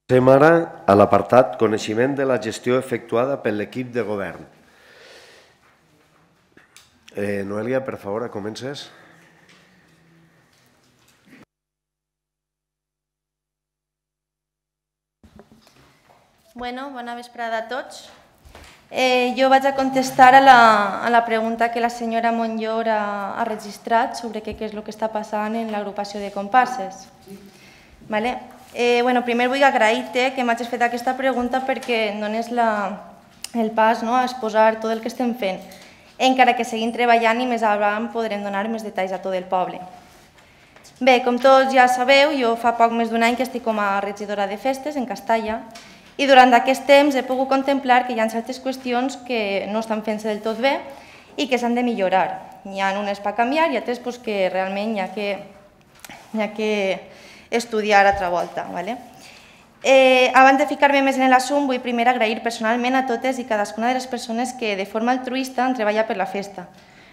Passem ara a l'apartat coneixement de la gestió efectuada per l'equip de govern. Noelia, per favor, comences. Bona vesprada a tots. Jo vaig a contestar a la pregunta que la senyora Monllor ha registrat sobre què és el que està passant en l'agrupació de comparses. Primer vull agrair-te que m'hagis fet aquesta pregunta perquè em dones el pas a exposar tot el que estem fent, encara que seguim treballant i més endavant podrem donar més detalls a tot el poble. Bé, com tots ja sabeu, jo fa poc més d'un any que estic com a regidora de festes en Castalla i durant aquest temps he pogut contemplar que hi ha certes qüestions que no estan fent-se del tot bé i que s'han de millorar. N'hi ha unes per canviar i altres que realment hi ha que estudiar altra volta. Abans de ficar-me més en l'assumpte, vull primer agrair personalment a totes i cadascuna de les persones que de forma altruista han treballat per la festa.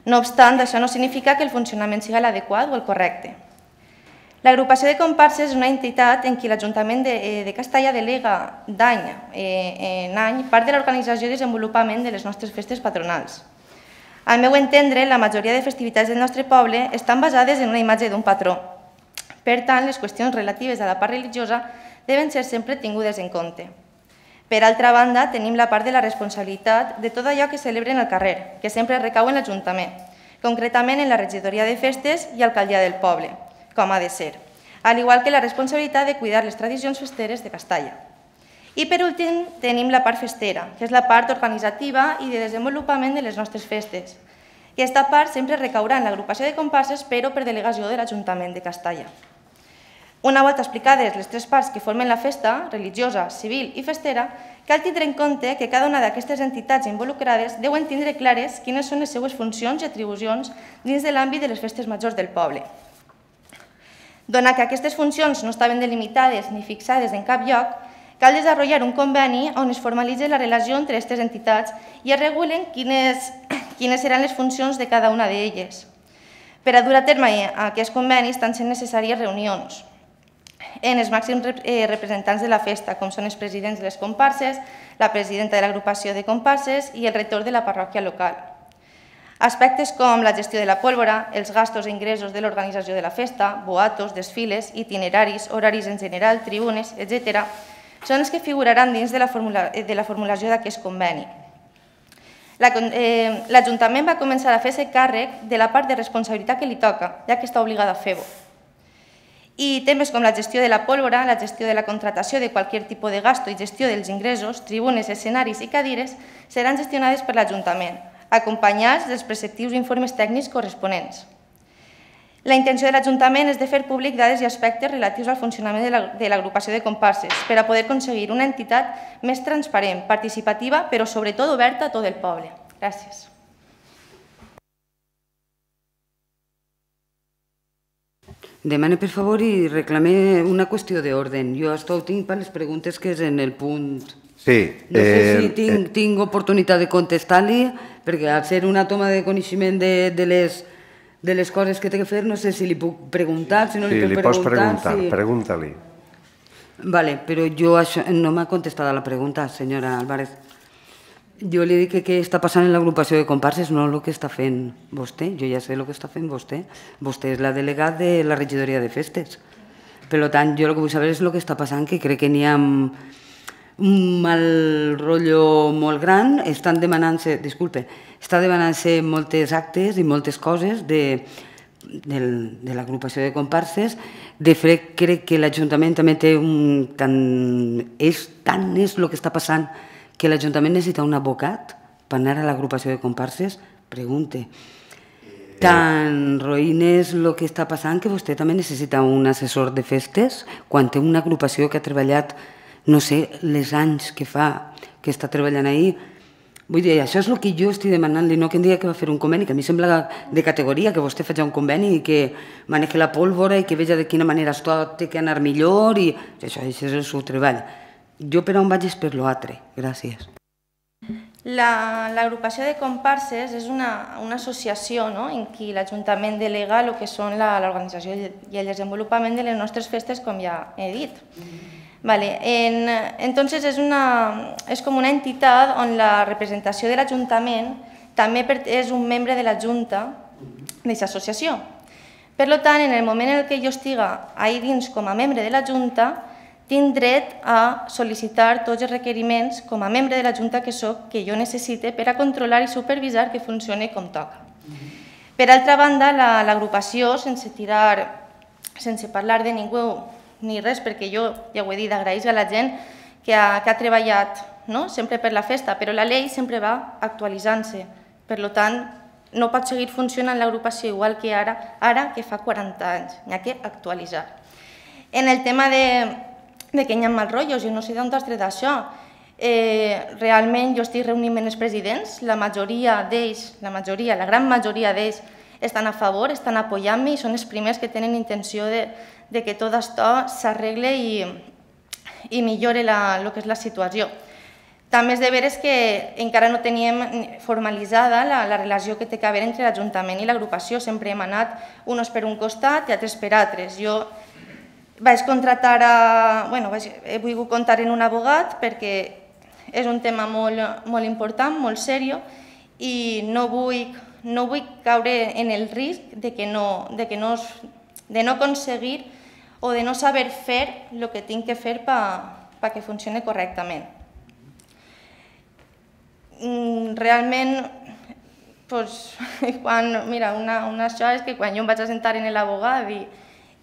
No obstant, això no significa que el funcionament sigui l'adequat o el correcte. L'agrupació de comparses és una entitat en què l'Ajuntament de Castalla delega d'any en any part de l'organització i desenvolupament de les nostres festes patronals. Al meu entendre, la majoria de festivitats del nostre poble estan basades en una imatge d'un patró. Per tant, les qüestions relatives a la part religiosa deuen ser sempre tingudes en compte. Per altra banda, tenim la part de la responsabilitat de tot allò que celebren al carrer, que sempre recau en l'Ajuntament, concretament en la regidoria de festes i alcaldia del poble, com ha de ser, al igual que la responsabilitat de cuidar les tradicions festeres de Castalla. I per últim tenim la part festera, que és la part organitzativa i de desenvolupament de les nostres festes. Aquesta part sempre recaurà en l'agrupació de comparses, però per delegació de l'Ajuntament de Castalla. Una volta explicades les tres parts que formen la festa, religiosa, civil i festera, cal tindre en compte que cada una d'aquestes entitats involucrades deuen tindre clares quines són les seues funcions i atribucions dins de l'àmbit de les festes majors del poble. Donat que aquestes funcions no estaven delimitades ni fixades en cap lloc, cal desenvolupar un conveni on es formalitzi la relació entre aquestes entitats i es regulen quines seran les funcions de cada una d'elles. Per a dur a terme aquests convenis estan sent necessàries reunions en els màxims representants de la festa, com són els presidents de les comparses, la presidenta de l'agrupació de comparses i el rector de la parròquia local. Aspectes com la gestió de la pólvora, els gastos i ingressos de l'organització de la festa, boatos, desfiles, itineraris, horaris en general, tribunes, etc., són els que figuraran dins de la formulació d'aquest conveni. L'Ajuntament va començar a fer-se càrrec de la part de responsabilitat que li toca, ja que està obligada a fer-ho. I temes com la gestió de la pólvora, la gestió de la contratació de qualsevol tipus de gasto i gestió dels ingressos, tribunes, escenaris i cadires seran gestionades per l'Ajuntament, acompanyats dels preceptius informes tècnics corresponents. La intenció de l'Ajuntament és de fer públic dades i aspectes relatius al funcionament de l'agrupació de comparses per a poder aconseguir una entitat més transparent, participativa, però sobretot oberta a tot el poble. Gràcies. Demane, per favor, i reclame una qüestió d'ordre. Jo tinc per les preguntes que és en el punt... Sí. No sé si tinc oportunitat de contestar-li, perquè al ser una toma de coneixement de les coses que té que fer, no sé si li puc preguntar, si no li puc preguntar... Sí, li pots preguntar, pregunta-li. Vale, però jo no m'ha contestat a la pregunta, senyora Álvarez. Jo li dic que què està passant en l'agrupació de comparses, no el que està fent vostè. Jo ja sé el que està fent vostè. Vostè és la delegada de la regidoria de festes. Per tant, jo el que vull saber és el que està passant, que crec que n'hi ha un mal rotllo molt gran. Estan demanant-se, disculpe, està demanant-se moltes actes i moltes coses de l'agrupació de comparses. De fet, crec que l'Ajuntament també té tant és el que està passant que l'Ajuntament necessita un advocat per anar a l'agrupació de comparses? Pregunte. Tan roïn és el que està passant que vostè també necessita un assessor de festes quan té una agrupació que ha treballat, no sé, les anys que fa que està treballant ahir. Vull dir, això és el que jo estic demanant-li, no que em digui que va fer un conveni, que a mi sembla de categoria que vostè faci un conveni i que maneji la pólvora i que veja de quina manera tot té que anar millor i això és el seu treball. Jo per on vaig és per l'altre. Gràcies. L'agrupació de comparses és una associació en què l'Ajuntament delega el que són l'organització i el desenvolupament de les nostres festes, com ja he dit. Vale. Entonces és com una entitat on la representació de l'Ajuntament també és un membre de la Junta d'aquesta associació. Per tant, en el moment en què jo estiga ahí dins com a membre de la Junta, tinc dret a sol·licitar tots els requeriments com a membre de la Junta que soc, que jo necessite per a controlar i supervisar que funcioni com toca. Per altra banda, l'agrupació, sense parlar de ningú ni res, perquè jo, ja ho he dit, agraïs a la gent que ha treballat sempre per la festa, però la llei sempre va actualitzant-se. Per tant, no pot seguir funcionant l'agrupació igual que ara que fa 40 anys. N'hi ha que actualitzar. En el tema de que hi ha mal rotllos, jo no sé d'on has tret això. Realment jo estic reunint amb els presidents, la gran majoria d'ells estan a favor, estan apoyant-me i són els primers que tenen intenció de que tot això s'arregle i millore el que és la situació. També és de veres que encara no teníem formalitzada la relació que té que haver entre l'Ajuntament i l'agrupació. Sempre hem anat uns per un costat i altres per altres. Jo vaig contratar, he volgut comptar en un abogat perquè és un tema molt important, molt seriós, i no vull caure en el risc de no aconseguir o de no saber fer el que tinc que fer perquè funcioni correctament. Realment, una això és que quan jo em vaig assentar en l'abogat i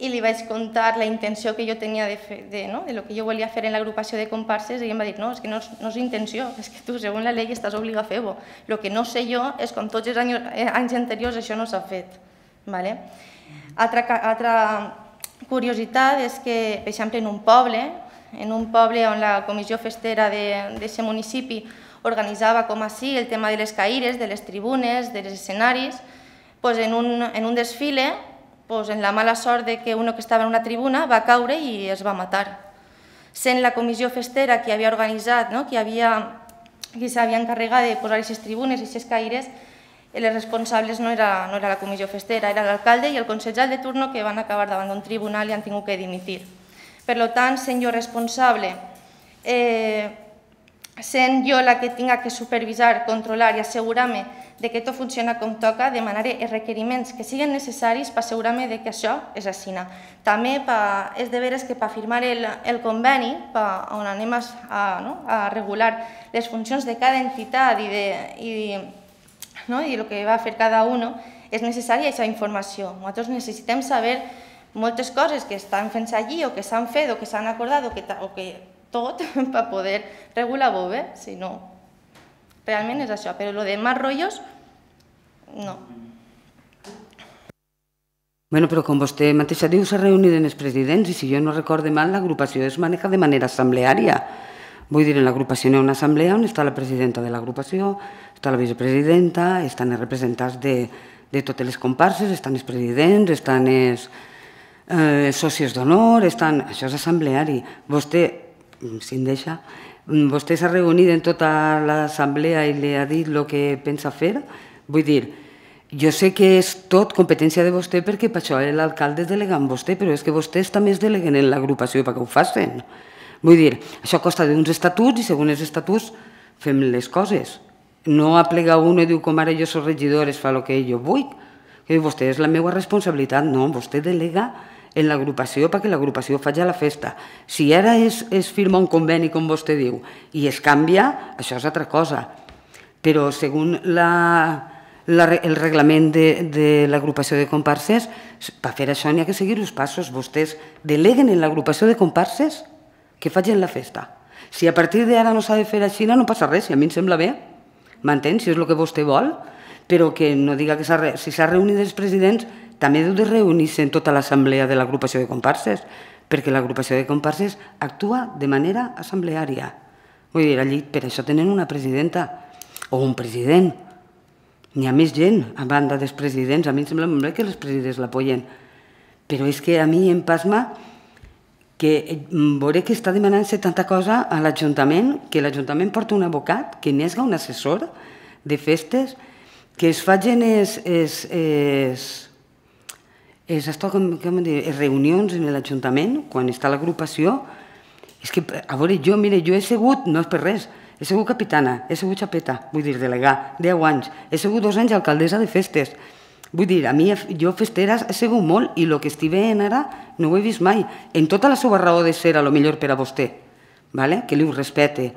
li vaig contar la intenció que jo tenia de lo que jo volia fer en l'agrupació de comparses, i em va dir, no, és que no és intenció, és que tu, segons la llei, estàs obligat a fer-ho. El que no sé jo és com tots els anys anteriors això no s'ha fet. Altra curiositat és que, per exemple, en un poble on la comissió festera d'aquest municipi organitzava com així el tema de les caires, de les tribunes, dels escenaris, en un desfile, en la mala sort que un que estava en una tribuna va caure i es va matar. Sent la comissió festera que havia organitzat, que s'havia encarregat de posar aquestes tribunes i aquestes caires, els responsables no era la comissió festera, era l'alcalde i el consellal de turno, que van acabar davant d'un tribunal i han tingut que dimitir. Per tant, sent jo responsable, sent jo la que tinc que supervisar, controlar i assegurar-me que tot funciona com toca, demanaré els requeriments que siguin necessaris per assegurar-me que això és així. També és de veres que per firmar el conveni, on anem a regular les funcions de cada entitat i el que va fer cada un, és necessària aquesta informació. Nosaltres necessitem saber moltes coses que estan fent allí o que s'han fet o que s'han acordat o que tot per poder regular-ho bé, si no, realment és això. Però el de más rotllos, no. Bueno, però com vostè mateixa diu, s'ha reunit amb els presidents i si jo no recorde mal, l'agrupació es maneja de manera assembleària. Vull dir, en l'agrupació hi ha una assemblea on està la presidenta de l'agrupació, està la vicepresidenta, estan els representants de totes les comparses, estan els presidents, estan els socis d'honor, això és assembleari. Vostè, si em deixa, vostè s'ha reunit en tota l'assemblea i li ha dit el que pensa fer? Vull dir, jo sé que és tot competència de vostè perquè per això l'alcalde delega en vostè, però és que vostès també es deleguen en l'agrupació perquè ho facin. Vull dir, això costa d'uns estatuts i segons els estatuts fem les coses. No aplega un i diu com ara jo soc regidor, es fa el que jo vull. Que vostè és la meva responsabilitat, no, vostè delega en l'agrupació perquè l'agrupació faci la festa. Si ara es firma un conveni, com vostè diu, i es canvia, això és altra cosa. Però segons el reglament de l'agrupació de comparses, per fer això n'hi ha que seguir els passos. Vostès deleguen en l'agrupació de comparses que facin la festa. Si a partir d'ara no s'ha de fer així, no passa res, si a mi em sembla bé, m'entén? Si és el que vostè vol, però que no diga que si s'ha reunit els presidents, també deu de reunir-se en tota l'assemblea de l'agrupació de comparses, perquè l'agrupació de comparses actua de manera assembleària. Vull dir, allí per això tenen una presidenta o un president. N'hi ha més gent a banda dels presidents. A mi em sembla molt bé que els presidents l'apoyen, però és que a mi em pasma que veuré que està demanant-se tanta cosa a l'Ajuntament, que l'Ajuntament porta un abocat, que n'hi hagi un assessor de festes, que es facin reunions en l'Ajuntament, quan està l'agrupació, És que, a veure, jo he sigut, no és per res, he sigut capitana, he sigut xapeta, vull dir, delegà, 10 anys, he sigut 2 anys alcaldessa de festes. Vull dir, a mi, jo festera he sigut molt i el que estic veient ara no ho he vist mai. En tota la seva raó de ser, a lo millor per a vostè, que li ho respecte.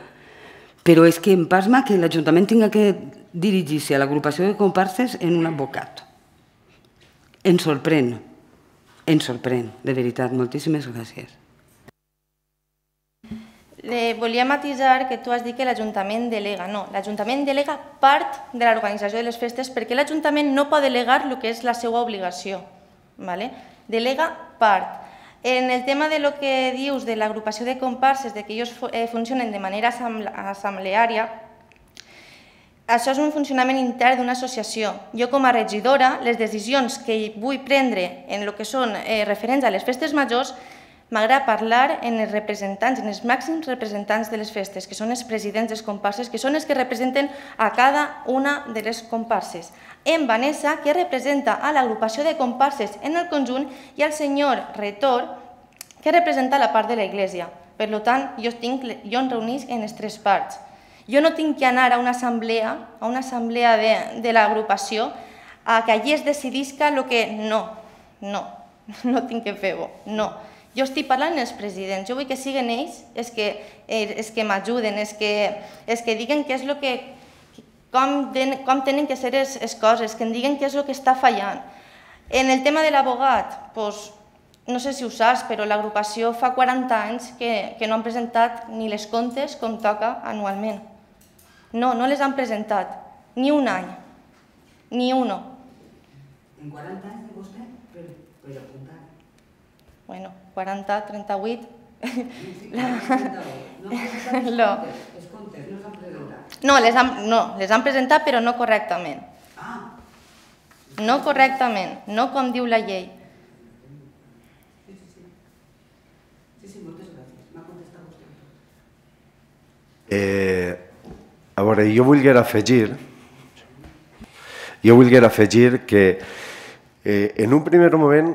Però és que em pasma que l'Ajuntament tinga que dirigir-se a l'agrupació de comparses en un advocat. Em sorprèn, de veritat. Moltíssimes gràcies. Volia matisar que tu has dit que l'Ajuntament delega. No, l'Ajuntament delega part de l'organització de les festes perquè l'Ajuntament no pot delegar el que és la seva obligació. Delega part. En el tema de lo que dius de l'agrupació de comparses, de que ells funcionen de manera assembleària, això és un funcionament intern d'una associació. Jo, com a regidora, les decisions que vull prendre en el que són referents a les festes majors, m'agrada parlar en els representants, en els màxims representants de les festes, que són els presidents dels comparses, que són els que representen a cada una de les comparses. En Vanessa, que representa a l'agrupació de comparses en el conjunt, i el senyor Retor, que representa la part de l'església. Per tant, jo em reunís en les 3 parts. Jo no tinc que anar a una assemblea de l'agrupació a que allí es decidisca el que... No tinc que fer-ho, no. Jo estic parlant amb els presidents, jo vull que siguin ells els que m'ajuden, els que diguen què és el que... com tenen que ser les coses, que em diguen què és el que està fallant. En el tema de l'abogat, no sé si ho saps, però l'agrupació fa 40 anys que no han presentat ni les comptes com toca anualment. No les han presentat, ni un any, ni uno. En 40 anys de vostè? Per apuntar. Bueno, 40, 38... No, les han presentat, però no correctament. No correctament, no com diu la llei. Sí, moltes gràcies. M'ha contestat vostè. A veure, jo volguera afegir que en un primer moment,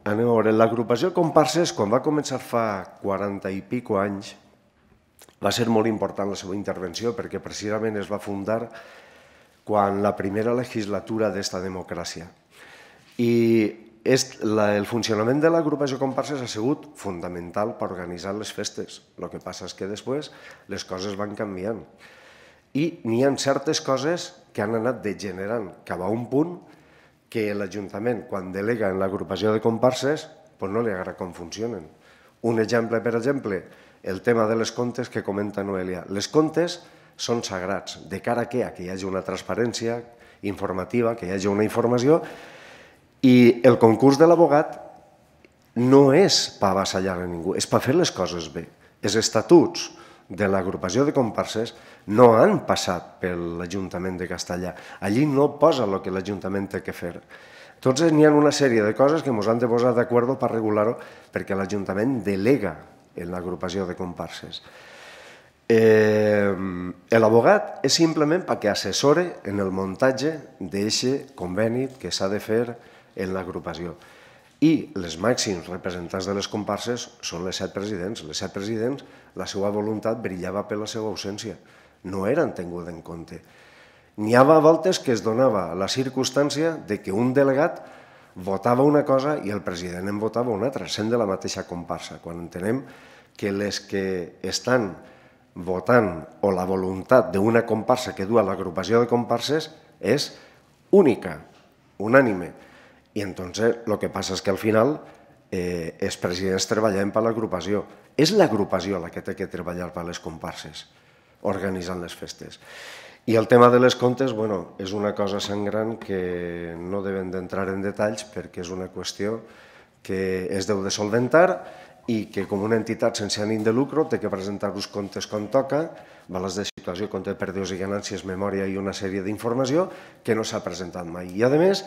anem a veure, l'agrupació Comparses, quan va començar fa 40 i pico anys, va ser molt important la seva intervenció perquè precisament es va fundar quan la primera legislatura d'esta democràcia. I el funcionament de l'agrupació Comparses ha sigut fonamental per organitzar les festes. El que passa és que després les coses van canviant. I n'hi ha certes coses que han anat degenerant cap a un punt que l'Ajuntament, quan delega en l'agrupació de comparses, no li agrada com funcionen. Un exemple, per exemple, el tema de les comptes que comenta Noelia. Les comptes són sagrats, de cara a què? A que hi hagi una transparència informativa, que hi hagi una informació, i el concurs de l'abogat no és per avassallar a ningú, és per fer les coses bé. Els estatuts de l'agrupació de comparses no han passat per l'Ajuntament de Castellà. Allí no posa el que l'Ajuntament té que fer. Entonces, n'hi ha una sèrie de coses que ens han de posar d'acord per regular-ho perquè l'Ajuntament delega en l'agrupació de comparses. L'abogat és simplement perquè assessore en el muntatge d'aquest conveni que s'ha de fer en l'agrupació. I els màxims representants de les comparses són les 7 presidents. Les 7 presidents, la seva voluntat brillava per la seva ausència. No eren tinguts en compte. N'hi havia voltes que es donava la circumstància de que un delegat votava una cosa i el president en votava una altra, sent de la mateixa comparsa, quan entenem que les que estan votant o la voluntat d'una comparsa que du a l'agrupació de comparses és única, unànime. I entonces el que passa és que al final els presidents treballen per l'agrupació. És l'agrupació la que té que treballar per les comparses, organitzant les festes. I el tema de les comptes, és una cosa sangrant que no devem d'entrar en detalls perquè és una qüestió que es deu de solventar i que com una entitat sense ànim de lucre té que presentar els comptes com toca, balanç de situació, compte de pèrdues i ganàncies, memòria i una sèrie d'informació que no s'ha presentat mai. I a més,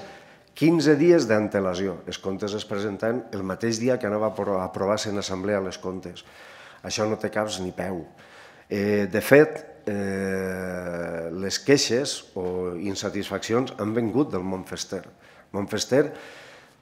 15 dies d'antelació. Els comptes es presenten el mateix dia que anava a aprovar-se en assemblea les comptes. Això no té caps ni peu. De fet, les queixes o insatisfaccions han vingut del món fester. El món fester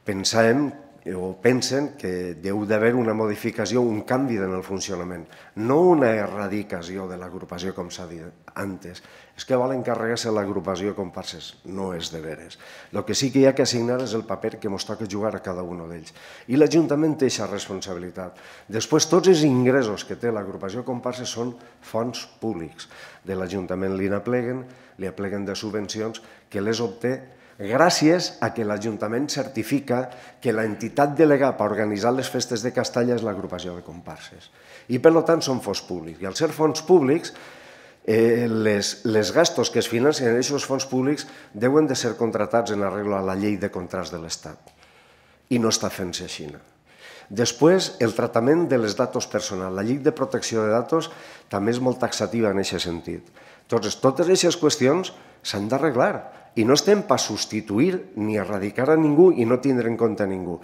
pensàvem o pensen que deu d'haver una modificació, un canvi en el funcionament, no una erradicació de l'agrupació com s'ha dit antes. És que volen carregar-se l'agrupació comparses, no és de veres. El que sí que hi ha que assignar és el paper que ens toca jugar a cada un d'ells. I l'Ajuntament té aquesta responsabilitat. Després, tots els ingressos que té l'agrupació comparses són fons públics. De l'Ajuntament li apleguen de subvencions que les obté gràcies a que l'Ajuntament certifica que l'entitat delegada per organitzar les festes de Castalla és l'agrupació de comparses. I, per tant, són fons públics. I al ser fons públics, les gastos que es financen en aquests fons públics deuen de ser contratats en arreglo a la llei de contrats de l'Estat. I no està fent-se així. Després, el tractament de les datos personals. La llei de protecció de datos també és molt taxativa en aquest sentit. Totes aquestes qüestions s'han d'arreglar i no estem per substituir ni erradicar a ningú i no tindre en compte a ningú.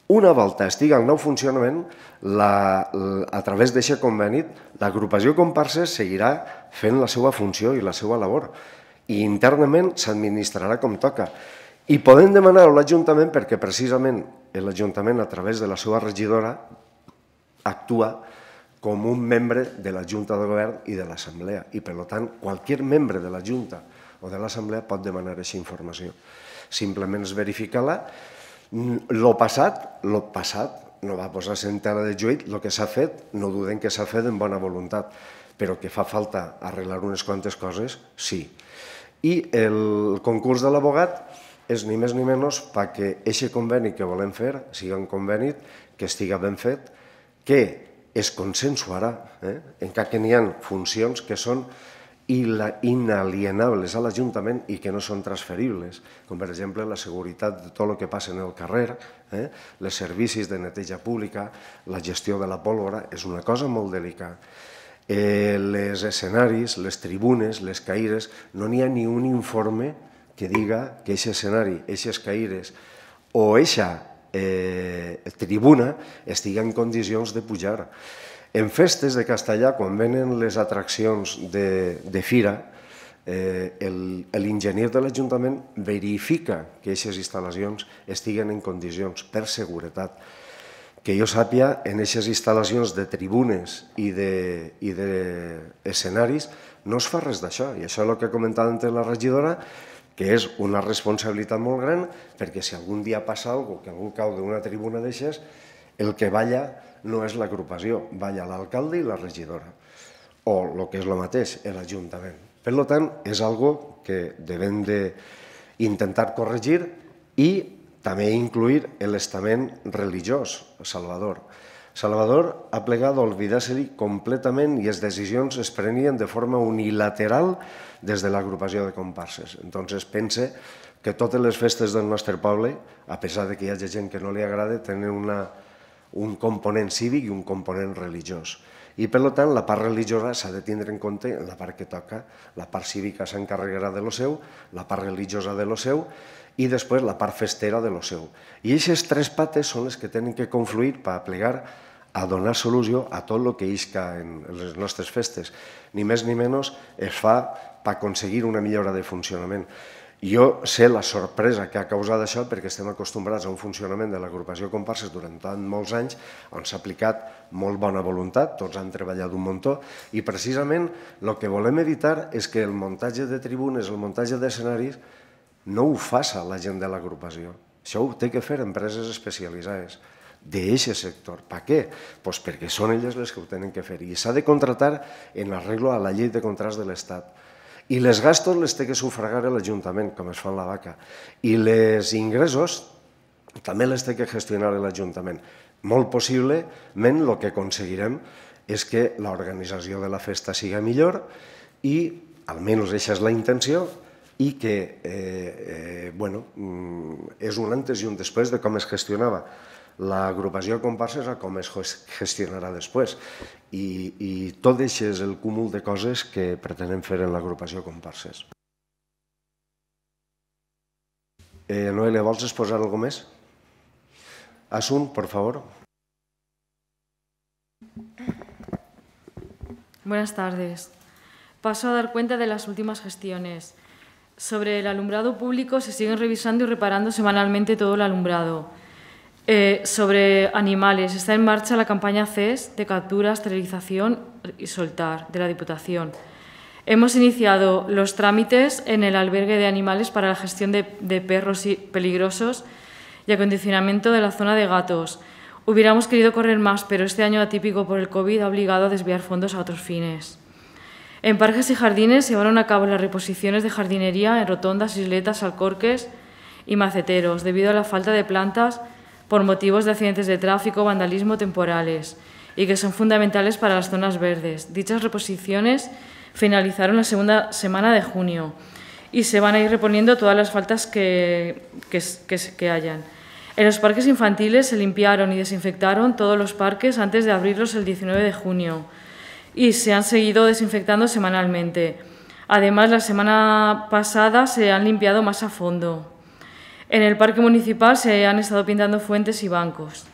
Una volta estigui al nou funcionament, a través d'aquest conveni, l'agrupació comparses seguirà fent la seva funció i la seva labor i internament s'administrarà com toca. I podem demanar a l'Ajuntament perquè precisament l'Ajuntament a través de la seva regidora actua com un membre de la Junta de Govern i de l'Assemblea i per tant qualsevol membre de la Junta o de l'Assemblea pot demanar aquesta informació. Simplement és verificar-la. El passat no va posar-se en tela de juit, el que s'ha fet, no duden que s'ha fet en bona voluntat, però que fa falta arreglar unes quantes coses, sí. I el concurs de l'abogat és ni més ni menys perquè aquest conveni que volem fer sigui un conveni que estigui ben fet, que es consensuarà, encara que n'hi ha funcions que són inalienables a l'Ajuntament i que no són transferibles, com per exemple la seguretat de tot el que passa en el carrer, els servicis de neteja pública, la gestió de la pólvora, és una cosa molt delicada. Els escenaris, les tribunes, les caires, no n'hi ha ni un informe que diga que aquest escenari, aquestes caires o aquesta tribuna estigui en condicions de pujar. En festes de Castellà, quan venen les atraccions de fira, l'enginyer de l'Ajuntament verifica que aquestes instal·lacions estiguen en condicions per seguretat. Que jo sàpiga, en aquestes instal·lacions de tribunes i d'escenaris no es fa res d'això. I això és el que ha comentat antes la regidora, que és una responsabilitat molt gran, perquè si algun dia passa alguna cosa, que algú cau d'una tribuna d'aixes, el que balla no és l'agrupació, balla l'alcalde i la regidora, o el que és el mateix, l'Ajuntament. Per tant, és algo que devem d'intentar corregir i també incluir l'estament religiós, Salvador. Salvador ha plegat d'oblidar-se-li completament i les decisions es prenien de forma unilateral des de l'agrupació de comparses. Entonces pense que totes les festes del nostre poble, a pesar que hi hagi gent que no li agrada, tenen un component cívic i un component religiós. I, per tant, la part religiosa s'ha de tindre en compte en la part que toca. La part cívica s'encarregarà de lo seu, la part religiosa de lo seu i després la part festera de lo seu. I aquestes tres pates són les que tenen que confluir per plegar a donar solució a tot el que isca en les nostres festes. Ni més ni menys es fa per aconseguir una millora de funcionament. Jo sé la sorpresa que ha causat això perquè estem acostumbrats a un funcionament de l'agrupació comparses durant tant molts anys on s'ha aplicat molt bona voluntat, tots han treballat un muntó i precisament el que volem evitar és que el muntatge de tribunes, el muntatge d'escenaris no ho faça la gent de l'agrupació. Això ho té que fer empreses especialitzades d'aquest sector. Per què? Doncs perquè són elles les que ho tenen que fer i s'ha de contratar en arreglo a la llei de contrats de l'Estat. I les gastos les té que sufragar l'Ajuntament, com es fa en la vaca. I els ingressos també les té que gestionar l'Ajuntament. Molt possiblement el que aconseguirem és que l'organització de la festa sigui millor i, almenys aquesta és la intenció, i que és un antes i un després de com es gestionava l'agrupació de comparses a com es gestionarà després. I tot això és el cúmul de coses que pretenem fer en l'agrupació de comparses. Noelia, vols exposar alguna més? Asun, por favor. Buenas tardes. Paso a dar cuenta de las últimas gestiones. Sobre el alumbrado público se siguen revisando y reparando semanalmente todo el alumbrado. Sobre animales, está en marcha la campaña CES de captura, esterilización y soltar de la Diputación. Hemos iniciado los trámites en el albergue de animales para la gestión de perros peligrosos y acondicionamiento de la zona de gatos. Hubiéramos querido correr más, pero este año atípico por el COVID ha obligado a desviar fondos a otros fines. En parques y jardines se llevaron a cabo las reposiciones de jardinería en rotondas, isletas, alcorques y maceteros, debido a la falta de plantas por motivos de accidentes de tráfico, vandalismo temporales, y que son fundamentales para las zonas verdes. Dichas reposiciones finalizaron la segunda semana de junio y se van a ir reponiendo todas las faltas que hayan. En los parques infantiles se limpiaron y desinfectaron todos los parques antes de abrirlos el 19 de junio y se han seguido desinfectando semanalmente. Además, la semana pasada se han limpiado más a fondo. En el parque municipal se han estado pintando fuentes y bancos.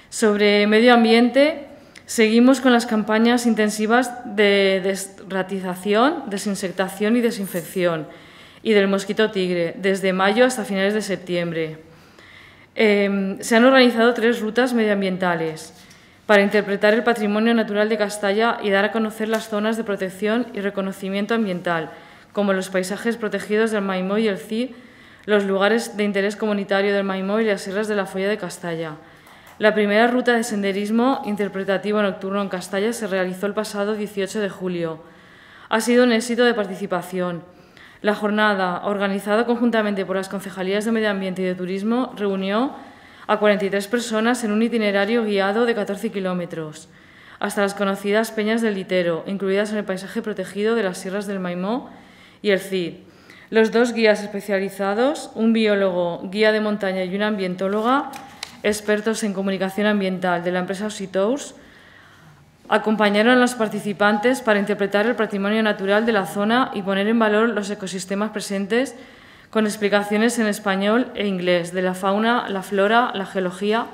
Sobre medio ambiente, seguimos con las campañas intensivas de desratización, desinsectación y desinfección y del mosquito tigre, desde mayo hasta finales de septiembre. Se han organizado 3 rutas medioambientales para interpretar el patrimonio natural de Castalla y dar a conocer las zonas de protección y reconocimiento ambiental, como los paisajes protegidos del Maimó y el Cid, los lugares de interés comunitario del Maimó y las sierras de la Folla de Castalla. La primera ruta de senderismo interpretativo nocturno en Castalla se realizó el pasado 18 de julio. Ha sido un éxito de participación. La jornada, organizada conjuntamente por las Concejalías de Medio Ambiente y de Turismo, reunió a 43 personas en un itinerario guiado de 14 kilómetros, hasta las conocidas Peñas del Litero, incluidas en el paisaje protegido de las sierras del Maimó y el Cid. Los 2 guías especializados, un biólogo, guía de montaña y una ambientóloga, expertos en comunicación ambiental de la empresa Ositours, acompañaron a los participantes para interpretar el patrimonio natural de la zona y poner en valor los ecosistemas presentes con explicaciones en español e inglés de la fauna, la flora, la geología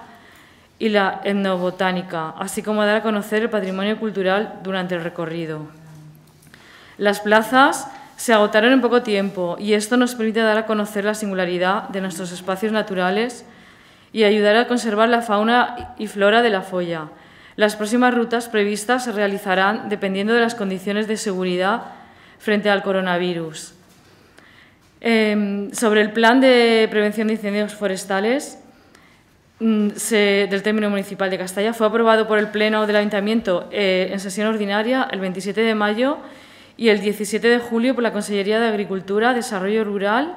y la etnobotánica, así como dar a conocer el patrimonio cultural durante el recorrido. Las plazas se agotaron en poco tiempo y esto nos permite dar a conocer la singularidad de nuestros espacios naturales y ayudar a conservar la fauna y flora de la Folla. Las próximas rutas previstas se realizarán dependiendo de las condiciones de seguridad frente al coronavirus. Sobre el plan de prevención de incendios forestales del término municipal de Castalla, fue aprobado por el Pleno del Ayuntamiento en sesión ordinaria el 27 de mayo y el 17 de julio por la Consellería de Agricultura, Desarrollo Rural,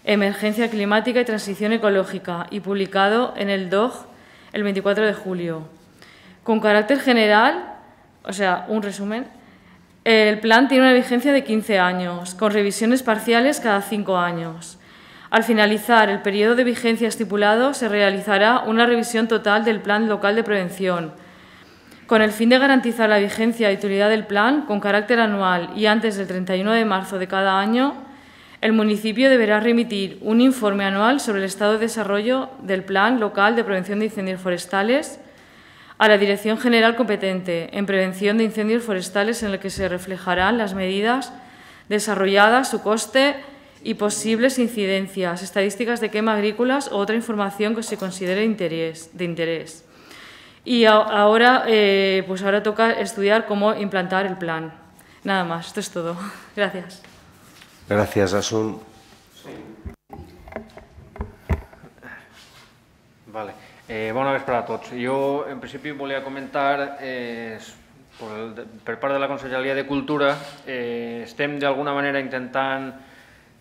Emergencia Climática y Transición Ecológica y publicado en el DOG el 24 de julio. Con carácter general, o sea, un resumen, el plan tiene una vigencia de 15 años, con revisiones parciales cada 5 años. Al finalizar el periodo de vigencia estipulado, se realizará una revisión total del Plan Local de Prevención. Con el fin de garantizar la vigencia y utilidad del plan, con carácter anual y antes del 31 de marzo de cada año, el municipio deberá remitir un informe anual sobre el estado de desarrollo del Plan Local de Prevención de Incendios Forestales a la Dirección General competente en Prevención de Incendios Forestales, en el que se reflejarán las medidas desarrolladas, su coste y posibles incidencias, estadísticas de quema agrícolas o otra información que se considere de interés. Y ahora toca estudiar cómo implantar el plan. Nada más, esto es todo. Gracias. Gracias, Asun. Vale. Bona vesprada a tots. Jo, en principi, volia comentar, per part de la Conselleria de Cultura, estem d'alguna manera intentant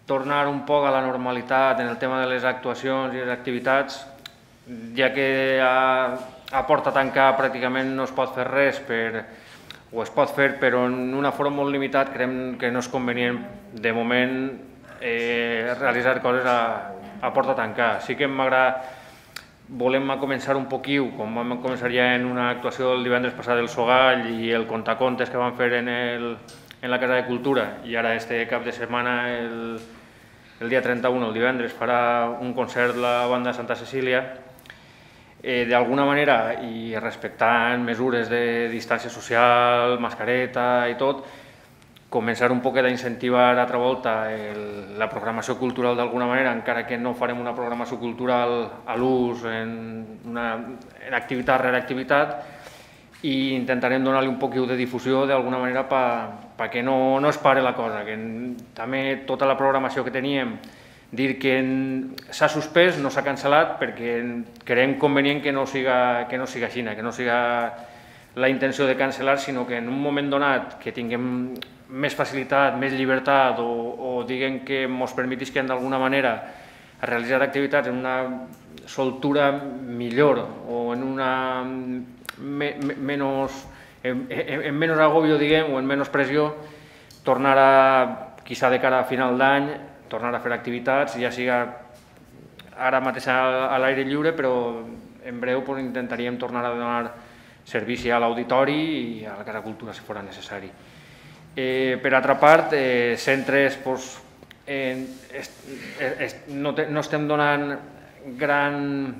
tornar un poc a la normalitat en el tema de les actuacions i les activitats, ja que a porta tancada pràcticament no es pot fer res, o es pot fer però en un aforo molt limitat, creiem que no és convenient de moment realitzar coses a porta tancada. Sí que volem començar un poquiu, com vam començar ja en una actuació el divendres passat del Sogall i el contacontes que vam fer en la Casa de Cultura, i ara este cap de setmana, el dia 31, el divendres, farà un concert la banda de Santa Cecília. D'alguna manera, i respectant mesures de distància social, mascareta i tot, començar un poquet a incentivar altra volta la programació cultural d'alguna manera, encara que no farem una programació cultural a l'ús en activitat rere activitat, i intentarem donar-li un poquet de difusió d'alguna manera perquè no es pare la cosa, que també tota la programació que teníem, dir que s'ha suspès, no s'ha cancel·lat, perquè creiem convenient que no siga així, que no siga la intenció de cancel·lar, sinó que en un moment donat que tinguem més facilitat, més llibertat o diguem que ens permetisquen d'alguna manera realitzar activitats en una soltura millor o en una en menys agobio, diguem, o en menys pressió, tornar a, quizà de cara a final d'any, tornar a fer activitats, ja siga ara mateix a l'aire lliure, però en breu intentaríem tornar a donar servici a l'auditori i a la Casa Cultura si fos necessari. Per altra part, centres no estem donant gran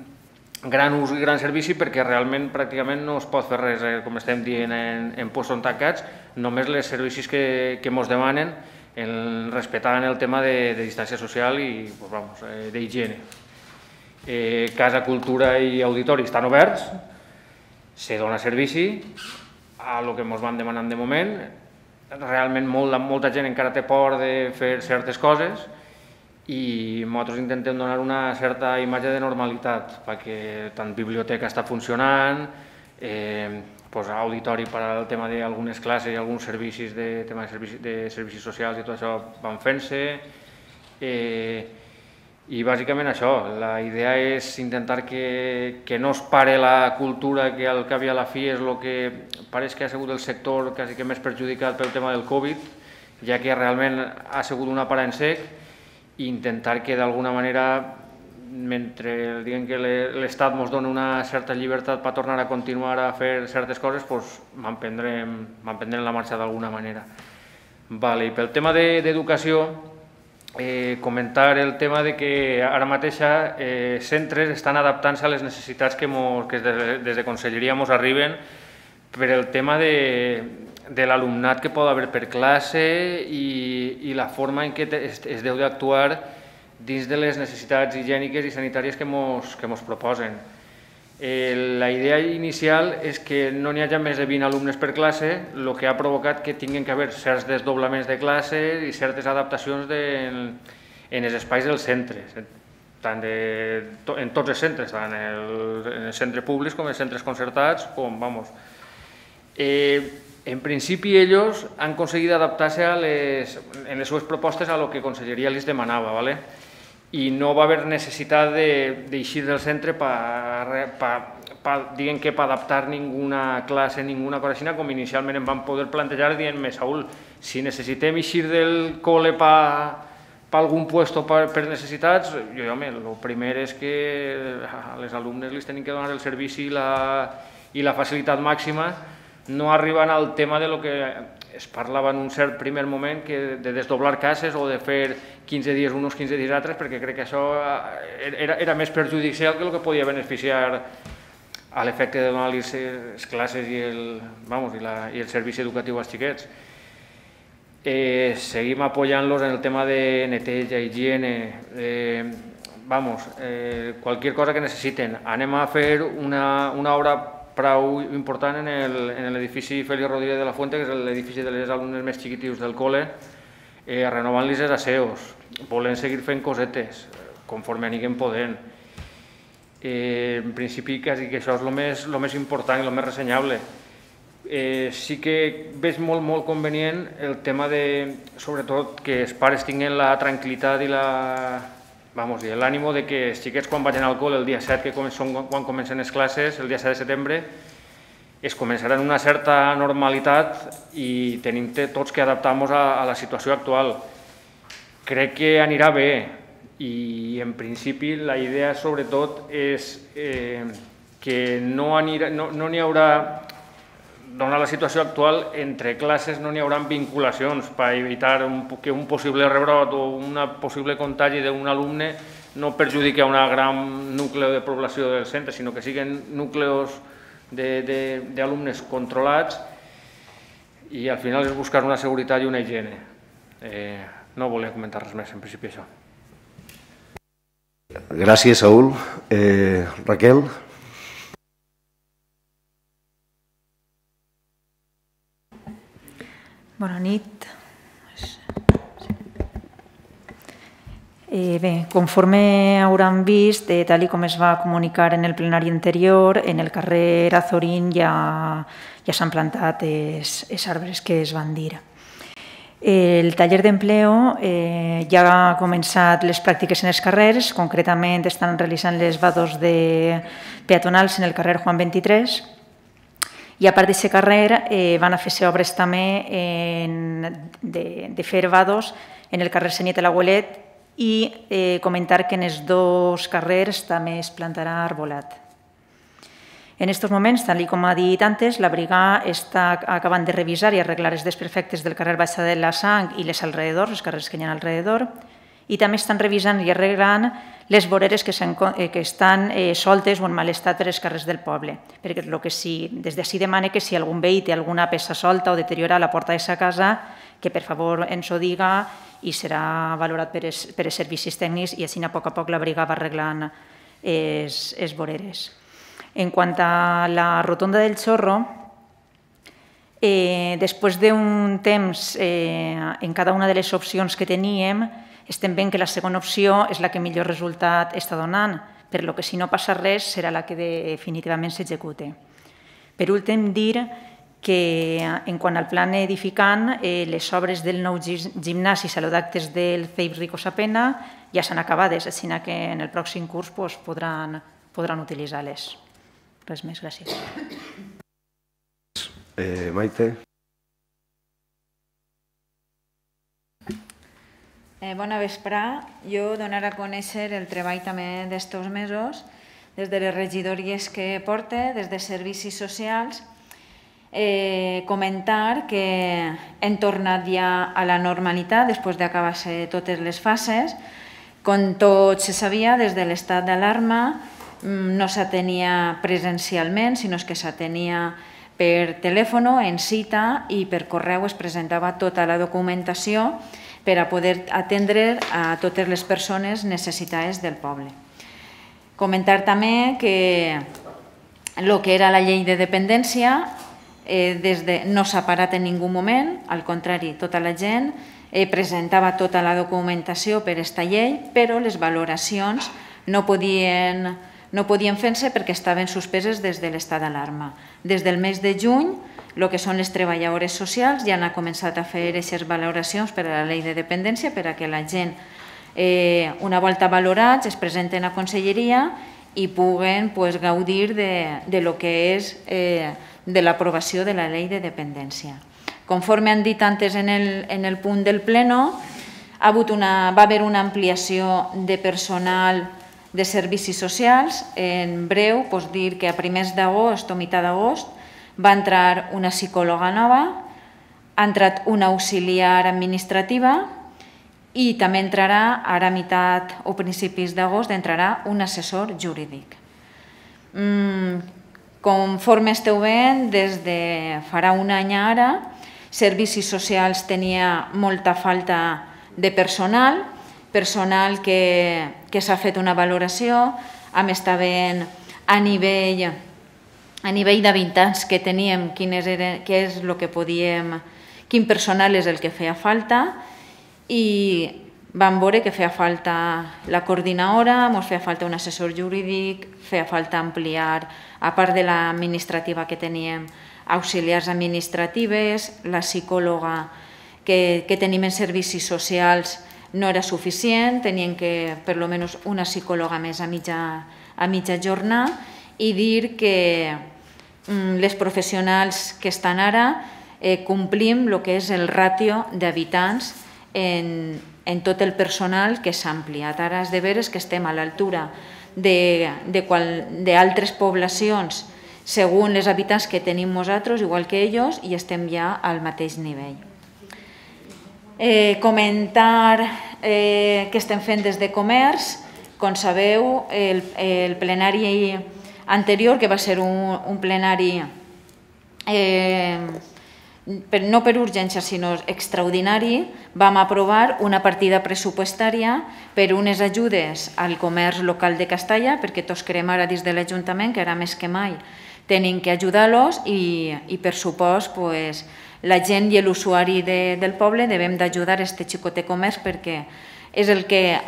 ús i gran servici perquè realment pràcticament no es pot fer res, com estem dient, en puestos tancats, només els servicis que ens demanen respectant el tema de distància social i d'higiene. Casa Cultura i Auditori estan oberts, se dona servici a el que ens van demanant de moment. Realment molta gent encara té por de fer certes coses i nosaltres intentem donar una certa imatge de normalitat perquè tant biblioteca està funcionant, auditori per al tema d'algunes classes i alguns servicis de servicis socials i tot això van fent-se. I bàsicament això, la idea és intentar que no es pare la cultura, que al cap i a la fi és el que pareix que ha sigut el sector quasi que més perjudicat pel tema del Covid, ja que realment ha sigut una para en sec, i intentar que d'alguna manera, mentre diguem que l'Estat ens dona una certa llibertat per tornar a continuar a fer certes coses, manprendrem la marxa d'alguna manera. I pel tema d'educació, comentar el tema de que ara mateix centres estan adaptant-se a les necessitats que des de Conselleria ens arriben per el tema de l'alumnat que pot haver per classe i la forma en què es deu d'actuar dins de les necessitats higièniques i sanitàries que ens proposen. La idea inicial és que no n'hi hagi més de 20 alumnes per classe, el que ha provocat que tinguin que haver certs desdoblaments de classes i certes adaptacions en els espais dels centres, en tots els centres, tant en els centres públics com en els centres concertats. En principi, ells han aconseguit adaptar-se en les seves propostes a el que Conselleria els demanava, i no va haver necessitat d'eixir del centre per adaptar ninguna classe, ninguna cosa així, com inicialment em van poder plantejar dient-me, Saúl, si necessitem eixir del col·le per algun lloc per necessitats, home, el primer és que als alumnes els tenim que donar el servici i la facilitat màxima, no arribant al tema de lo que es parlava en un cert primer moment, de desdoblar cases o de fer 15 dies uns, 15 dies altres, perquè crec que això era més perjudicial que el que podia beneficiar a l'efecte de donar les classes i el servici educatiu als xiquets. Seguim apoyant-los en el tema de neteja, higiene, qualsevol cosa que necessiten. Anem a fer una obra prou important en l'edifici Félix Rodríguez de la Fuente, que és l'edifici de les alumnes més xiquitius del col·le, renovant-los els aseos, volent seguir fent cosetes, conforme anirem podent. En principi, quasi que això és el més important i el més ressenyable. Sí que veig molt convenient el tema de, sobretot, que els pares tinguin la tranquil·litat i l'ànimo de que els xiquets quan vagin al col·le el dia 7, que quan comencen les classes, el dia 7 de setembre, es començaran una certa normalitat i tenim tots que adaptar-nos a la situació actual. Crec que anirà bé i en principi la idea sobretot és que no n'hi haurà, donat la situació actual, entre classes no n'hi haurà vinculacions per evitar que un possible rebrot o un possible contagi d'un alumne no perjudiqui a un gran nucli de població del centre, sinó que siguin núcleos d'alumnes controlats. i al final és buscar una seguretat i una higiene. No volia comentar res més, en principi això. Gràcies, Saúl. Raquel? Bona nit. Bé, conforme hauran vist, tal com es va comunicar en el plenari anterior, en el carrer Azorín ja s'han plantat els arbres que es van dir. El taller d'empleo ja ha començat les pràctiques en els carrers, concretament estan realitzant les vados peatonals en el carrer Juan 23, i a part d'aquest carrer van a fer-se obres també de fer vados en el carrer Seniet de l'Aguelet i comentar que en els dos carrers també es plantarà arbolat. En aquests moments, tal com ha dit antes, la brigada està acabant de revisar i arreglar els desperfectes del carrer Baixa de la Sang i les alrededors, els carrers que hi ha alrededor, i també estan revisant i arreglant les voreres que estan soltes o en mal estat per als carrers del poble. Perquè des d'ací demana que si algun veí té alguna peça solta o deteriora a la porta de sa casa, que per favor ens ho diga i serà valorat per els servicis tècnics i així a poc la brigada va arreglant les voreres. En quant a la rotonda del Xorro, després d'un temps en cada una de les opcions que teníem, estem veient que la segona opció és la que millor resultat està donant, però que si no passa res serà la que definitivament s'execute. Per últim, dir que en quant al plan edificant, les obres del nou gimnàs i saludactes del CEIP Rico Sapena ja s'han acabades, així que en el pròxim curs podran utilitzar-les. Res més, gràcies. Maite? Bona vesprà. Jo donar a conèixer el treball també d'estos mesos, des de les regidories que porte, des de servicis socials, comentar que hem tornat ja a la normalitat després d'acabar-se totes les fases. Com tot se sabia, des de l'estat d'alarma no s'atenia presencialment, sinó que s'atenia per telèfon, en cita, i per correu es presentava tota la documentació per a poder atendre a totes les persones necessitades del poble. Comentar també que el que era la llei de dependència no s'ha parat en ningú moment, al contrari, tota la gent presentava tota la documentació per aquesta llei, però les valoracions no podien fer-se perquè estaven suspeses des de l'estat d'alarma. Des del mes de juny, el que són les treballadores socials ja han començat a fer aquestes valoracions per a la llei de dependència per a que la gent, una volta valorats, es presenten a conselleria i puguen gaudir de lo que és de l'aprovació de la llei de dependència. Conforme han dit antes en el punt del pleno, va haver una ampliació de personal de servicis socials. En breu, dir que a primers d'agost o meitat d'agost va entrar una psicòloga nova, ha entrat una auxiliar administrativa i també entrarà, ara a meitat o principis d'agost, entrarà un assessor jurídic. Conforme esteu veient, des de farà un any ara, servicis socials tenia molta falta de personal que s'ha fet una valoració, hem estat veient a nivell d'habitants que teníem quin personal és el que feia falta i vam veure que feia falta la coordinadora, ens feia falta un assessor jurídic, feia falta ampliar, a part de l'administrativa que teníem, auxiliars administratives, la psicòloga que tenim en servicis socials no era suficient, tenien que per almenys una psicòloga més a mitja jornada i dir que les professionals que estan ara complim el que és el ràtio d'habitants en tot el personal que s'ha ampliat. Ara és de veres que estem a l'altura d'altres poblacions segons els habitants que tenim nosaltres, igual que ells, i estem ja al mateix nivell. Comentar què estem fent des de comerç. Com sabeu, el plenari anterior, que va ser un plenari no per urgència sinó extraordinari, vam aprovar una partida pressupostària per unes ajudes al comerç local de Castalla, perquè tots creiem ara dins de l'Ajuntament que ara més que mai tenim que ajudar-los i per supost la gent i l'usuari del poble devem d'ajudar aquest xicotet comerç perquè és el que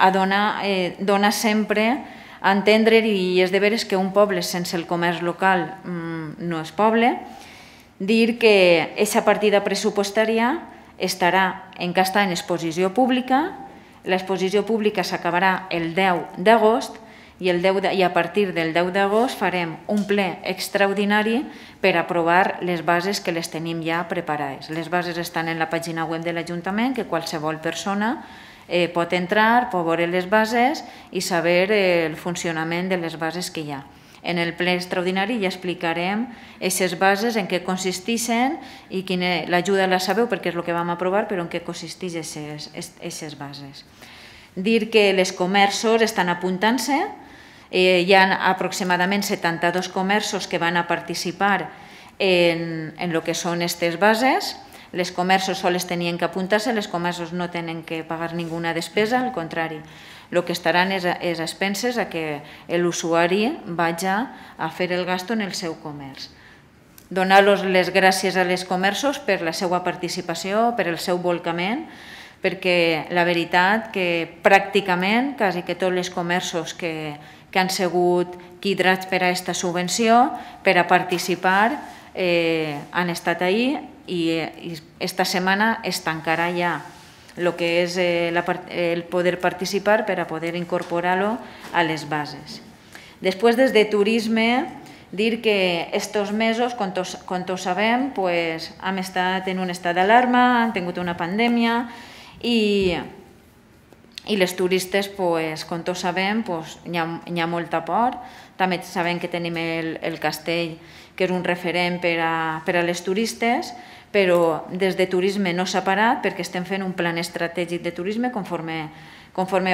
dona sempre a entendre i és de veres que un poble sense el comerç local no és poble. Dir que aquesta partida pressupostària estarà encara en exposició pública. L'exposició pública s'acabarà el 10 d'agost i a partir del 10 d'agost farem un ple extraordinari per aprovar les bases que les tenim ja preparades. Les bases estan en la pàgina web de l'Ajuntament, que qualsevol persona pot entrar, pot veure les bases i saber el funcionament de les bases que hi ha. En el ple extraordinari ja explicarem aquestes bases, en què consisteixen i l'ajuda la sabeu perquè és el que vam aprovar, però en què consisteixen aquestes bases. Dir que els comerços estan apuntant-se, hi ha aproximadament 72 comerços que van a participar en el que són aquestes bases. Les comerços sols tenien que apuntar-se, els comerços no tenen que pagar ninguna despesa, al contrari. El que estaran és a expenses a que l'usuari vagi a fer el gasto en el seu comerç. Donar-los les gràcies als comerços per la seva participació, per el seu volcament, perquè la veritat que pràcticament quasi que tots els comerços que han sigut quidrats per a aquesta subvenció, per a participar, han estat ahí i esta setmana es tancarà ja el que és el poder participar per a poder incorporar-lo a les bases. Després, des de turisme, dir que aquests mesos, com tots sabem, hem estat en un estat d'alarma, hem tingut una pandèmia i les turistes, com tots sabem, hi ha molta por. També sabem que tenim el castell, que és un referent per a les turistes, però des de turisme no s'ha parat perquè estem fent un plan estratègic de turisme, conforme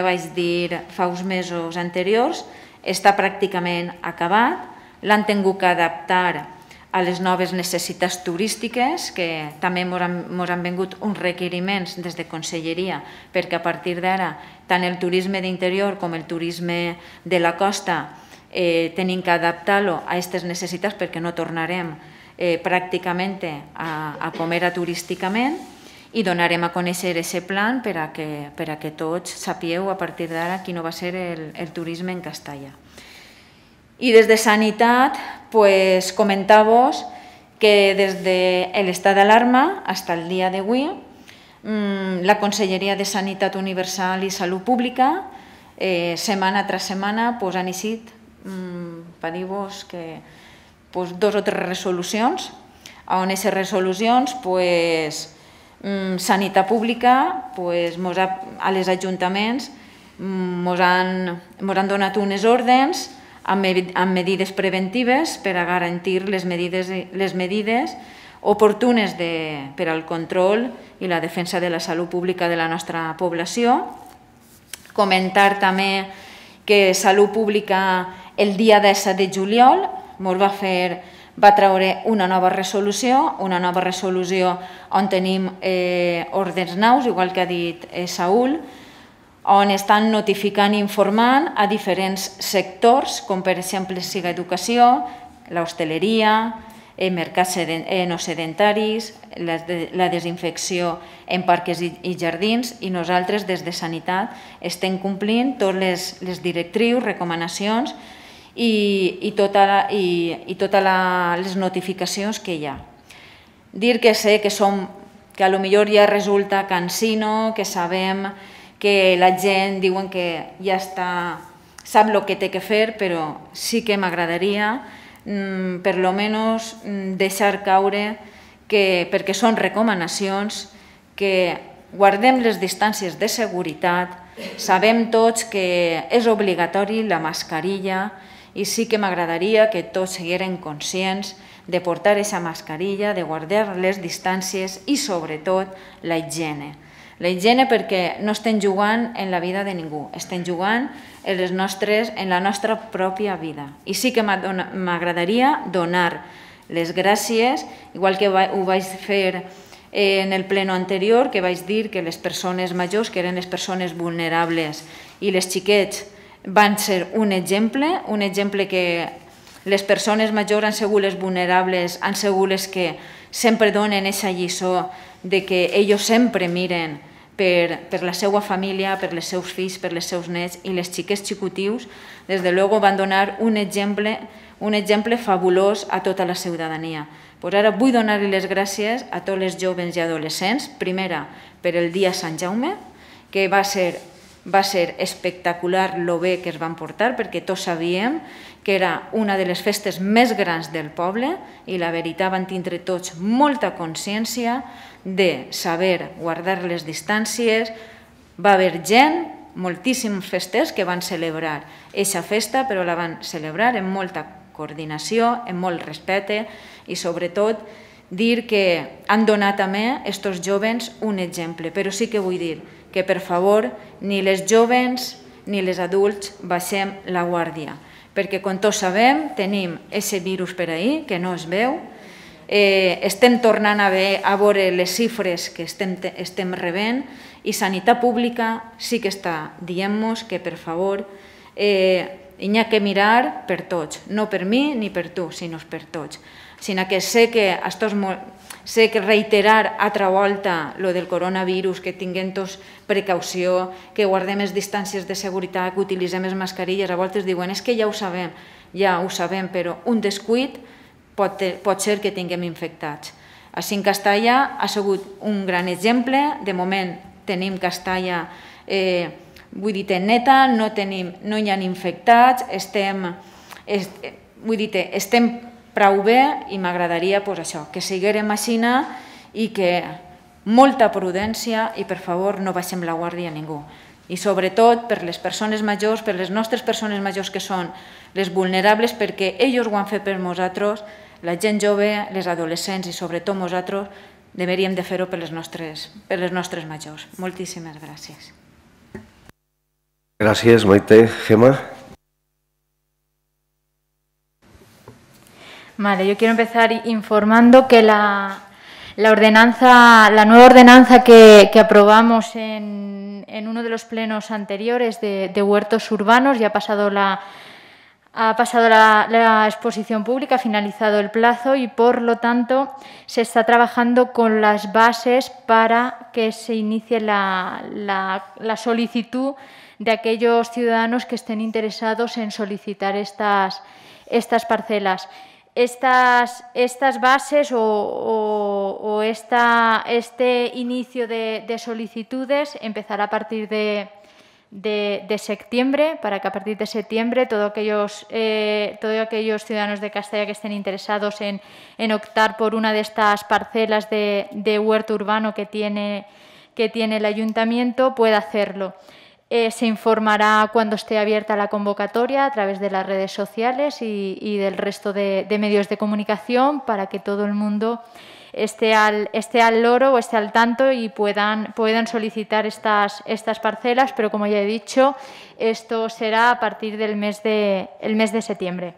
vaig dir fa uns mesos anteriors, està pràcticament acabat, l'han tingut que adaptar a les noves necessitats turístiques, que també ens han vingut uns requeriments des de Conselleria, perquè a partir d'ara tant el turisme d'interior com el turisme de la costa tenim que adaptar-lo a aquestes necessitats perquè no tornarem pràcticament a comer turísticament i donarem a conèixer aquest plan per a que tots sapieu a partir d'ara quin va ser el turisme en Castalla. I des de Sanitat, comentar-vos que des de l'estat d'alarma fins al dia d'avui, la Conselleria de Sanitat Universal i Salut Pública, setmana tras setmana, han eixit, per dir-vos que 2 o 3 resolucions, on aquestes resolucions, Sanitat Pública, a les ajuntaments, ens han donat unes ordres amb medides preventives per a garantir les medides oportunes per al control i la defensa de la salut pública de la nostra població. Comentar també que Salut Pública el dia 17 de juliol va treure una nova resolució on tenim ordres nous, igual que ha dit Saúl, on estan notificant i informant a diferents sectors, com per exemple siga educació, l'hostaleria, mercats no sedentaris, la desinfecció en parcs i jardins, i nosaltres des de Sanitat estem complint totes les directrius, recomanacions i totes les notificacions que hi ha. Dir que sé que potser ja resulta cansino, que sabem que la gent diuen que ja sap el que té que fer, però sí que m'agradaria per lo menos deixar caure que, perquè són recomanacions, que guardem les distàncies de seguretat, sabem tots que és obligatori la mascarilla i sí que m'agradaria que tots sigueren conscients de portar aquesta mascarilla, de guardar les distàncies i sobretot la higiene. La higiene perquè no estem jugant en la vida de ningú, estem jugant en la nostra pròpia vida. I sí que m'agradaria donar les gràcies, igual que ho vaig fer en el pleno anterior, que vaig dir que les persones majors, que eren les persones vulnerables, i les xiquets van ser un exemple que les persones majors han sigut les vulnerables, han sigut les que sempre donen aquesta lliçó de que ells sempre miren per la seva família, per els seus fills, per els seus nets, i les xiquets xicutius, des de luego, van donar un exemple fabulós a tota la ciutadania. Pues ara vull donar-li les gràcies a tots els joves i adolescents, primera per el dia Sant Jaume, que va ser espectacular lo bé que es van portar, perquè tots sabíem que era una de les festes més grans del poble i la veritat van tindre tots molta consciència de saber guardar les distàncies. Va haver gent, moltíssims festers, que van celebrar aquesta festa, però la van celebrar amb molta coordinació, amb molt respecte i sobretot dir que han donat també a aquests joves un exemple. Però sí que vull dir que, per favor, ni les joves ni les adults baixem la guàrdia, perquè, com tots sabem, tenim aquest virus per ahí que no es veu, estem tornant a veure les xifres que estem rebent i Sanitat Pública sí que està dient-nos que, per favor, hi ha que mirar per tots, no per mi ni per tu, sinó per tots. Sinó que sé que reiterar altra volta lo del coronavirus, que tinguem tots precaució, que guardem les distàncies de seguretat, que utilitzem les mascarilles, a voltes diuen que ja ho sabem, però un descuit pot ser que tinguem infectats. Així en Castalla ha sigut un gran exemple. De moment tenim Castalla, neta, no hi ha infectats, estem prou bé i m'agradaria que seguirem així i que molta prudència i, per favor, no baixem la guàrdia a ningú. I sobretot per les persones majors, per les nostres persones majors que són les vulnerables, perquè ells ho han fet per nosaltres, la gent jove, les adolescents i sobretot nosaltres deveríem de fer-ho per les nostres majors. Moltíssimes gràcies. Gràcies, Maite. Gemma. Vale, yo quiero empezar informando que la nueva ordenanza que aprobamos en uno de los plenos anteriores de huertos urbanos ya ha pasado la exposición pública, ha finalizado el plazo y, por lo tanto, se está trabajando con las bases para que se inicie la solicitud de aquellos ciudadanos que estén interesados en solicitar estas parcelas. Estas bases o este inicio de solicitudes empezará a partir de septiembre, para que a partir de septiembre todos aquellos ciudadanos de Castalla que estén interesados en optar por una de estas parcelas de huerto urbano que tiene el ayuntamiento pueda hacerlo. Se informará cuando esté abierta la convocatoria a través de las redes sociales y del resto de medios de comunicación para que todo el mundo esté al loro o esté al tanto y puedan solicitar estas parcelas, pero como ya he dicho, esto será a partir del mes de septiembre.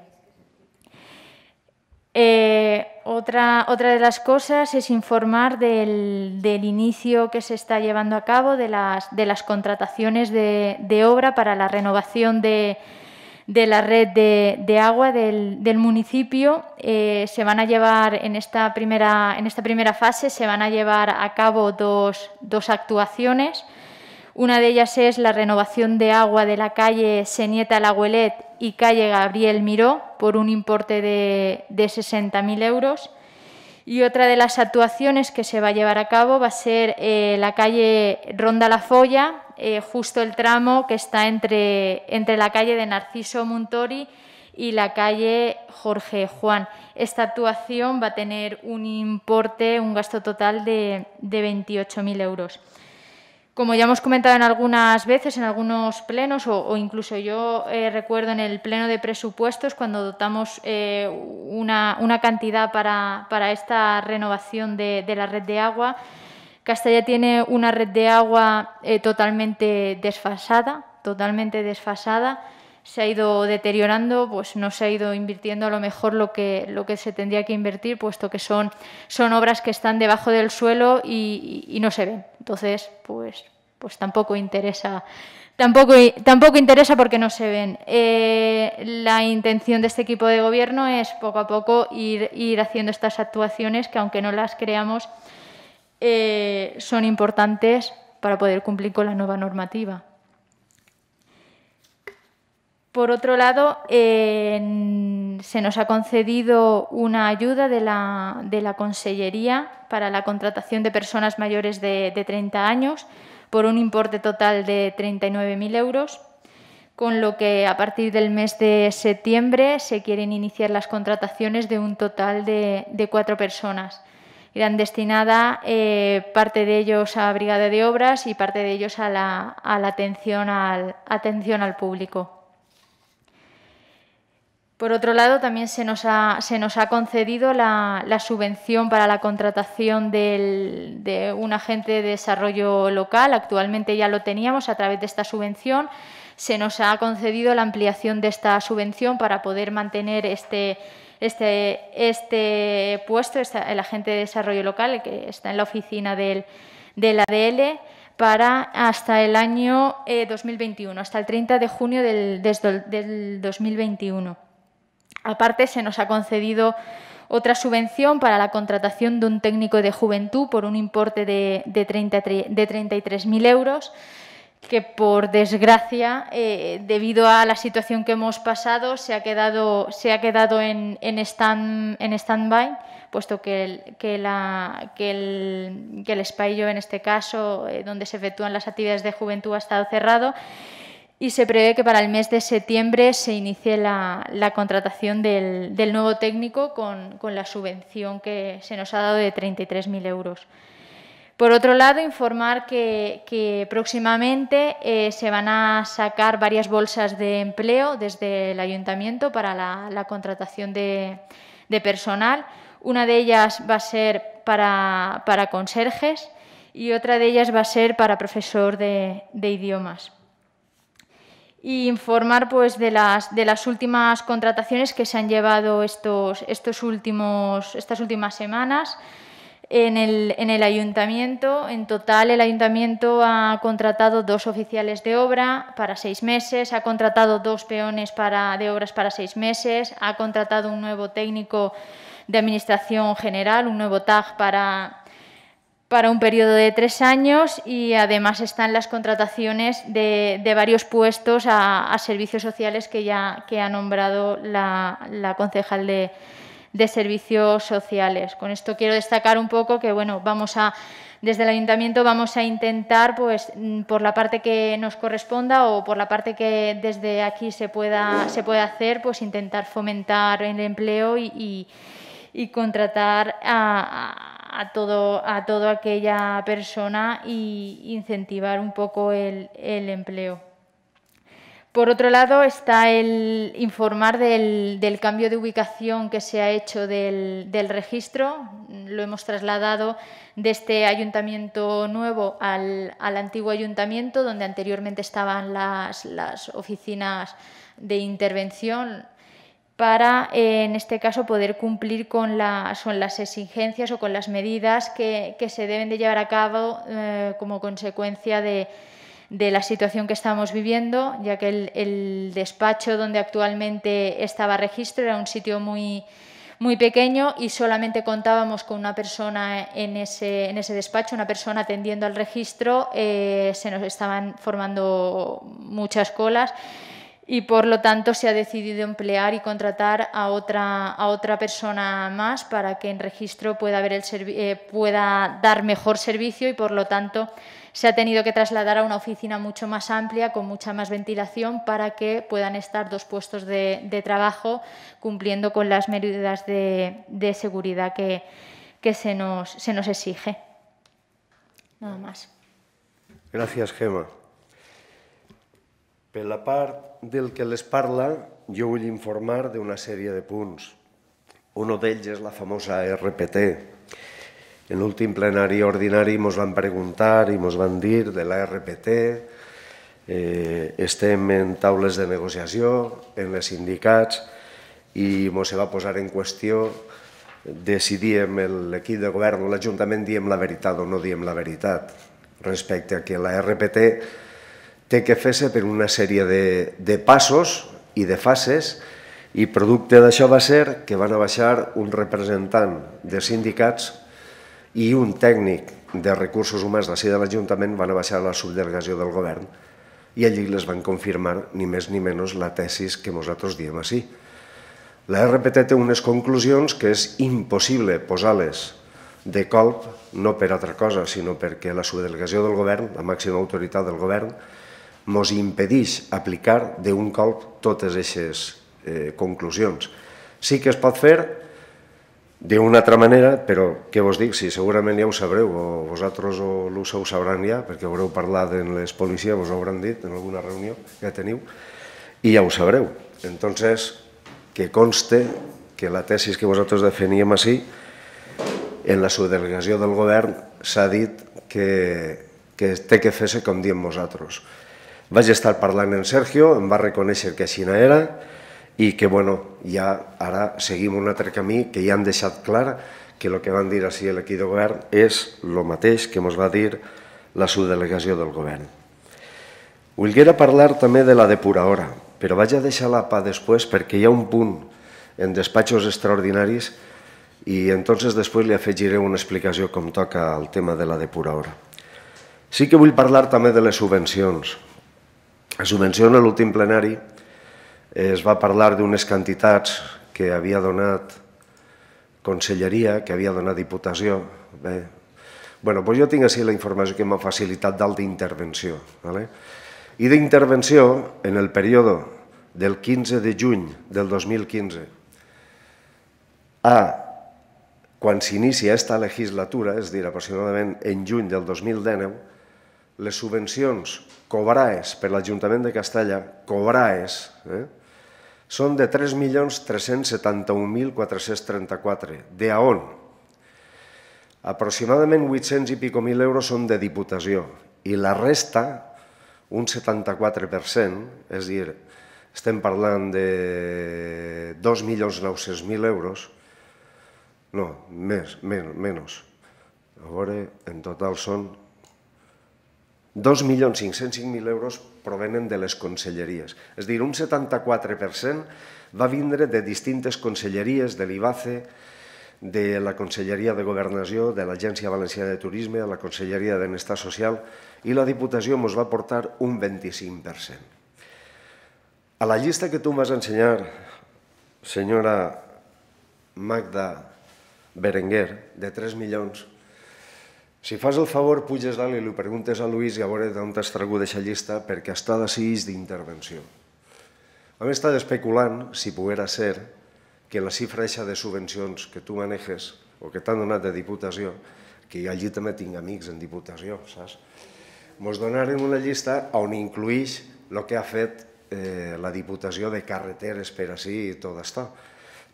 Otra de las cosas es informar del inicio que se está llevando a cabo de las contrataciones de obra para la renovación de la red de agua del municipio. Se van a llevar en esta primera fase se van a llevar a cabo dos actuaciones. Una de ellas es la renovación de agua de la calle Senieta Lagüelet y calle Gabriel Miró por un importe de 60.000 euros. Y otra de las actuaciones que se va a llevar a cabo va a ser la calle Ronda La Folla, justo el tramo que está entre la calle de Narciso Muntori y la calle Jorge Juan. Esta actuación va a tener un gasto total de 28.000 euros. Como ya hemos comentado en algunas veces, en algunos plenos, o incluso yo recuerdo en el pleno de presupuestos, cuando dotamos una cantidad para esta renovación de la red de agua, Castalla tiene una red de agua totalmente desfasada. se ha ido deteriorando, pues no se ha ido invirtiendo a lo mejor lo que se tendría que invertir, puesto que son obras que están debajo del suelo y no se ven. Entonces, pues tampoco interesa. Tampoco interesa porque no se ven. La intención de este equipo de gobierno es poco a poco ir haciendo estas actuaciones que, aunque no las creamos, son importantes para poder cumplir con la nueva normativa. Por otro lado, se nos ha concedido una ayuda de la Consellería para la contratación de personas mayores de 30 años por un importe total de 39.000 euros, con lo que a partir del mes de septiembre se quieren iniciar las contrataciones de un total de 4 personas. Irán destinadas parte de ellos a Brigada de Obras y parte de ellos a la atención al público. Por otro lado, también se nos ha concedido la subvención para la contratación de un agente de desarrollo local. Actualmente ya lo teníamos a través de esta subvención. Se nos ha concedido la ampliación de esta subvención para poder mantener este puesto, el agente de desarrollo local, el que está en la oficina del ADL, para hasta el año 2021, hasta el 30 de junio del 2021. Aparte, se nos ha concedido otra subvención para la contratación de un técnico de juventud por un importe de 33.000 euros, que por desgracia, debido a la situación que hemos pasado, se ha quedado en stand-by, puesto que el espacio, en este caso, donde se efectúan las actividades de juventud, ha estado cerrado. Y se prevé que para el mes de septiembre se inicie la contratación del nuevo técnico con la subvención que se nos ha dado de 33.000 euros. Por otro lado, informar que próximamente se van a sacar varias bolsas de empleo desde el Ayuntamiento para la contratación de personal. Una de ellas va a ser para conserjes y otra de ellas va a ser para profesor de idiomas. Y informar pues de las últimas contrataciones que se han llevado estas últimas semanas en el Ayuntamiento. En total, el Ayuntamiento ha contratado 2 oficiales de obra para 6 meses, ha contratado 2 peones de obras para 6 meses, ha contratado un nuevo técnico de Administración General, un nuevo TAG para un periodo de 3 años, y además están las contrataciones de varios puestos a servicios sociales que ha nombrado la concejal de Servicios Sociales. Con esto quiero destacar un poco que, bueno, desde el Ayuntamiento vamos a intentar, pues, por la parte que nos corresponda o por la parte que desde aquí se pueda hacer, pues intentar fomentar el empleo y contratar a toda aquella persona e incentivar un poco el empleo. Por otro lado, está el informar del cambio de ubicación que se ha hecho del registro. Lo hemos trasladado de este ayuntamiento nuevo al antiguo ayuntamiento, donde anteriormente estaban las oficinas de intervención, para, en este caso, poder cumplir con las exigencias o con las medidas que se deben de llevar a cabo como consecuencia de la situación que estamos viviendo, ya que el despacho donde actualmente estaba registro era un sitio muy pequeño y solamente contábamos con una persona en ese despacho, una persona atendiendo al registro. Se nos estaban formando muchas colas y, por lo tanto, se ha decidido emplear y contratar a otra persona más para que en registro pueda dar mejor servicio, y, por lo tanto, se ha tenido que trasladar a una oficina mucho más amplia, con mucha más ventilación, para que puedan estar 2 puestos de trabajo cumpliendo con las medidas de seguridad que se nos exige. Nada más. Gràcies, Gemma. Per la part del que les parla, jo vull informar d'una sèrie de punts. Un d'ells és la famosa RPT. En l'últim plenari ordinari ens van preguntar i ens van dir de la RPT, estem en taules de negociació, en les sindicats, i ens va posar en qüestió de si diem l'equip de govern o l'Ajuntament diem la veritat o no diem la veritat respecte a que la RPT té que fer-se per una sèrie de passos i de fases, i producte d'això va ser que van a baixar un representant de sindicats i un tècnic de recursos humans d'ací de l'Ajuntament, van a baixar a la subdelegació del govern i allí les van confirmar ni més ni menys la tesis que nosaltres diem així. La RPT té unes conclusions que és impossible posar-les de colp, no per altra cosa, sinó perquè la subdelegació del govern, la màxima autoritat del govern, ens impedeix aplicar d'un colp totes aquestes conclusions. Sí que es pot fer d'una altra manera, però què vos dic, si segurament ja ho sabreu, o vosaltres o l'USA ho sabran ja, perquè haureu parlat amb les policies, vos ho hauran dit en alguna reunió que teniu, i ja ho sabreu. Entonces, que conste que la tesis que vosaltres defeníem així, en la subdelegació del govern s'ha dit que té que fer-se com diem nosaltres. Vaig estar parlant amb Sergio, em va reconèixer que així era i que, bueno, ja ara seguim un altre camí que ja han deixat clar que el que van dir així l'equip de govern és el mateix que ens va dir la subdelegació del govern. Volguera parlar també de la depuradora, però vaig a deixar-la per després perquè hi ha un punt en despatxos extraordinaris i entonces després li afegiré una explicació com toca el tema de la depuradora. Sí que vull parlar també de les subvencions. La subvenció en l'últim plenari es va parlar d'unes quantitats que havia donat Conselleria, que havia donat Diputació. Bé, jo tinc així la informació que m'ha facilitat dalt d'intervenció. I d'intervenció, en el període del 15 de juny del 2015 a quan s'inicia aquesta legislatura, és a dir, aproximadament en juny del 2019, les subvencions cobrades per l'Ajuntament de Castalla, cobrades, són de 3.371.434. De a on? Aproximadament 800 i pico mil euros són de Diputació i la resta, un 74%, és a dir, estem parlant de 2.900.000 euros, no, menys. A veure, en total són 2.505.000 euros provenen de les conselleries. És a dir, un 74% va vindre de distintes conselleries, de l'IBACE, de la Conselleria de Governació, de l'Agència Valenciana de Turisme, de la Conselleria de Benestar Social, i la Diputació ens va portar un 25%. A la llista que tu em vas ensenyar, senyora Magda Berenguer, de 3 milions, si fas el favor, puges dalt i li preguntes a Luis i a veure d'on t'has tragut aquesta llista, perquè està decidit d'intervenció. Hem estat especulant si poguera ser que la xifra de subvencions que tu manejes o que t'han donat de Diputació, que jo allí també tinc amics en Diputació, saps? Ens donaren una llista on incluïx el que ha fet la Diputació de carreteres per així i tot això.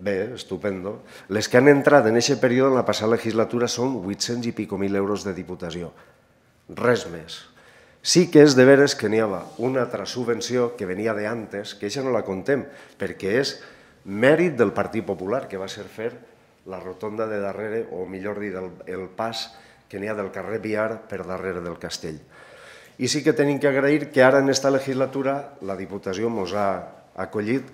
Bé, estupendo. Les que han entrat en aquest període en la passada legislatura són 800 i pico mil euros de Diputació. Res més. Sí que és de veres que n'hi havia una altra subvenció que venia d'antes, que això no la contem, perquè és mèrit del Partit Popular, que va ser fer la rotonda de darrere, o millor dit, el pas que n'hi ha del carrer Biar per darrere del castell. I sí que tenim que agrair que ara en aquesta legislatura la Diputació ens ha acollit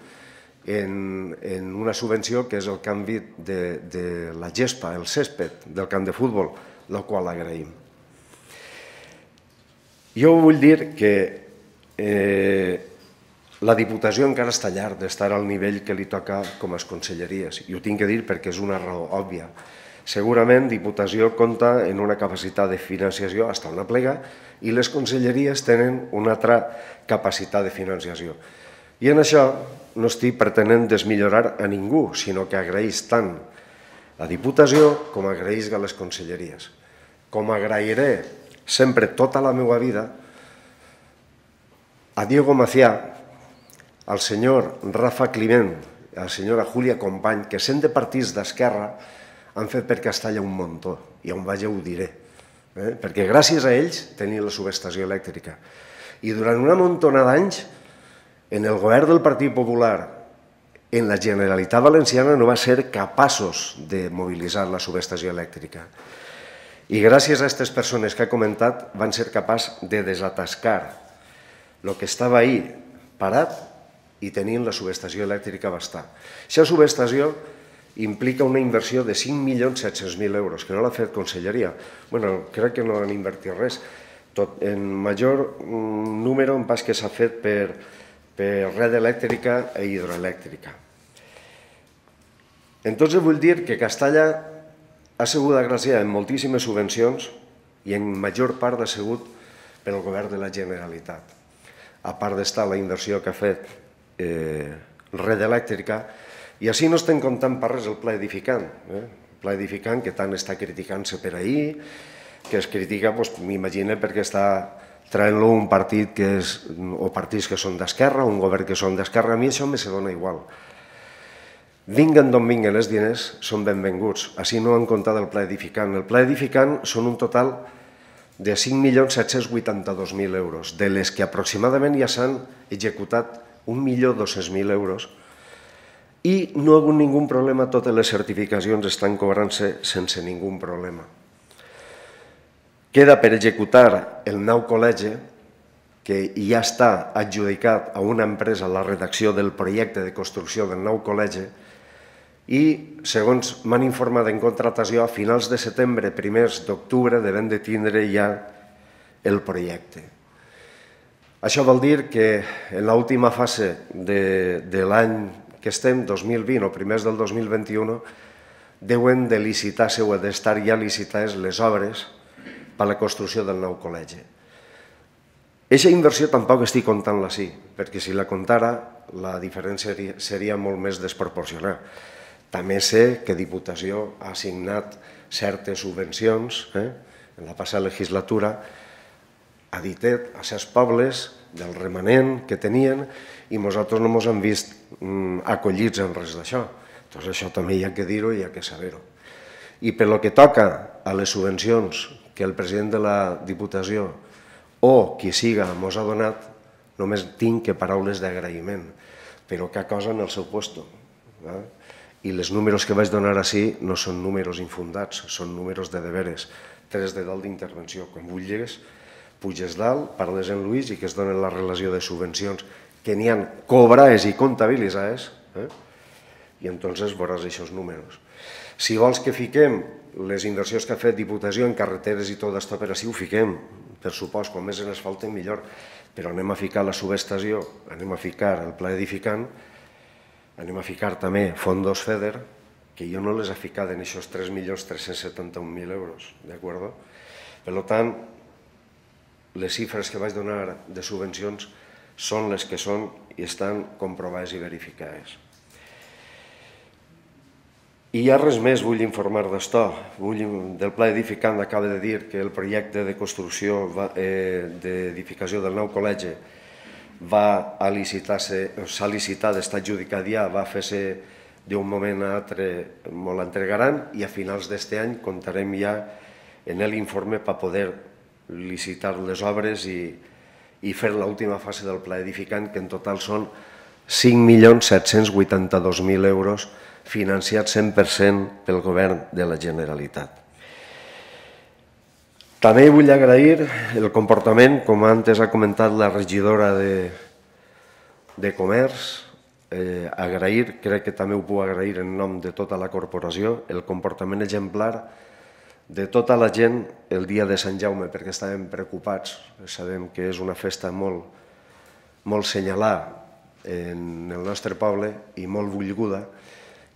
en una subvenció que és el canvi de la gespa, el césped del camp de futbol, el qual agraïm. Jo vull dir que la Diputació encara està llarg d'estar al nivell que li toca com a conselleries, i ho tinc que dir perquè és una raó òbvia. Segurament Diputació compta en una capacitat de financiació fins una plega i les conselleries tenen una altra capacitat de financiació. I en això no estic pretenent desmillorar a ningú, sinó que agraeix tant a Diputació com agraeix a les conselleries. Com agrairé sempre tota la meva vida a Diego Macià, al senyor Rafa Climent, a la senyora Júlia Company, que sent de partits d'esquerra han fet per Castalla un muntó, i on vaig ho diré, perquè gràcies a ells tenim la subestació elèctrica. I durant una muntona d'anys, en el govern del Partit Popular, en la Generalitat Valenciana, no va ser capaços de mobilitzar la subestació elèctrica. I gràcies a aquestes persones que he comentat van ser capaços de desatascar el que estava ahí parat i tenint la subestació elèctrica va estar. Aquesta subestació implica una inversió de 5.700.000 euros, que no l'ha fet Conselleria. Bueno, crec que no han invertit res. En major número en pas que s'ha fet per red elèctrica i hidroelèctrica. Entonces vull dir que Castalla ha sigut agraciada en moltíssimes subvencions i en major part ha sigut pel govern de la Generalitat. A part d'estar la inversió que ha fet red elèctrica, i així no estem comptant per res el pla edificant. El pla edificant que tant està criticant-se per ahir, que es critica, m'imagino, perquè està traient-lo un partit o partits que són d'esquerra, un govern que són d'esquerra. A mi això me se dona igual. Vinguen d'on vinguen els diners, són benvinguts. Així no han comptat el pla edificant. El pla edificant són un total de 5.782.000 euros, de les que aproximadament ja s'han executat 1.200.000 euros i no hi ha hagut ningú problema, totes les certificacions estan cobrant-se sense ningú problema. Queda per executar el nou col·legi, que ja està adjudicat a una empresa la redacció del projecte de construcció del nou col·legi i, segons m'han informat en contratació, a finals de setembre, primers d'octubre, devem de tindre ja el projecte. Això vol dir que en l'última fase de l'any que estem, 2020 o primers del 2021, deuen de licitar-se o d'estar ja licitades les obres per a la construcció del nou col·legi. Aquesta inversió tampoc estic comptant-la així, perquè si la comptara la diferència seria molt més desproporcionada. També sé que Diputació ha assignat certes subvencions en la passada legislatura a Ditet, a 6 pobles del remanent que tenien i nosaltres no ens hem vist acollits en res d'això. Doncs això també hi ha que dir-ho i hi ha que saber-ho. I per lo que toca a les subvencions que el president de la Diputació o qui siga ens ha donat, només tinc que paraules d'agraïment, però cada cosa en el seu lloc. I els números que vaig donar així no són números infundats, són números de deberes, 3 de dalt d'intervenció. Quan vulguis, puges dalt, parles en Lluís i que es donen la relació de subvencions que n'hi ha cobrades i comptabilitzades, i entonces veuràs aquests números. Si vols que fiquem les inversions que ha fet Diputació en carreteres i tot això per així, ho fiquem, per supost, com més ens falta millor, però anem a ficar la subestació, anem a ficar el pla edificant, anem a ficar també fondos FEDER, que jo no les he ficat en aquests 3.371.000 euros, d'acord? Per tant, les xifres que vaig donar de subvencions són les que són i estan comprovades i verificades. I ja res més vull informar d'això. Del pla edificant acaba de dir que el projecte de construcció d'edificació del nou col·legi s'ha licitat, està adjudicat ja, va fer-se d'un moment a l'altre, molt l'entregaran i a finals d'aquest any comptarem ja en l'informe per poder licitar les obres i fer l'última fase del pla edificant, que en total són 5.782.000 euros financiats 100% pel govern de la Generalitat. També vull agrair el comportament, com antes ha comentat la regidora de Comerç, crec que també ho puc agrair en nom de tota la corporació, el comportament exemplar de tota la gent el dia de Sant Jaume, perquè estàvem preocupats. Sabem que és una festa molt senyalada en el nostre poble i molt volguda,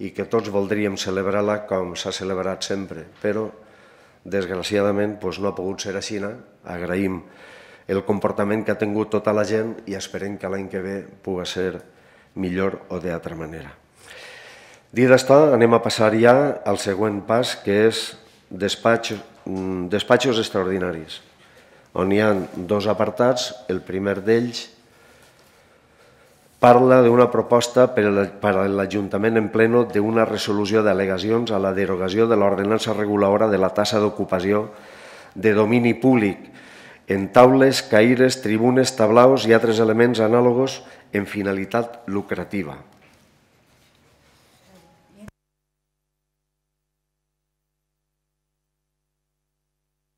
i que tots voldríem celebrar-la com s'ha celebrat sempre, però desgraciadament no ha pogut ser així. Agraïm el comportament que ha tingut tota la gent i esperem que l'any que ve pugui ser millor o d'altra manera. Dit això, anem a passar ja al següent pas, que és despatxos extraordinaris, on hi ha 2 apartats. El primer d'ells parla d'una proposta per a l'Ajuntament en pleno d'una resolució d'al·legacions a la derogació de l'ordenança reguladora de la tassa d'ocupació de domini públic en taules, caires, tribunes, tablaus i altres elements anàlogos en finalitat lucrativa.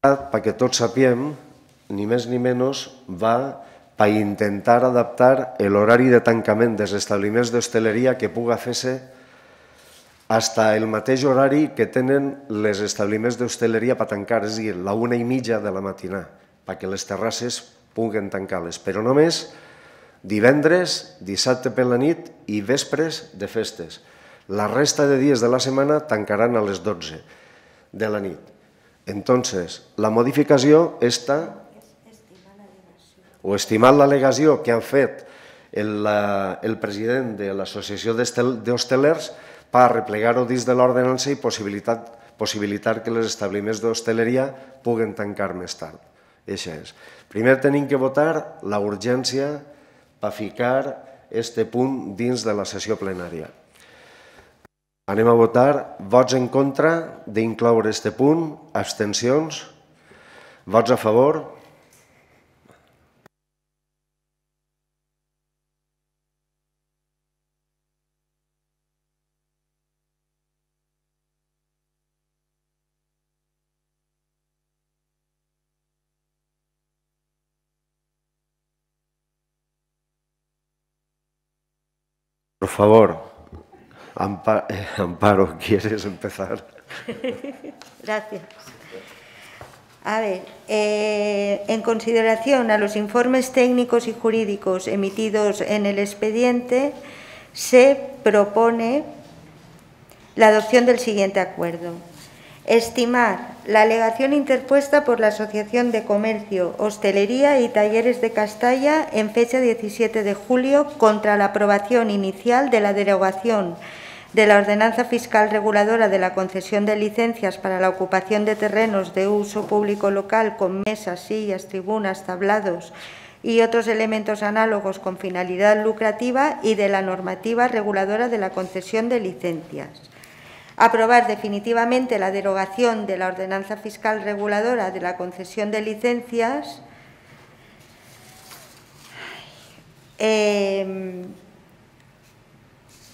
Perquè tots sapiem, ni més ni menys, va per intentar adaptar l'horari de tancament dels establiments d'hostaleria que puga fer-se fins al mateix horari que tenen els establiments d'hostaleria per tancar, és a dir, la 1:30 de la matinada, perquè les terrasses puguen tancar-les, però només divendres, dissabte per la nit i vespres de festes. La resta de dies de la setmana tancaran a les 12 de la nit. Entonces, la modificació està o estimant l'al·legació que han fet el president de l'Associació d'Hostelers per arreplegar-ho dins de l'ordenança i possibilitar que els establiments d'hostaleria puguen tancar més tard. Això és. Primer tenim que votar la urgència per ficar aquest punt dins de la sessió plenària. Anem a votar vots en contra d'incloure aquest punt, abstencions, vots a favor. Por favor, Amparo, ¿quieres empezar? Gracias. A ver, en consideración a los informes técnicos y jurídicos emitidos en el expediente, se propone la adopción del siguiente acuerdo. Estimar la alegación interpuesta por la Asociación de Comercio, Hostelería y Talleres de Castalla en fecha 17 de julio contra la aprobación inicial de la derogación de la Ordenanza Fiscal Reguladora de la concesión de licencias para la ocupación de terrenos de uso público local con mesas, sillas, tribunas, tablados y otros elementos análogos con finalidad lucrativa y de la normativa reguladora de la concesión de licencias. Aprobar definitivamente la derogación de la Ordenanza Fiscal Reguladora de la concesión de licencias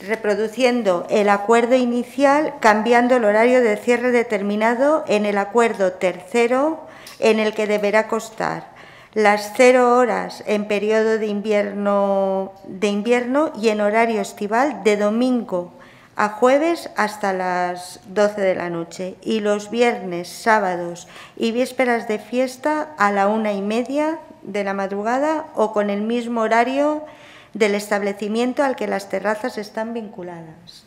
reproduciendo el acuerdo inicial, cambiando el horario de cierre determinado en el acuerdo tercero, en el que deberá constar las 0 horas en periodo de invierno y en horario estival de domingo a jueves hasta las 12 de la noche y los viernes, sábados y vísperas de fiesta a la 1:30 de la madrugada o con el mismo horario del establecimiento al que las terrazas están vinculadas,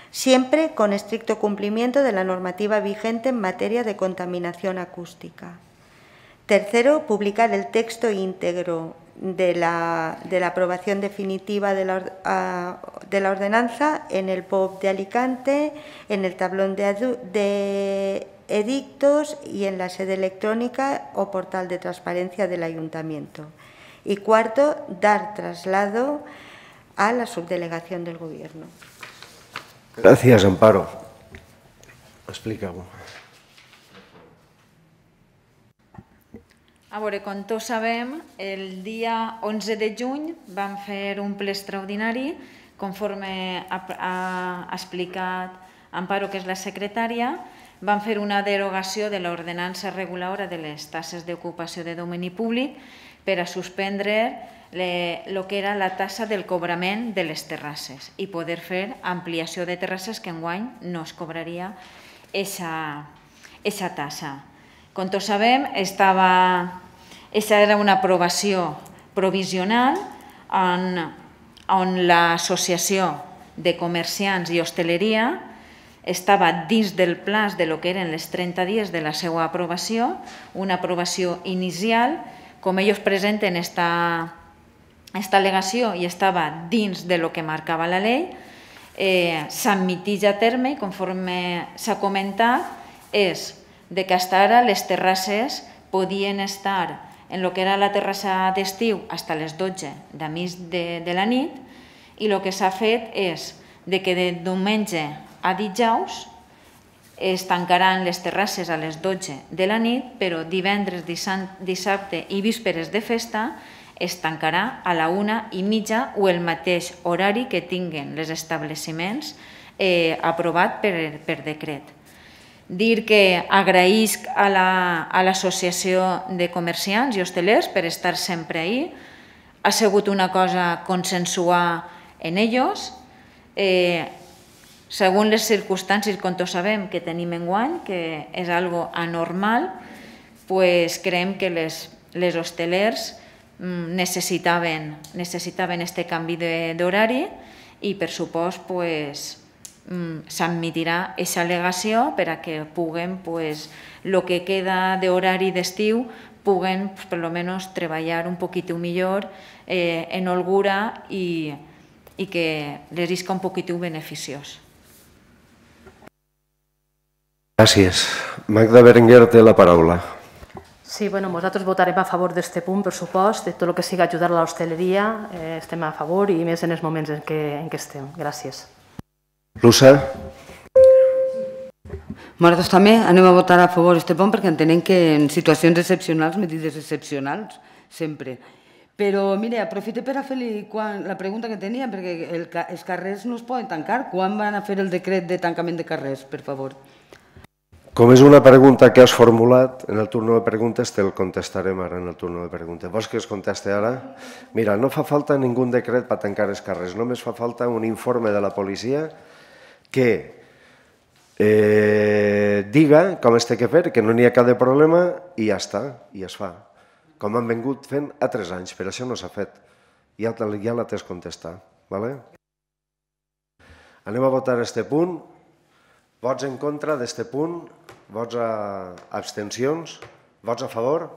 siempre con estricto cumplimiento de la normativa vigente en materia de contaminación acústica. Tercero, publicar el texto íntegro de la aprobación definitiva de la ordenanza en el POP de Alicante, en el tablón de edictos y en la sede electrónica o portal de transparencia del Ayuntamiento. Y cuarto, dar traslado a la subdelegación del Gobierno. Gracias, Amparo. Explica-ho. A veure, com tots sabem, el dia 11 de juny vam fer un ple extraordinari, conforme ha explicat Amparo, que és la secretària, vam fer una derogació de l'ordenança reguladora de les taxes d'ocupació de domini públic per a suspendre el que era la taxa del cobrament de les terrasses i poder fer ampliació de terrasses que enguany no es cobraria aquesta taxa. Com tots sabem, aquesta era una aprovació provisional on l'Associació de Comerciants i Hostaleria estava dins del plaç de lo que eren les 30 dies de la seva aprovació, una aprovació inicial, com ells presenten esta al·legació i estava dins de lo que marcava la llei, s'admiteix a terme i conforme s'ha comentat és de que fins ara les terrasses podien estar en el que era la terrassa d'estiu fins a les 12 de la nit i el que s'ha fet és de que de diumenge a dijous es tancaran les terrasses a les 12 de la nit, però divendres, dissabte i vísperes de festa es tancarà a la 1:30 o el mateix horari que tinguen els establiments aprovat per decret. Dir que agraïsc a l'Associació de Comerciants i Hostelers per estar sempre ahí. Ha sigut una cosa consensuar en ells. Segons les circumstàncies, com tots sabem que tenim enguany, que és algo anormal, creiem que les hostelers necessitaven este canvi d'horari i, per supost, s'admetirà aquesta al·legació per a que puguen, el que queda d'horari d'estiu, puguen, per almenys, treballar un poquito millor en holgura i que les isca un poquito beneficiós. Gràcies. Magda Berenguer té la paraula. Sí, nosaltres votarem a favor d'aquest punt, per supost, de tot el que sigui ajudar a l'hostaleria, estem a favor i més en els moments en què estem. Gràcies. Luça? Nosaltres també anem a votar a favor d'aquest punt perquè entenem que en situacions excepcionals, medides excepcionals, sempre. Però, mira, aprofito per a fer-li la pregunta que tenia, perquè els carrers no es poden tancar. Quan van a fer el decret de tancament de carrers, per favor? Com és una pregunta que has formulat en el torn de preguntes, te'l contestarem ara en el torn de preguntes. Vols que es conteste ara? Mira, no fa falta ningú decret per tancar els carrers, només fa falta un informe de la policia que diga com es té que fer, que no n'hi ha cap problema i ja està, i es fa. Com han vingut fent a 3 anys, però això no s'ha fet. Ja la t'has contestat. Anem a votar aquest punt. Vots en contra d'aquest punt? Vots a abstencions? Vots a favor?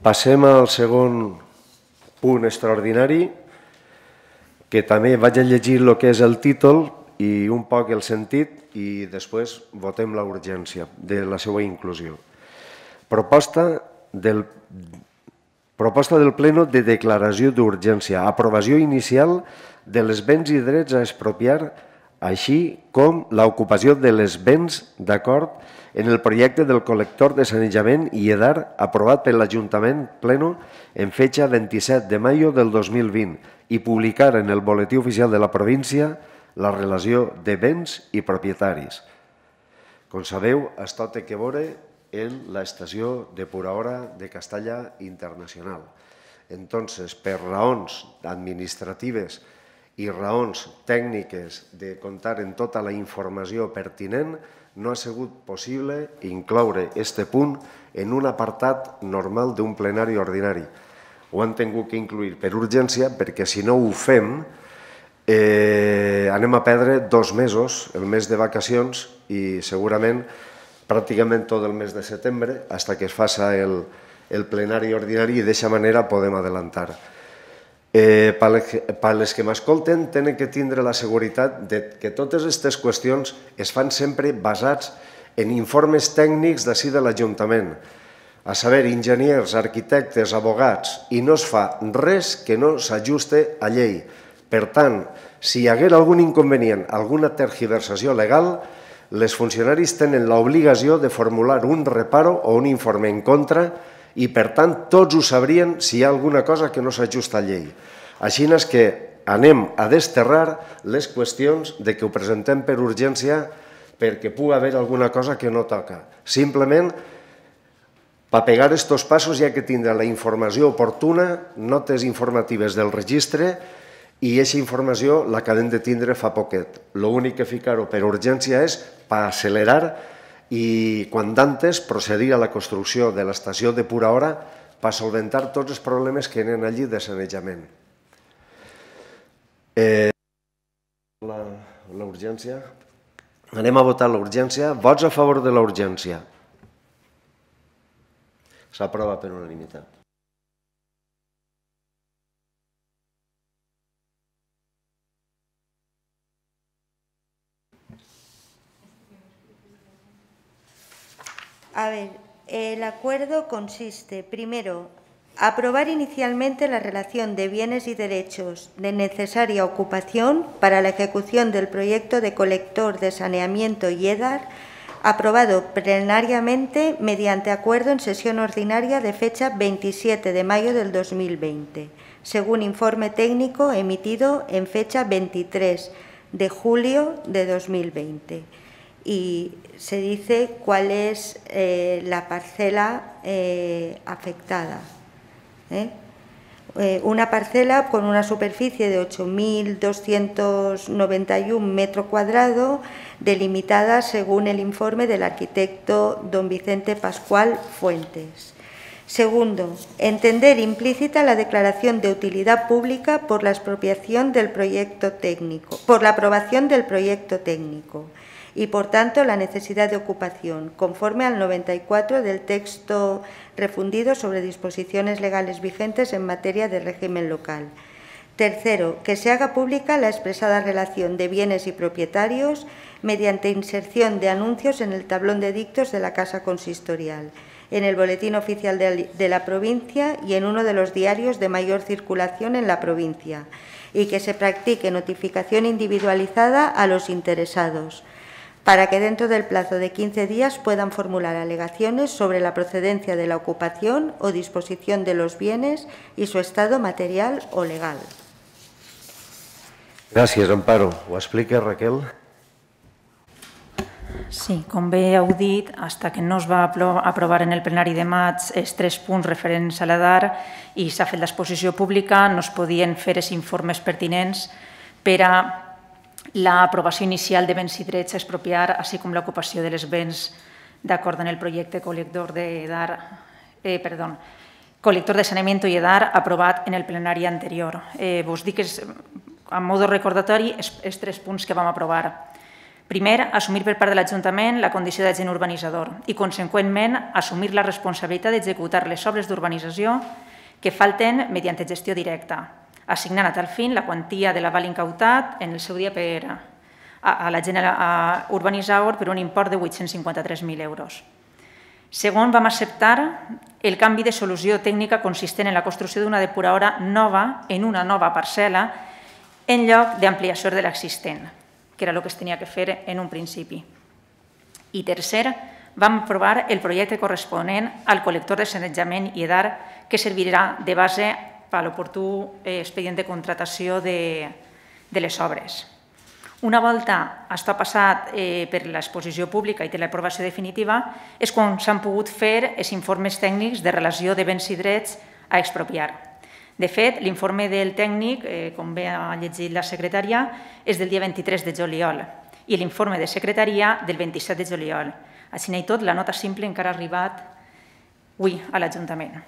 Passem al segon punt extraordinari, que també vaig a llegir el que és el títol i un poc el sentit i després votem la urgència de la seva inclusió. Proposta del Pleno de declaració d'urgència, aprovació inicial de les béns i drets a expropiar, així com l'ocupació de les béns d'acord en el projecte del col·lector de sanejament i EDAR aprovat per l'Ajuntament Pleno en fecha 27 de maio del 2020 i publicar en el boletí oficial de la província la relació de béns i propietaris. Com sabeu, això té a veure en l'estació depuradora de Castalla Internacional. Entonces, per raons administratives i raons tècniques de comptar en tota la informació pertinent, no ha sigut possible incloure aquest punt en un apartat normal d'un plenari ordinari. Ho han tingut que incluir per urgència perquè si no ho fem anem a perdre 2 mesos, el mes de vacacions i segurament pràcticament tot el mes de setembre fins que es faci el plenari ordinari i d'aquesta manera podem adelantar. Per als que m'escolten tenen que tindre la seguretat que totes aquestes qüestions es fan sempre basats en informes tècnics d'ací de l'Ajuntament, a saber, enginyers, arquitectes, abogats, i no es fa res que no s'ajuste a llei. Per tant, si hi hagués algun inconvenient, alguna tergiversació legal, els funcionaris tenen l'obligació de formular un reparo o un informe en contra i, per tant, tots ho sabrien si hi ha alguna cosa que no s'ajusta a llei. Així és que anem a desterrar les qüestions de que ho presentem per urgència perquè pugui haver alguna cosa que no toca. Simplement, per pegar aquests passos hi ha que tindre la informació oportuna, notes informatives del registre i aquesta informació l'acabem de tindre fa poquet. L'únic que ficar-ho per urgència és per accelerar i, quan d'antes, procedir a la construcció de l'estació depuradora per solventar tots els problemes que hi ha allí de sanejament. L'urgència. Anem a votar l'urgència. Vots a favor de l'urgència. S'aprova per unanimitat. A ver, el acuerdo consiste, primero, Aprobar inicialmente la relación de bienes y derechos de necesaria ocupación para la ejecución del proyecto de colector de saneamiento y EDAR, aprobado plenariamente mediante acuerdo en sesión ordinaria de fecha 27 de mayo del 2020, según informe técnico emitido en fecha 23 de julio de 2020. Y se dice cuál es la parcela afectada. Una parcela con una superficie de 8.291 metros cuadrados, delimitada según el informe del arquitecto don Vicente Pascual Fuentes. Segundo, entender implícita la declaración de utilidad pública por la aprobación del proyecto técnico, y, por tanto, la necesidad de ocupación, conforme al 94 del texto refundido sobre disposiciones legales vigentes en materia de régimen local. Tercero, que se haga pública la expresada relación de bienes y propietarios mediante inserción de anuncios en el tablón de dictos de la Casa Consistorial, en el Boletín Oficial de la provincia y en uno de los diarios de mayor circulación en la provincia, y que se practique notificación individualizada a los interesados, para que dentro del plazo de 15 días puedan formular alegaciones sobre la procedencia de la ocupación o disposición de los bienes y su estado material o legal. Gràcies, Amparo. Ho explica, Raquel? Sí, com bé heu dit, fins que no es va aprovar en el plenari de maig els 3 punts referents a l'EDAR i s'ha fet l'exposició pública, no es podien fer els informes pertinents per a l'aprovació inicial de béns i drets a expropiar, així com l'ocupació dels béns d'acord amb el projecte col·lector de saneamiento i EDAR aprovat en el plenari anterior. Vos dic, a modo recordatori, els 3 punts que vam aprovar. Primer, assumir per part de l'Ajuntament la condició d'agent urbanitzador i, conseqüentment, assumir la responsabilitat d'executar les obres d'urbanització que falten mediante gestió directa, assignant a tal fin la quantia de l'aval incautat en el seu dia a l'agent urbanitzador per un import de 853.000 euros. Segon, vam acceptar el canvi de solució tècnica consistent en la construcció d'una depuradora nova en una nova parcel·la en lloc d'ampliació de l'existent, que era el que es tenia que fer en un principi. I tercer, vam aprovar el projecte corresponent al col·lector de sanejament i EDAR que servirà de base per a l'oportú expedient de contratació de les obres. Una volta està passat per l'exposició pública i té l'aprovació definitiva és quan s'han pogut fer els informes tècnics de relació de béns i drets a expropiar. De fet, l'informe del tècnic, com bé ha llegit la secretària, és del dia 23 de juliol i l'informe de secretaria del 27 de juliol. Així i tot, la nota simple encara ha arribat avui a l'Ajuntament.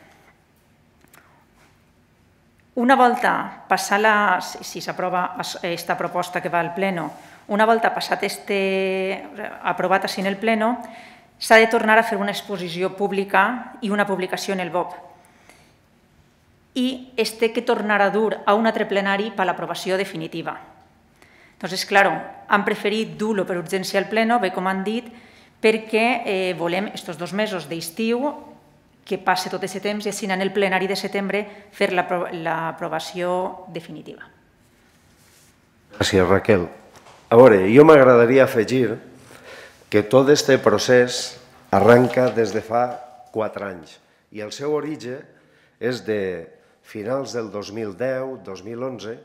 Una volta passada, si s'aprova aquesta proposta que va al Pleno, una volta passat aprovat així en el Pleno, s'ha de tornar a fer una exposició pública i una publicació en el BOP. I es té que tornar a dur a un altre plenari per a l'aprovació definitiva. Entonces, claro, han preferit dur-lo per urgència al Pleno, bé com han dit, perquè volem aquests 2 mesos d'estiu que passe tot aquest temps i així en el plenari de setembre fer l'aprovació definitiva. Gràcies, Raquel. A veure, jo m'agradaria afegir que tot aquest procés arranca des de fa 4 anys i el seu origen és de finals del 2010-2011,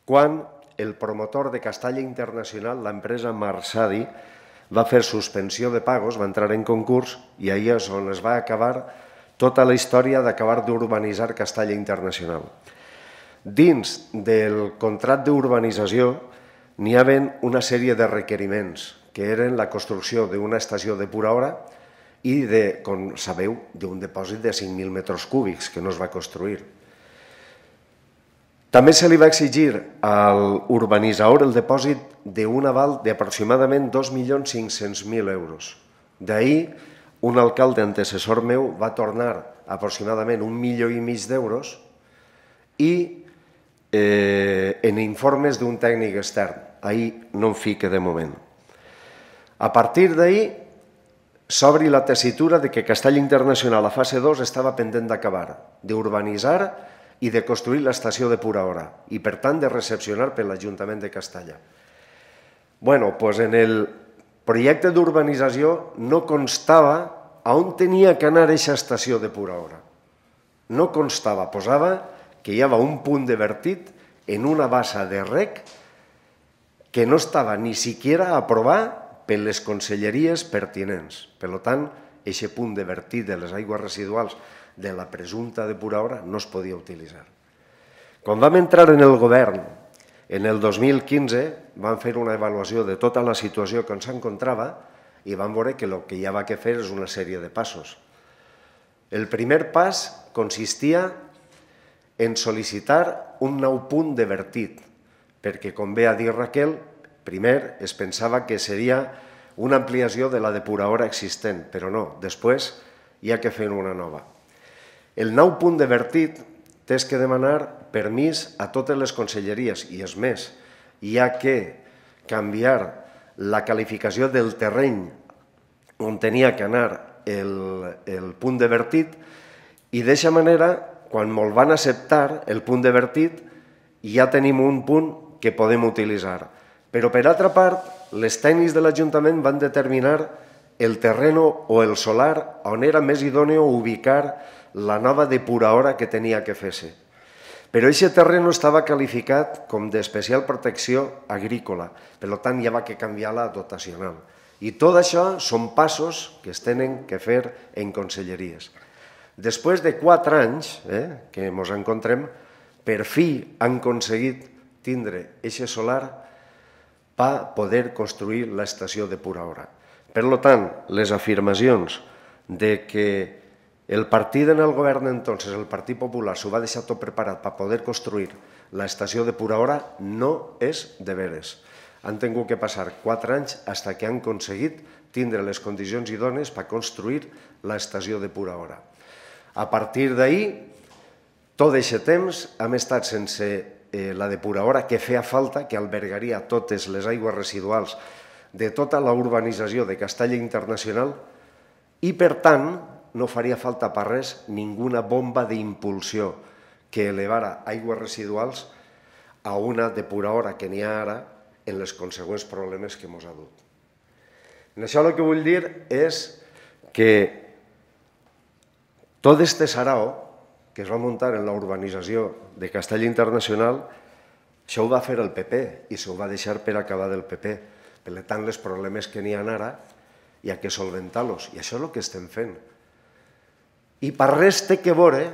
quan el promotor de Castalla Internacional, l'empresa Marsadi, va fer suspensió de pagos, va entrar en concurs i ahir és on es va acabar tota la història d'acabar d'urbanitzar Castalla Internacional. Dins del contracte d'urbanització n'hi havia una sèrie de requeriments, que eren la construcció d'una estació depuradora i, com sabeu, d'un depòsit de 5.000 metres cúbics que no es va construir. També se li va exigir a l'urbanitzador el depòsit d'un aval d'aproximadament 2.500.000 euros. D'ahir, un alcalde antecessor meu va tornar aproximadament 1,5 milions d'euros i en informes d'un tècnic extern. Ahir no em fique de moment. A partir d'ahir, s'obri la tessitura de que Castalla Internacional a fase 2 estava pendent d'acabar, d'urbanitzar i de construir l'estació de Pura Hora i, per tant, de recepcionar per l'Ajuntament de Castalla. Bueno, doncs en el projecte d'urbanització no constava on tenia que anar aquesta estació de Pura Hora. No constava, posava que hi havia un punt de vertit en una bassa de rec que no estava ni siquiera aprovat per les conselleries pertinents. Per tant, aquest punt de vertit de les aigües residuals de la presumpta de Pura Hora no es podia utilitzar. Quan vam entrar en el govern, en el 2015, vam fer una avaluació de tota la situació que ens encontrava i vam veure que el que hi havia que fer és una sèrie de passos. El primer pas consistia en sol·licitar un nou punt de vertit, perquè, com bé ha dit Raquel, primer es pensava que seria una ampliació de la de Pura Hora existent, però no, després hi ha que fer una nova. El nou punt de vertit tens que demanar permís a totes les conselleries i és més, hi ha que canviar la qualificació del terreny on tenia que anar el punt de vertit i d'aquesta manera, quan me'l van acceptar, el punt de vertit, ja tenim un punt que podem utilitzar. Però, per altra part, les tècnics de l'Ajuntament van determinar el terreno o el solar on era més idòneo ubicar la nova depuradora que tenia que fer-se. Però aquest terreno estava qualificat com d'especial protecció agrícola, per tant hi havia que canviar la dotacional. I tot això són passos que es tenen que fer en conselleries. Després de 4 anys que ens encontrem, per fi han aconseguit tindre aquest solar per poder construir l'estació de Pura Hora. Per tant, les afirmacions de que el partit en el govern entonces, el Partit Popular, s'ho va deixar tot preparat per poder construir l'estació de Pura Hora no és de veres. Han tingut que passar 4 anys fins que han aconseguit tindre les condicions idònies per construir l'estació de Pura Hora. A partir d'ahir, tot aquest temps hem estat sense la depuradora que feia falta, que albergaria totes les aigües residuals de tota la urbanització de Castalla Internacional i, per tant, no faria falta per res ninguna bomba d'impulsió que elevara aigües residuals a una depuradora que n'hi ha ara en els consegüents problemes que ens ha dut. En això el que vull dir és que tot aquest sarao que es va muntar en la urbanització de Castalla Internacional, això ho va fer el PP i s'ho va deixar per acabar del PP. Per tant, els problemes que n'hi ha ara hi ha que solventar-los i això és el que estem fent. I per res té que veure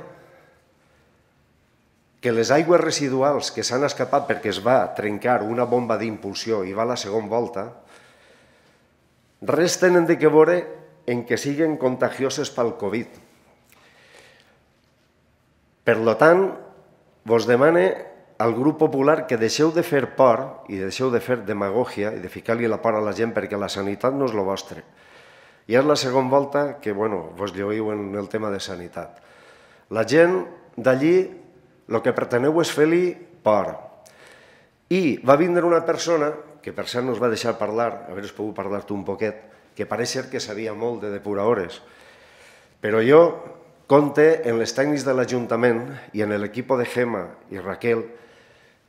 que les aigües residuals que s'han escapat perquè es va trencar una bomba d'impulsió i va a la segona volta, res tenen que veure en que siguin contagioses pel Covid. Per tant, vos demane al grup popular que deixeu de fer por i deixeu de fer demagògia i de ficar-li la por a la gent perquè la sanitat no és el vostre. I és la segona volta que vos lluïu en el tema de sanitat. La gent d'allí el que preteneu és fer-li por. I va vindre una persona, que per cert no es va deixar parlar, haver pogut parlar tu un poquet, que pareix ser que sabia molt de depuradores, però jo compte en les tècnics de l'Ajuntament i en l'equip de Gemma i Raquel,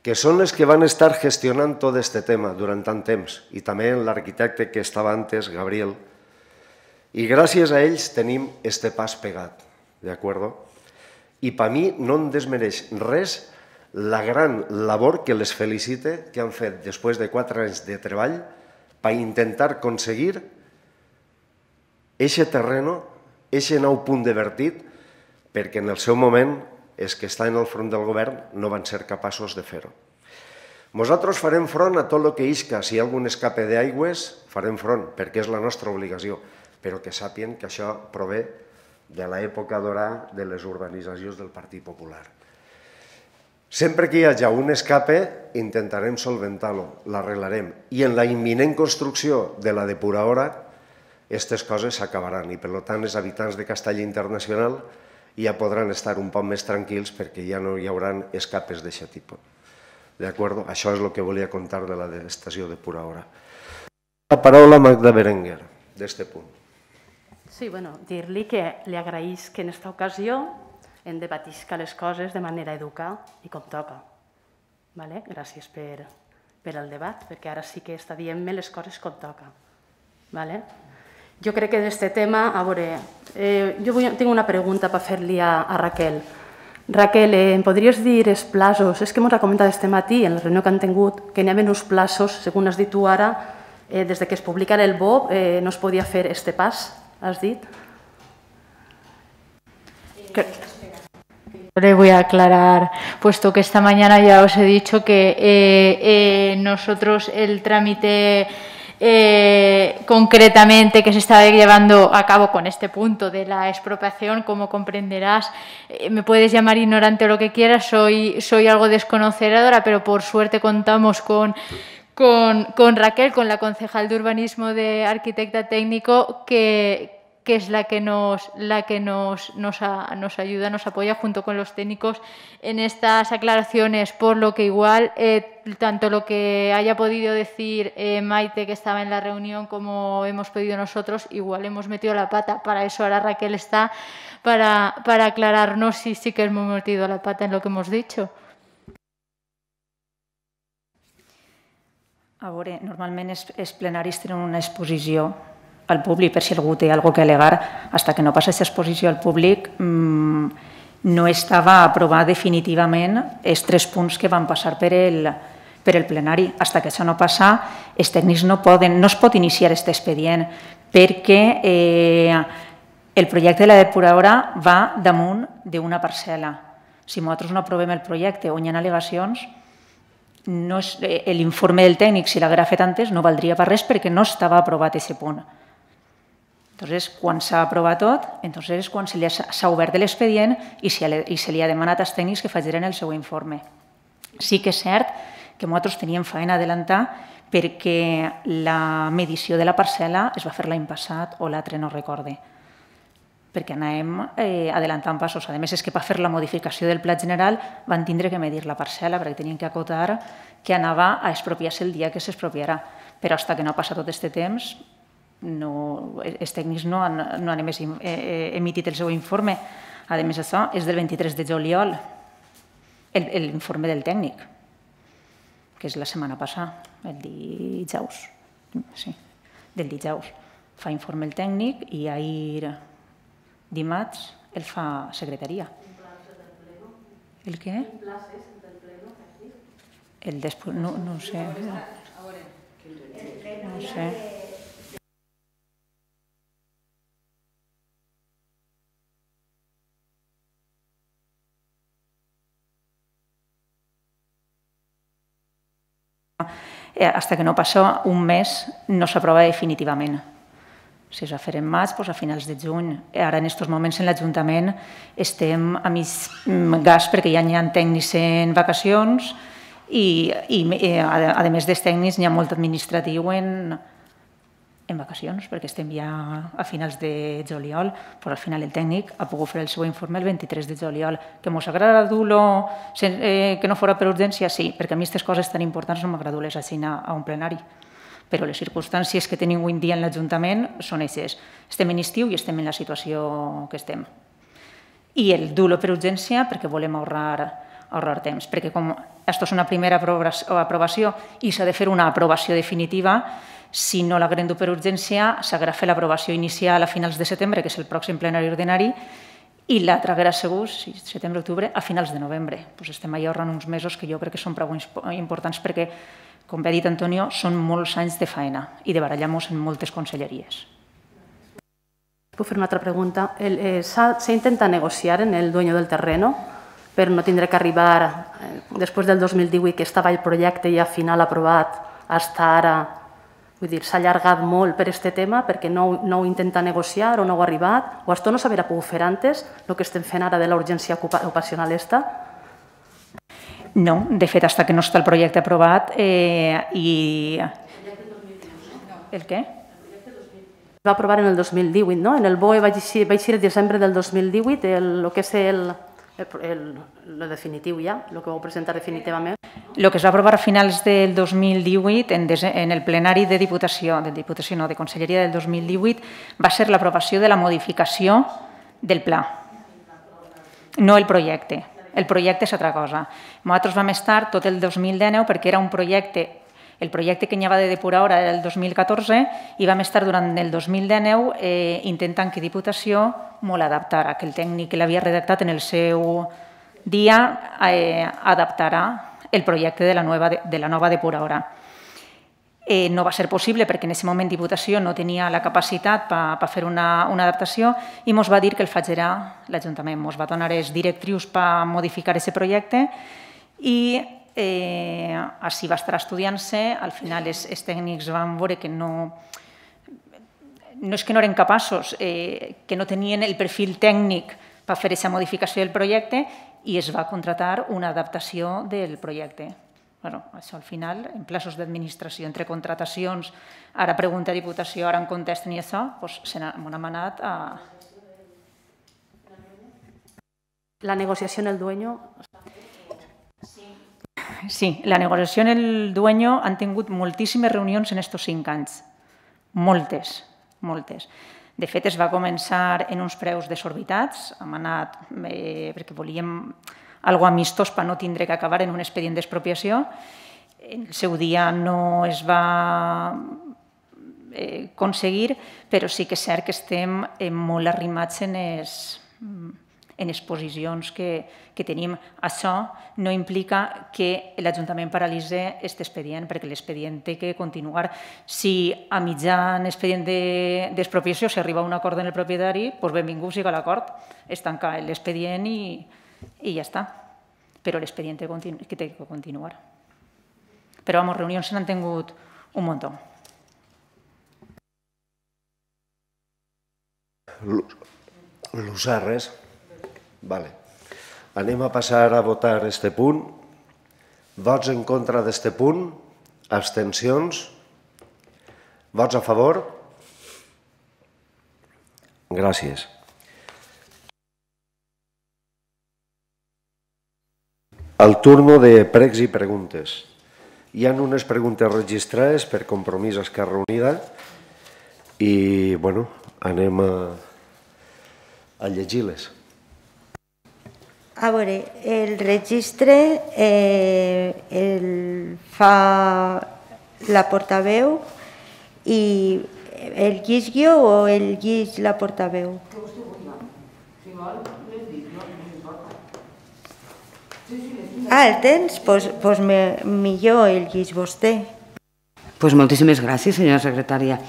que són les que van estar gestionant tot aquest tema durant tant temps, i també en l'arquitecte que estava antes, Gabriel, i gràcies a ells tenim este pas pegat, d'acord? I per mi no em desmereix res la gran labor que les felicite que han fet després de 4 anys de treball per intentar aconseguir aquest terreno, aquest nou punt de vertit, perquè en el seu moment els que estan al front del govern no van ser capaços de fer-ho. Nosaltres farem front a tot el que isca. Si hi ha algun escape d'aigües, farem front, perquè és la nostra obligació, però que sàpien que això prové de l'època dorada de les urbanitzacions del Partit Popular. Sempre que hi hagi un escape, intentarem solventar-lo, l'arreglarem. I en la imminent construcció de la depuradora, aquestes coses s'acabaran i, per tant, els habitants de Castalla Internacional ja podran estar un poc més tranquils perquè ja no hi haurà escapes d'aquest tipus. D'acord? Això és el que volia contar de l'estació de Pura Hora. La paraula a Magda Berenguer, d'aquest punt. Sí, bueno, dir-li que li agraïs que en aquesta ocasió hem debatisca les coses de manera educada i com toca. Gràcies per al debat, perquè ara sí que està dient-me les coses com toca. Jo crec que d'aquest tema, a veure, jo tinc una pregunta per fer-li a Raquel. Raquel, em podries dir els plaços? És que m'ho ha comentat este matí, en la reunió que han tingut, que n'hi havia uns plaços, segons has dit tu ara, des que es publicara el BOP, no es podia fer este pas, has dit? Le voy a aclarar, puesto que esta mañana ya os he dicho que nosotros el trámite concretamente que se está llevando a cabo con este punto de la expropiación, como comprenderás, me puedes llamar ignorante o lo que quieras, soy algo desconocedora, pero por suerte contamos con Raquel, con la concejal de urbanismo de arquitecta técnico, que es la que nos ayuda, nos apoya junto con los técnicos en estas aclaraciones, por lo que igual tanto lo que haya podido decir Maite, que estaba en la reunión, como hemos pedido nosotros, igual hemos metido la pata. Para eso ahora Raquel está, para aclararnos si sí que hemos metido la pata en lo que hemos dicho. A veure, normalment els plenaris tenen una exposició al públic per si algú té alguna cosa a al·legar. Fins que no passa aquesta exposició al públic no estava aprovat definitivament els 3 punts que van passar per el plenari. Fins que això no passa, els tècnics no es pot iniciar aquest expedient perquè el projecte de la depuradora va damunt d'una parcel·la. Si nosaltres no aprovem el projecte on hi ha al·legacions, l'informe del tècnic, si l'haguera fet antes, no valdria per res perquè no estava aprovat aquest punt. Llavors, quan s'ha aprovat tot, és quan s'ha obert l'expedient i se li ha demanat als tècnics que facin el seu informe. Sí que és cert que nosaltres teníem feina a adelantar perquè la medició de la parcel·la es va fer l'any passat o l'altre, no recorde, perquè anàvem adelantant passos. A més, és que per fer la modificació del pla general van tindre que medir la parcel·la perquè tenien que acotar que anava a expropiar-se el dia que s'expropiarà. Però fins que no passa tot aquest temps, els tècnics no han emitit el seu informe. A més, això és del 23 de juliol, l'informe del tècnic, que és la setmana passada, el dijous. Sí, del dijous. Fa informe el tècnic i ahir dimarts el fa secretaria. El què? El després, no ho sé. No ho sé. Fins que no passa un mes no s'aprova definitivament. Si es va fer en maig, doncs a finals de juny. Ara, en aquests moments, en l'Ajuntament estem a mig gas perquè ja hi ha tècnics en vacacions i, a més dels tècnics, hi ha molt administratiu en vacacions, perquè estem ja a finals de juliol, però al final el tècnic ha pogut fer el seu informe el 23 de juliol. Que mos agrada dur-lo que no fora per urgència? Sí, perquè a mi aquestes coses tan importants no m'agrada dur-les així a un plenari. Però les circumstàncies que tenim avui en dia en l'Ajuntament són aquestes. Estem en estiu i estem en la situació que estem. I el dur-lo per urgència perquè volem ahorrar temps, perquè com això és una primera aprovació i s'ha de fer una aprovació definitiva, si no l'haguem dur per urgència, s'haurà fet l'aprovació inicial a finals de setembre, que és el pròxim plenari ordinari, i l'altra haurà sigut, setembre-octubre, a finals de novembre. Estem allà ahorrant uns mesos que jo crec que són prou importants perquè, com bé ha dit Antonio, són molts anys de feina i de barallar-nos en moltes conselleries. Puc fer una altra pregunta? ¿Se intenta negociar en el dueño del terreno per no tindre que arribar, després del 2018, que estava el projecte ja final aprovat, fins ara? Vull dir, s'ha allargat molt per aquest tema perquè no ho intenta negociar o no ho ha arribat? O això no s'haurà pogut fer antes, el que estem fent ara de la urgència ocupacional esta? No, de fet, fins que no està el projecte aprovat i... El què? Es va aprovar en el 2018, no? En el BOE va eixir el desembre del 2018, el que és el definitiu ja, el que vau presentar definitivament. El que es va aprovar a finals del 2018 en el plenari de Diputació, de Conselleria del 2018, va ser l'aprovació de la modificació del pla, no el projecte. El projecte és altra cosa. Nosaltres vam estar tot el 2019 perquè era un projecte, el projecte que n'hi havia de depuradora era el 2014 i vam estar durant el 2019 intentant que Diputació molt adaptara, que el tècnic que l'havia redactat en el seu dia adaptarà el projecte de la nova depuradora. No va ser possible perquè en aquest moment Diputació no tenia la capacitat per fer una adaptació i ens va dir que el faria l'Ajuntament. Ens va donar les directrius per modificar aquest projecte i així va estar estudiant-se. Al final els tècnics van veure que no és que no eren capaços, que no tenien el perfil tècnic per fer aquesta modificació del projecte i es va contratar una adaptació del projecte. Això al final, en plaços d'administració, entre contratacions, ara pregunta a Diputació, ara em contesten i això, se n'ha manat a... La negociació en el dueño... Sí, la negociació en el dueño han tingut moltíssimes reunions en aquests 5 anys. Moltes. De fet, es va començar en uns preus desorbitats, hem anat perquè volíem algo amistós per no tindre que acabar en un expedient d'expropiació. En el seu dia no es va aconseguir, però sí que és cert que estem molt arrimats en les posicions que tenim. Això no implica que l'Ajuntament paralitzi aquest expedient, perquè l'expedient té que continuar. Si a mitjan expedient d'expropiació s'arriba a un acord amb el propietari, doncs benvingut sigui l'acord, es tanca l'expedient i ja està. Però l'expedient té que continuar. Però, reunions se n'han tingut un muntó. Lusarres. Vale. Anem a passar a votar este punt. Vots en contra d'este punt? Abstencions? Vots a favor? Gràcies. Al turno de pregs i preguntes. Hi ha unes preguntes registrades per Compromís Esquerra Unida i, bueno, anem a llegir-les. A veure, el registre el fa la portaveu i el llis jo o el llis la portaveu? El tens? Doncs millor el llis vostè. Doncs moltíssimes gràcies, senyora secretària.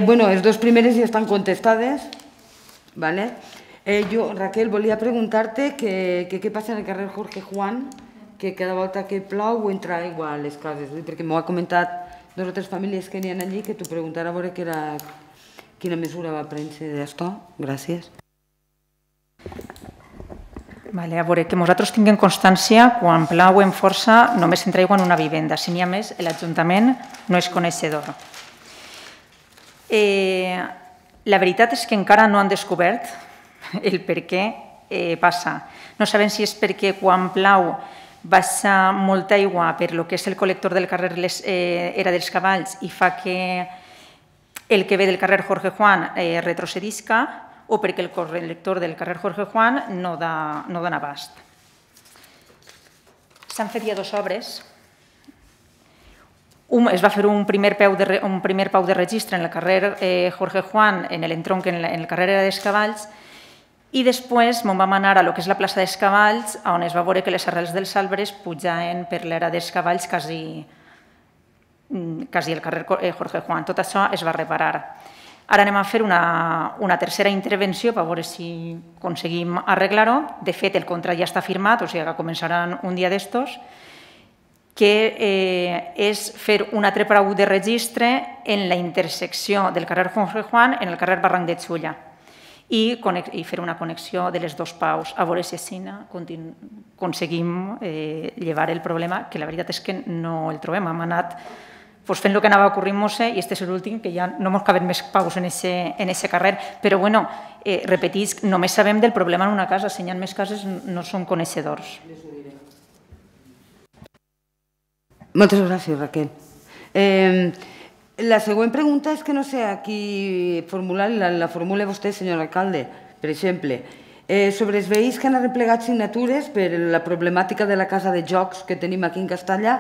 Bueno, les 2 primeres ja estan contestades, ¿vale? Jo, Raquel, volia preguntar-te què passa en el carrer Jorge Juan, que cada volta que plou entra aigua a les cases, perquè m'ho ha comentat 2 o 3 famílies que n'hi ha allí, que t'ho preguntara a veure quina mesura va prendre d'això. Gràcies. A veure, que nosaltres tinguem constància, quan plau en força només entra aigua en una vivenda. Si n'hi ha més, l'Ajuntament no és coneixedor. La veritat és que encara no han descobert el per què passa. No sabem si és perquè quan plau baixa molta aigua per lo que és el col·lector del carrer Era dels Cavalls i fa que el que ve del carrer Jorge Juan retrocedisca o perquè el col·lector del carrer Jorge Juan no dona abast. S'han fet ja 2 obres. Es va fer un primer pau de registre en el carrer Jorge Juan, en l'entronc en el carrer Era dels Cavalls, i després vam anar a lo que és la plaça dels Cavalls, on es va veure que les arrels dels arbres pujaven per l'Era dels Cavalls quasi el carrer Jorge Juan. Tot això es va reparar. Ara anem a fer una tercera intervenció per veure si aconseguim arreglar-ho. De fet, el contrat ja està firmat, o sigui que començaran un dia d'estos, que és fer un altre pau de registre en la intersecció del carrer Jorge Juan en el carrer Barranc de Xulla i fer una connexió de les 2 paus, a veure si així aconseguim llevar el problema, que la veritat és que no el trobem. Hem anat fent el que anava ocorrint-nos i aquest és l'últim, que ja no ens caben més paus en aquest carrer. Però, bueno, repetisc, només sabem del problema en una casa, si hi ha més cases no som coneixedors. Moltes gràcies, Raquel. La següent pregunta és que no sé a qui formular, la formula vostè, senyor alcalde. Per exemple, sobre els veïns que han arreplegat signatures per la problemàtica de la casa de jocs que tenim aquí en Castellà,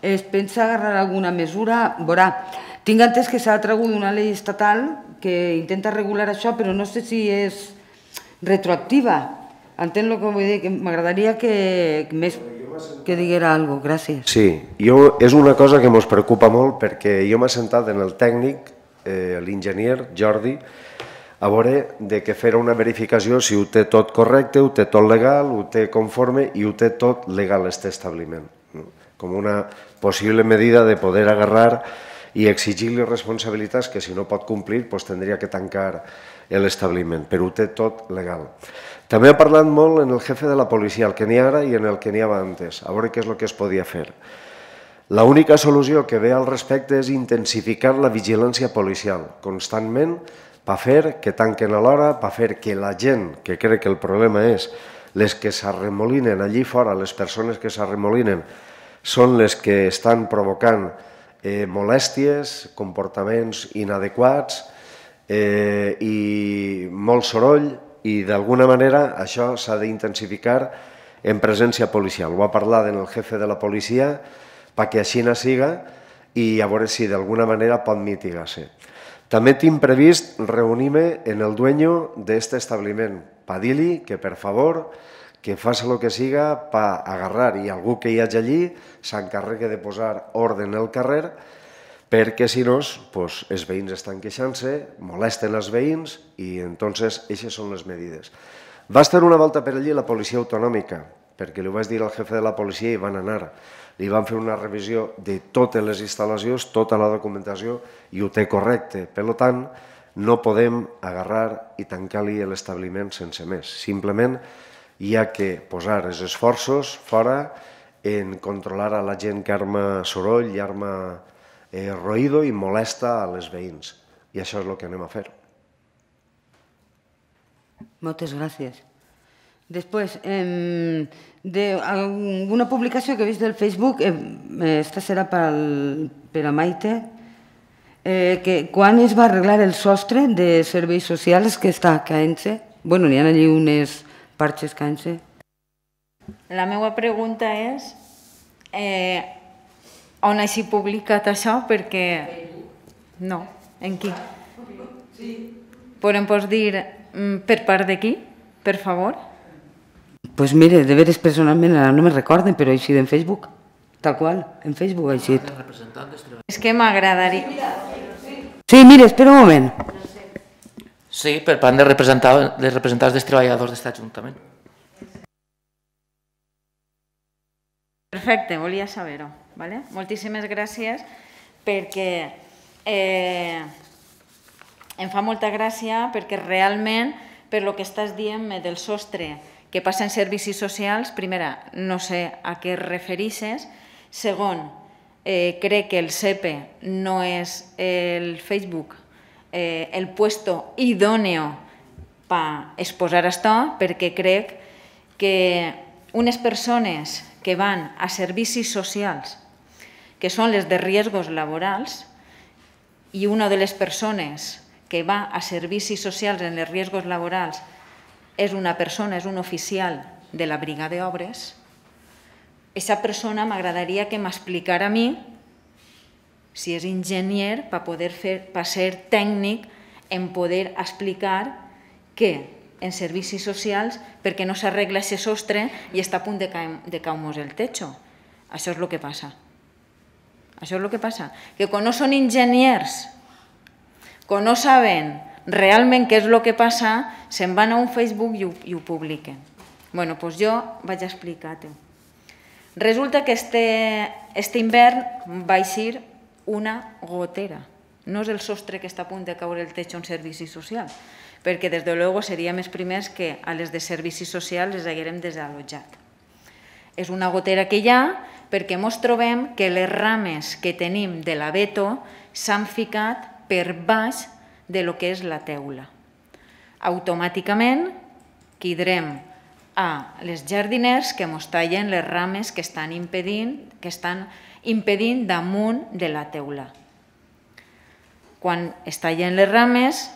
es pensa agarrar alguna mesura? Veurà, tinc entès que s'ha tragut una llei estatal que intenta regular això, però no sé si és retroactiva. Entén el que vull dir? M'agradaria que diguera alguna cosa. Gràcies. Sí, és una cosa que ens preocupa molt perquè jo m'he sentat en el tècnic, l'enginyer Jordi, a veure que fer una verificació si ho té tot correcte, ho té tot legal, ho té conforme i ho té tot legal, aquest establiment. Com una possible medida de poder agarrar i exigir-li responsabilitats que si no pot complir tindria que tancar l'establiment, però ho té tot legal. També ha parlat molt en el jefe de la policia, el que n'hi ha ara i en el que n'hi havia antes, a veure què és el que es podia fer. L'única solució que ve al respecte és intensificar la vigilància policial constantment per fer que tanquen a l'hora, per fer que la gent, que crec que el problema és les que s'arremolinen allí fora, les persones que s'arremolinen, són les que estan provocant molèsties, comportaments inadequats i molt soroll, i d'alguna manera això s'ha d'intensificar en presència policial. Ho ha parlat en el jefe de la policia perquè així no siga i a veure si d'alguna manera pot mitigar-se. També tinc previst reunir-me en el dueño d'aquest establiment per dir-li que per favor que faci el que siga per agarrar i algú que hi hagi allí s'encarregui de posar ordre al carrer perquè si no els veïns estan queixant-se, molesten els veïns i entonces aquestes són les medides. Va estar una volta per allí la policia autonòmica perquè li ho vaig dir al jefe de la policia i van anar. Li van fer una revisió de totes les instal·lacions, tota la documentació i ho té correcte. Per tant, no podem agarrar i tancar-li l'establiment sense més. Simplement hi ha que posar els esforços fora en controlar a la gent que arma soroll i arma ruïdo i molesta a les veïns. I això és el que anem a fer. Moltes gràcies. Després, alguna publicació que he vist del Facebook, esta serà per a Maite, que quan es va arreglar el sostre de serveis socials que està caent-se? Bueno, n'hi ha allí unes parxes caent-se. La meva pregunta és on hagi publicat això, perquè... No, en qui? Però em pots dir per part de qui, per favor? Pues mire, de veres personalment ara no me recorden, però ha eixit en Facebook, tal qual, en Facebook ha eixit. És que m'agradaria... Sí, mire, espera un moment. Sí, per part de representants dels treballadors d'aquest Ajuntament. Perfecte, volia saber-ho. Moltíssimes gràcies perquè em fa molta gràcia perquè realment per lo que estàs dient del sostre que passa en servicis socials, primera, no sé a què es referixes, segon, crec que el SEPE no és el Facebook el puesto idóneo per exposar això, perquè crec que unes persones que van a servicis socials, que són les de riesgos laborals, i una de les persones que va a servicis socials en els riesgos laborals és una persona, és un oficial de la brigada d'obres, aquesta persona m'agradaria que m'explicara a mi si és enginyer per ser tècnic en poder explicar que en servicis socials perquè no s'arregla aquest sostre i està a punt de caure-nos el techo. Això és el que passa. Això és el que passa. Que quan no són enginyers, quan no saben realment què és el que passa, se'n van a un Facebook i ho publiquen. Bé, doncs jo vaig explicar-ho. Resulta que aquest hivern va eixir una gotera. No és el sostre que està a punt de caure el techo en servicis socials, perquè des de luego seríem els primers que a les de servicis socials les haguérem desallotjat. És una gotera que hi ha perquè ens trobem que les rames que tenim de l'abeto s'han ficat per baix de lo que és la teula. Automàticament quedarem a les jardiners que mos tallen les rames que estan impedint damunt de la teula. Quan es tallen les rames,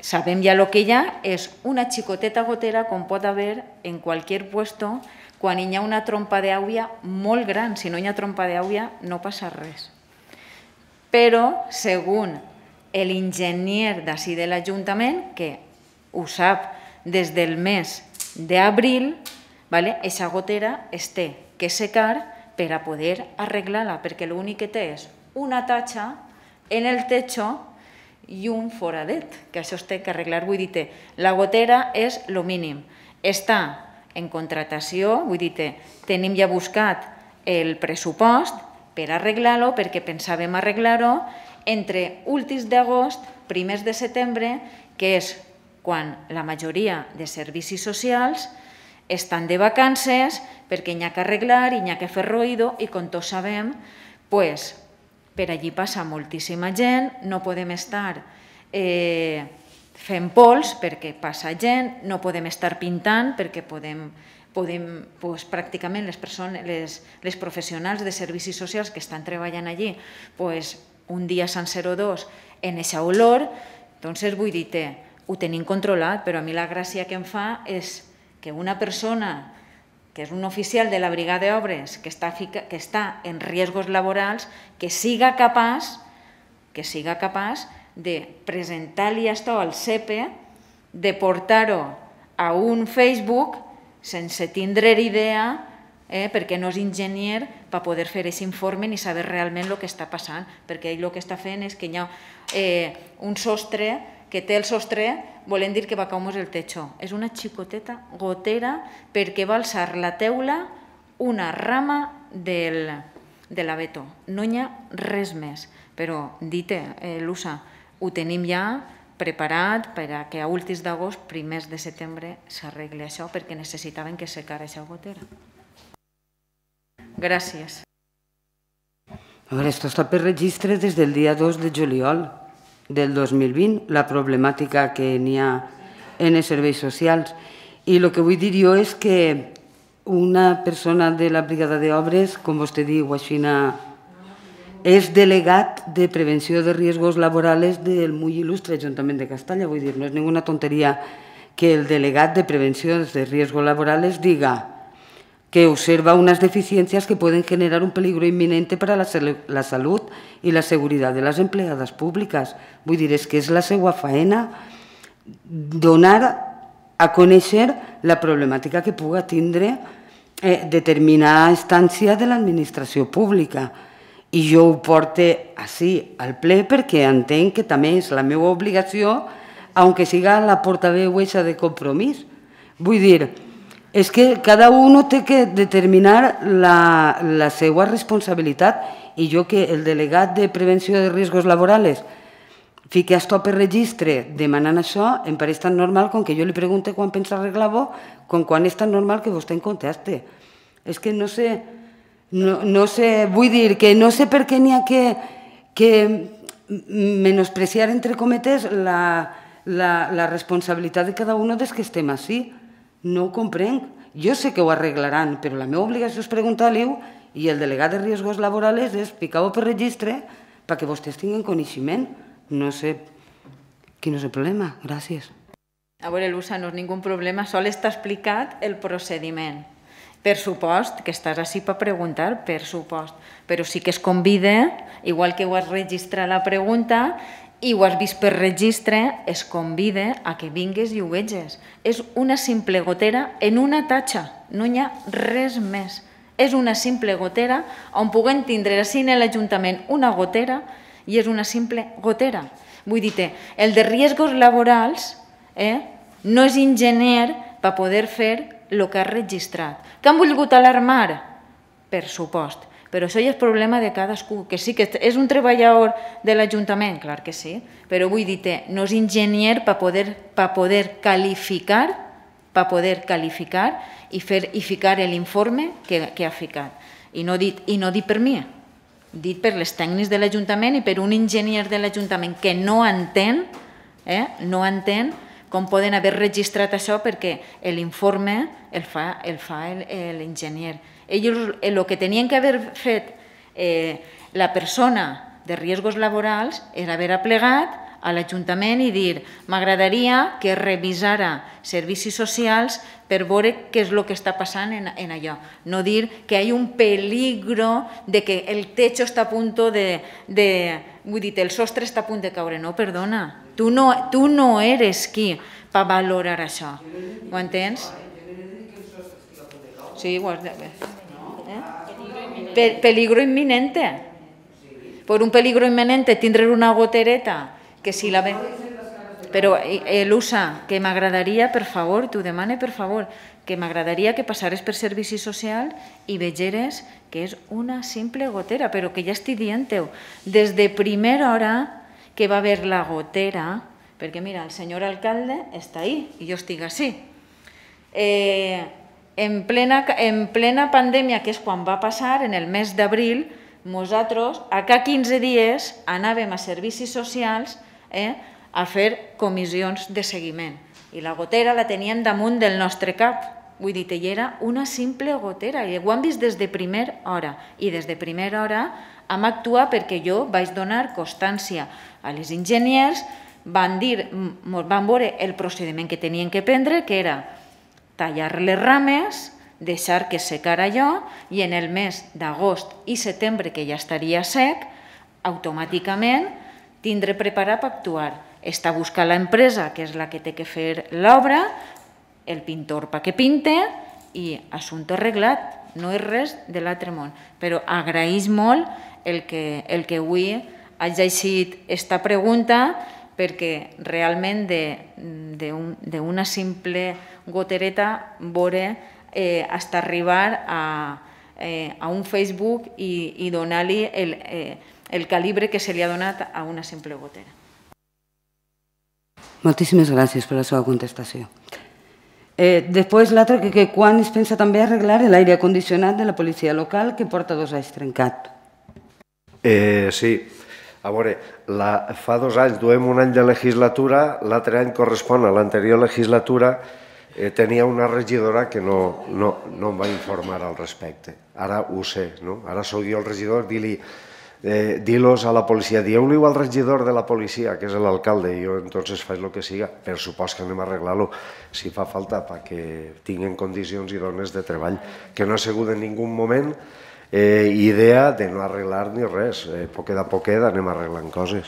sabem ja el que hi ha, és una xicoteta gotera com pot haver en qualsevol puesto quan hi ha una trompa d'aigua molt gran. Si no hi ha trompa d'aigua no passa res. Però, segons l'enginyer d'ací de l'Ajuntament, que ho sap des del mes d'abril, aquesta gotera es té que secar per a poder arreglar-la, perquè l'únic que té és una tatxa en el techo i un foradet, que això es té que arreglar. Vull dir, la gotera és el mínim. Està en contratació, vull dir, tenim ja buscat el pressupost per arreglar-lo, perquè pensàvem arreglar-ho entre últims d'agost, primers de setembre, que és quan la majoria de servicis socials estan de vacances, perquè n'hi ha que arreglar i n'hi ha que fer ruïdo, i com tots sabem, per allí passa moltíssima gent, no podem estar fent pols perquè passa gent, no podem estar pintant perquè pràcticament les professionals de servicis socials que estan treballant allí un dia sencer o dos en aquesta olor, doncs vull dir, ho tenim controlat, però a mi la gràcia que em fa és que una persona que és un oficial de la brigada d'obres que està en riesgos laborals, que siga capaç de presentar-li això al CEPE, de portar-ho a un Facebook sense tindre idea, perquè no és enginyer, per poder fer aquest informe ni saber realment el que està passant, perquè ell el que està fent és que hi ha un sostre, que té el sostre, volen dir que va caure el techo. És una xicoteta gotera perquè va alçar la teula una rama de l'abeto. No hi ha res més. Però, dit-te, Lusa, ho tenim ja preparat per a que a últims d'agost, primers de setembre, s'arregli això, perquè necessitaven que secara aquesta gotera. Gràcies. A veure, esto està per registre des del dia 2 de juliol del 2020, la problemàtica que n'hi ha en els serveis socials. I el que vull dir jo és que una persona de la brigada d'obres, com vostè diu, és delegat de prevenció de riesgos laborals del muy il·lustre Ajuntament de Castalla. Vull dir, no és ninguna tonteria que el delegat de prevenció de riesgos laborales diga que observa unas deficiencias que pueden generar un peligro inminente para la salud y la seguridad de las empleadas públicas. Vull dir, és que és la seva faena donar a conèixer la problemàtica que puga tindre determinada instància de l'administració pública. I jo ho porte així al ple perquè entenc que també és la meva obligació, aunque siga la portaveu eixa de Compromís. Vull dir, és que cada un té que determinar la seva responsabilitat, i jo que el delegat de prevenció de riscos laborals fiqui esto per registre demanant això, em pareix tan normal com que jo li pregunte quan pensa arreglar-ho, com quan és tan normal que vostè em conteste. És que no sé, vull dir que no sé per què n'hi ha que menospreciar, entre cometes, la responsabilitat de cada un dels que estem així. No ho comprenc. Jo sé que ho arreglaran, però la meva obligació és preguntar-li-ho i el delegat de riesgos laborals és ficar-ho per registre perquè vostès tinguin coneixement. No sé quin és el problema. Gràcies. A veure, Lusa, no és ningú problema, sol està explicat el procediment. Per supost que estàs així per preguntar, per supost. Però sí que es convida, igual que ho has registrat la pregunta, i ho has vist per registre, es convida a que vingues i ho veges. És una simple gotera en una tatxa, no hi ha res més. És una simple gotera on puguem tindre així en l'Ajuntament una gotera i és una simple gotera. Vull dir, el de riesgos laborals no és enginyer per poder fer el que has registrat. Que han volgut alarmar? Per supost. Però això ja és problema de cadascú, que sí que és un treballador de l'Ajuntament, clar que sí, però vull dir, no és enginyer per poder qualificar i ficar l'informe que ha ficat. I no dit per mi, dit per les tècnics de l'Ajuntament i per un enginyer de l'Ajuntament que no entén com poden haver registrat això, perquè l'informe el fa l'enginyer. Ells el que tenien que haver fet la persona de riscos laborals era haver aplegat a l'Ajuntament i dir m'agradaria que revisara servicis socials per veure què és el que està passant en allò. No dir que hi ha un peligro de que el techo està a punt vull dir, el sostre està a punt de caure. No, perdona, tu no eres qui per valorar això. Ho entens? Sí, ho has de ver. Peligro inminente. Por un peligro inminente tindre una gotereta que si la ven... Però, Lusa, que m'agradaria, per favor, t'ho demane, per favor, que m'agradaria que passares per Servicis Socials i vegeres que és una simple gotera, però que ja estic dient-ho. Des de primera hora que va haver la gotera, perquè mira, el senyor alcalde està ahí i jo estic així. En plena pandèmia, que és quan va passar, en el mes d'abril, nosaltres, a cada 15 dies, anàvem a Servicis Socials a fer comissions de seguiment. I la gotera la teníem damunt del nostre cap. Vull dir, ella era una simple gotera. I ho han vist des de primera hora. I des de primera hora hem actuat perquè jo vaig donar constància a les enginyers, van veure el procediment que tenien que prendre, que era tallar les rames, deixar que secara allò i en el mes d'agost i setembre, que ja estaria sec, automàticament tindre preparat per actuar. Està buscant l'empresa, que és la que té que fer l'obra, el pintor perquè pinte i assumpte arreglat. No és res de l'altre món. Però agraeix molt el que avui hagi llegit esta pregunta, perquè realment d'una simple gotereta veure hasta arribar a un Facebook i donar-li el calibre que se li ha donat a una simple gotera. Moltíssimes gràcies per la seva contestació. Després, l'altre, que quan es pensa també arreglar l'aire condicionat de la policia local, que porta 2 anys trencat? Sí. A veure, fa 2 anys duem un any de legislatura, l'altre any correspon a l'anterior legislatura, tenia una regidora que no em va informar al respecte. Ara ho sé, no? Ara sóc jo el regidor, di-los a la policia, dieu-li al regidor de la policia, que és l'alcalde, i jo entonces faig el que siga. Per supost que anem a arreglar-lo, si fa falta, perquè tinguen condicions idones de treball, que no ha sigut en ningú moment idea de no arreglar ni res. Poquet a poquet anem arreglant coses.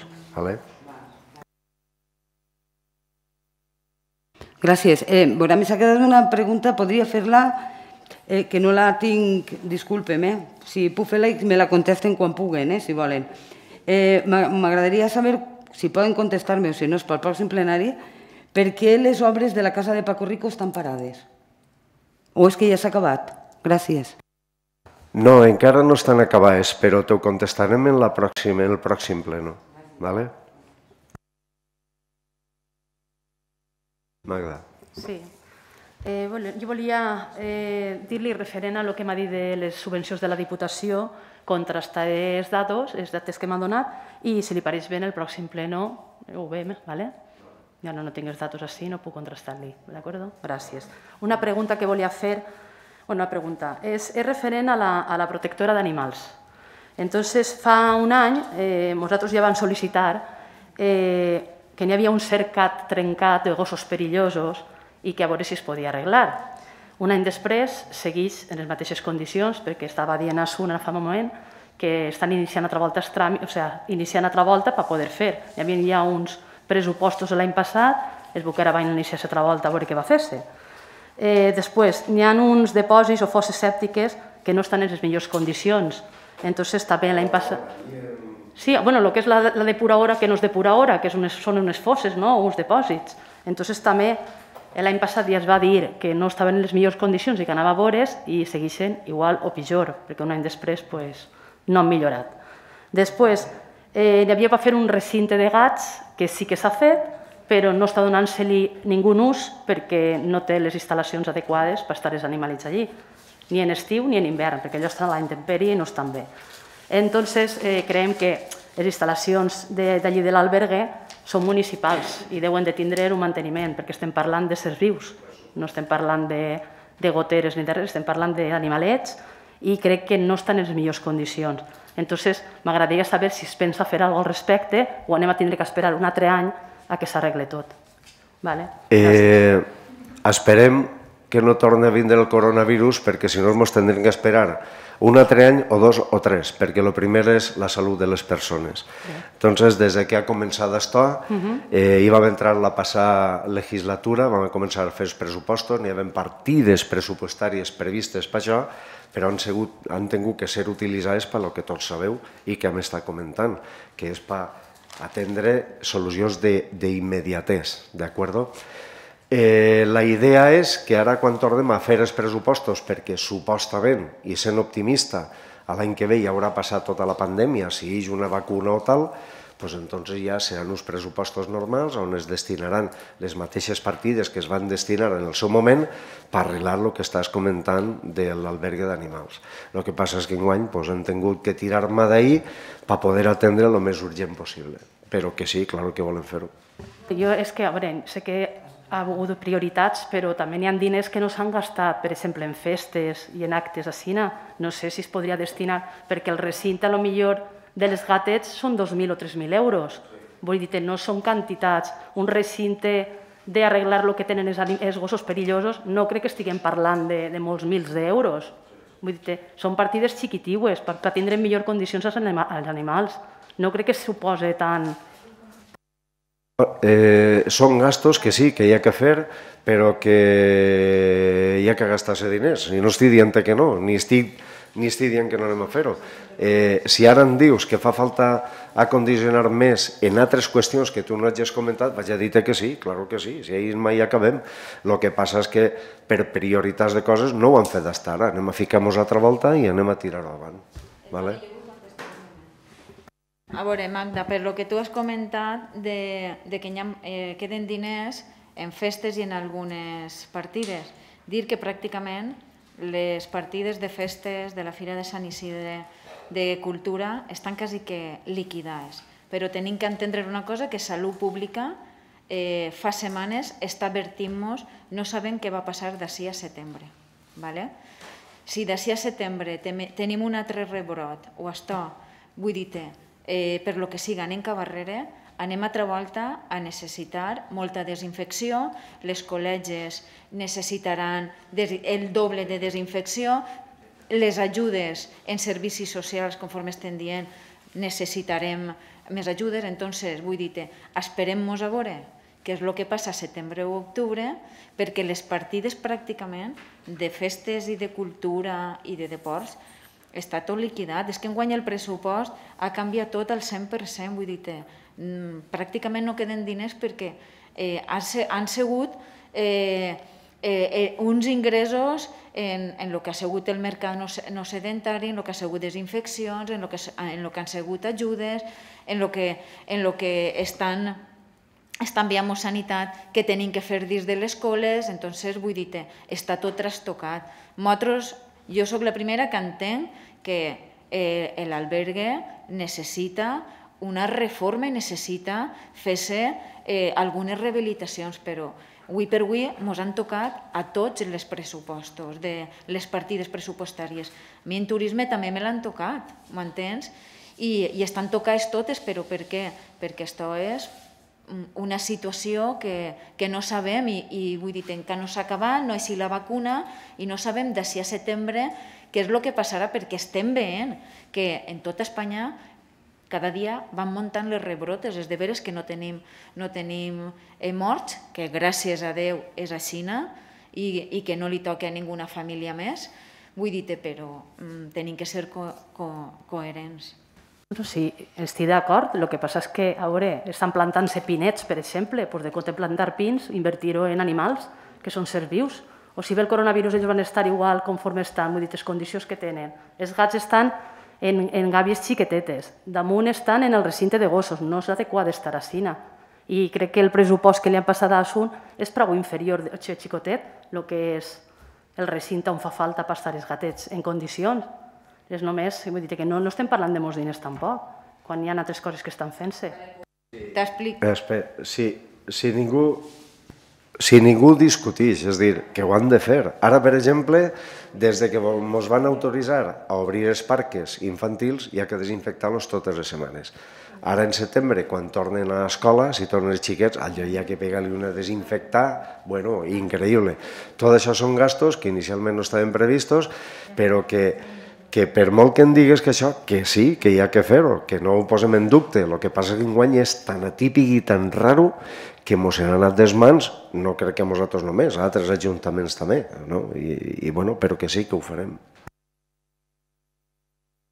Gràcies. Veurà, m'ha quedat una pregunta, podria fer-la, que no la tinc, disculpem, si puc fer-la i me la contesten quan puguen, si volen. M'agradaria saber, si poden contestar-me o si no és pel pròxim plenari, per què les obres de la casa de Paco Rico estan parades? O és que ja s'ha acabat? Gràcies. No, encara no estan acabades, però t'ho contestarem en el pròxim pleno. Magda. Sí. Jo volia dir-li referent a el que m'ha dit de les subvencions de la Diputació, contrastar els datos que m'han donat, i si li pareix bé en el pròxim pleno ho veiem, d'acord? Ja no tinc els datos així, no puc contrastar-li, d'acord? Gràcies. Una pregunta que volia fer, una pregunta, és referent a la protectora d'animals. Entonces, fa un any, nosaltres ja vam sol·licitar que n'hi havia un cercat trencat de gossos perillosos i que a veure si es podia arreglar. Un any després segueix en les mateixes condicions, perquè estava dient a Sun fa un moment que estan iniciant altra volta per poder fer. Hi havia ja uns pressupostos l'any passat, es veu que ara van iniciar altra volta a veure què va fer-se. Després, n'hi ha uns depòsits o fosses sèptiques que no estan en les millors condicions. Entonces, també l'any passat... Sí, bueno, el que és la depuradora, que no és depuradora, que són unes fosses, no?, uns dipòsits. Entonces, també l'any passat ja es va dir que no estaven en les millors condicions i que anava a veure's i segueixen igual o pitjor, perquè un any després no han millorat. Després, hi havia per fer un recinte de gats, que sí que s'ha fet, però no està donant-se-li ningú ús perquè no té les instal·lacions adequades per estar els animalets allí, ni en estiu ni en hivern, perquè allò estan a la intempèrie i no estan bé. Entonces, creiem que les instal·lacions d'allí de l'albergue són municipals i deuen de tindre un manteniment, perquè estem parlant de ser vius, no estem parlant de goteres ni de res, estem parlant d'animalets i crec que no estan en les millors condicions. Entonces, m'agradaria saber si es pensa fer alguna cosa al respecte o anem a tindre que esperar un altre any a que s'arregle tot. Esperem que no torni a vindre el coronavirus perquè si no ens tindrem que esperar un altre any o 2 o 3, perquè el primer és la salut de les persones. Entonces, des que ha començat esto, hi vam entrar la passada legislatura, vam començar a fer els pressupostos, n'hi havia partides pressupostàries previstes per això, però han tingut que ser utilitzades per el que tots sabeu i que hem estat comentant, que és per atendre solucions d'immediatès, d'acord? La idea és que ara quan tornem a fer els pressupostos, perquè supostament, i sent optimista, l'any que ve ja haurà passat tota la pandèmia, si hi ha una vacuna o tal, doncs entonces ja seran uns pressupostos normals on es destinaran les mateixes partides que es van destinar en el seu moment per arreglar el que estàs comentant de l'albergue d'animals. El que passa és que enguany hem tingut que tirar-me d'ahir per poder atendre el més urgent possible. Però que sí, clar que volem fer-ho. Jo és que, a veure, sé que ha hagut prioritats, però també hi ha diners que no s'han gastat, per exemple, en festes i en actes a Sina. No sé si es podria destinar, perquè el recinte, potser, de les gatets són 2.000 o 3.000 euros. Vull dir, no són quantitats. Un recinte d'arreglar el que tenen els gossos perillosos, no crec que estiguem parlant de molts mils d'euros. Vull dir, són partides xiquitiues per tindre en millor condicions els animals. No crec que suposi tant... Són gastos que sí, que hi ha que fer, però que hi ha que gastar-se diners. I no estic dient que no, ni estic dient que no anem a fer-ho. Si ara em dius que fa falta acondicionar més en altres qüestions que tu no hagis comentat, vaig a dir-te que sí, clar que sí, si ahir mai acabem. El que passa és que per prioritats de coses no ho han fet d'estar ara. Anem a ficar-nos altra volta i anem a tirar-ho avant. A veure, Magda, per lo que tu has comentat de que queden diners en festes i en algunes partides, dir que pràcticament les partides de festes de la Fira de Sant Isidre de Cultura estan quasi que liquidades, però tenim que entendre una cosa, que Salut Pública fa setmanes està advertint-nos, no sabem què va passar d'ací a setembre. Si d'ací a setembre tenim un altre rebrot o això, vull dir-te, per lo que siga anem cap arrere, anem altra volta a necessitar molta desinfecció, les col·legis necessitaran el doble de desinfecció, les ajudes en servicis socials, conforme estem dient, necessitarem més ajudes, entonces, vull dir-te, esperem-nos a veure què és el que passa a setembre o octubre, perquè les partides pràcticament de festes i de cultura i de deports està tot liquidat. És que enguany el pressupost ha canviat tot al 100%, vull dir-te, pràcticament no queden diners perquè han sigut uns ingressos en el que ha sigut el mercat no sedentari, en el que ha sigut desinfeccions, en el que han sigut ajudes, en el que estan enviant sanitat que tenim que fer dins de les escoles, entonces vull dir-te, està tot trastocat. Jo soc la primera que entenc que l'albergue necessita una reforma i necessita fer-se algunes rehabilitacions, però avui per avui ens han tocat a tots els pressupostos, de les partides pressupostàries. A mi en turisme també me l'han tocat, m'entens? I estan tocades totes, però per què? Perquè això és una situació que no sabem i vull dir, encara no s'ha acabat, no és la vacuna i no sabem d'ací a setembre què és el que passarà, perquè estem veient que en tota Espanya cada dia van muntant les rebrotes, és de veres que no tenim morts, que gràcies a Déu és a Xina i que no li toca a ninguna família més, vull dir-te, però tenim que ser coherents. Sí, estic d'acord. El que passa és que, a veure, estan plantant-se pinets, per exemple, doncs de compte plantar pins, invertir-ho en animals, que són ser vius. O si ve el coronavirus, ells van estar igual conforme estan, vull dir, les condicions que tenen. Els gats estan en gàbies xiquetetes, damunt estan en el recinte de gossos, no és adequat estar a Sina. I crec que el pressupost que li han passat a Asun és prou inferior, xicotet, el que és el recinte on fa falta per estar els gatets en condicions. És només, vull dir que no estem parlant de molts diners tampoc. quan hi ha altres coses que estan fent-se. T'explico. Si ningú discuteix, és a dir, que ho han de fer. Ara, per exemple, des que ens van autoritzar a obrir els parcs infantils, hi ha que desinfectar-los totes les setmanes. Ara, en setembre, quan tornen a l'escola, si tornen els xiquets, allò hi ha que pegar-li una desinfectar, bueno, increïble. Tot això són gastos que inicialment no estaven previstos, però que per molt que em digues que això, que sí, que hi ha que fer-ho, que no ho posem en dubte. El que passa que enguany és tan atípic i tan raro que mos han anat des mans, no crec que a nosaltres només, a altres ajuntaments també, però que sí que ho farem.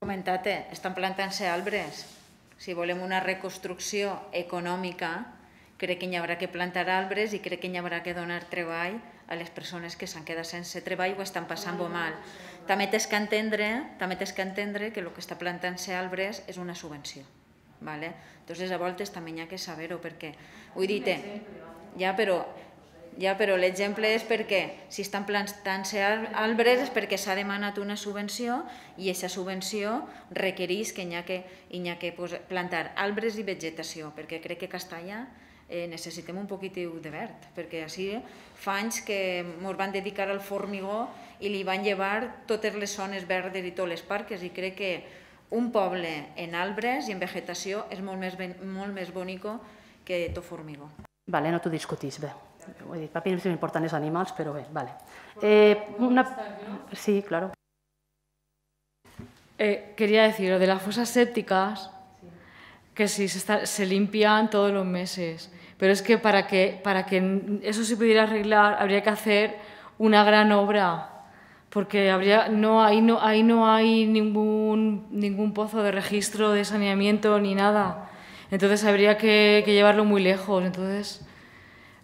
Comentat-te, estan plantant-se arbres. Si volem una reconstrucció econòmica, crec que hi haurà que plantar arbres i crec que hi haurà que donar treball a les persones que s'han quedat sense treball o estan passant-ho mal. També tens que entendre que el que està plantant-se arbres és una subvenció. Entonces, a voltes també hi ha que saber-ho, perquè, vull dir-te, però l'exemple és perquè si estan plantant-se arbres és perquè s'ha demanat una subvenció i aquesta subvenció requereix que hi ha que plantar arbres i vegetació, perquè crec que a Castalla necessitem un poquitiu de verd, perquè així fa anys que ens van dedicar al formigó i li van llevar totes les zones verdes i tots els parcs, i crec que un poble en arbres i en vegetació és molt més bonic que tot formigó. Vale, no t'ho discutís, bé. Vull dir, per mi m'importen els animals, però bé, vale. Sí, claro. Quería decir, lo de las fosas sépticas, que sí, se limpian todos los meses, pero es que para que eso se pudiera arreglar habría que hacer una gran obra, porque ahí no hay ningún pozo de registro de saneamiento ni nada. Entonces habría que llevarlo muy lejos. Entonces,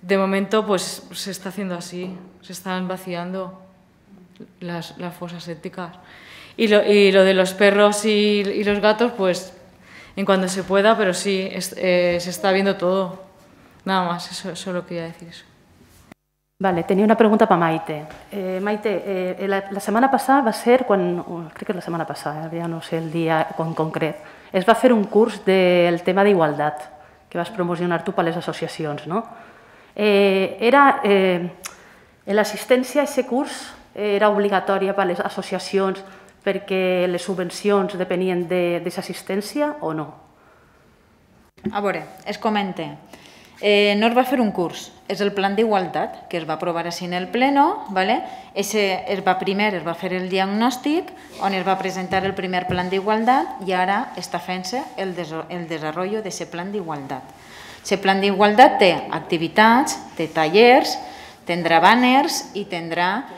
de momento, pues se está haciendo así, se están vaciando las fosas sépticas. Y lo de los perros y los gatos, pues en cuanto se pueda, pero sí, se está viendo todo. Nada más, eso solo quería decir eso. Vale, tenia una pregunta per Maite. Maite, la setmana passada va ser quan, crec que és la setmana passada, ja no sé el dia en concret, es va fer un curs del tema d'igualtat que vas promocionar tu per les associacions, no? L'assistència a aquest curs era obligatòria per les associacions perquè les subvencions depenien d'aquesta assistència o no? A veure, es comenta. No es va fer un curs, és el plan d'igualtat que es va aprovar així en el pleno. Primer es va fer el diagnòstic on es va presentar el primer plan d'igualtat i ara està fent-se el desenvolupament d'aquest plan d'igualtat. Aquest plan d'igualtat té activitats, té tallers, tindrà banners i tindrà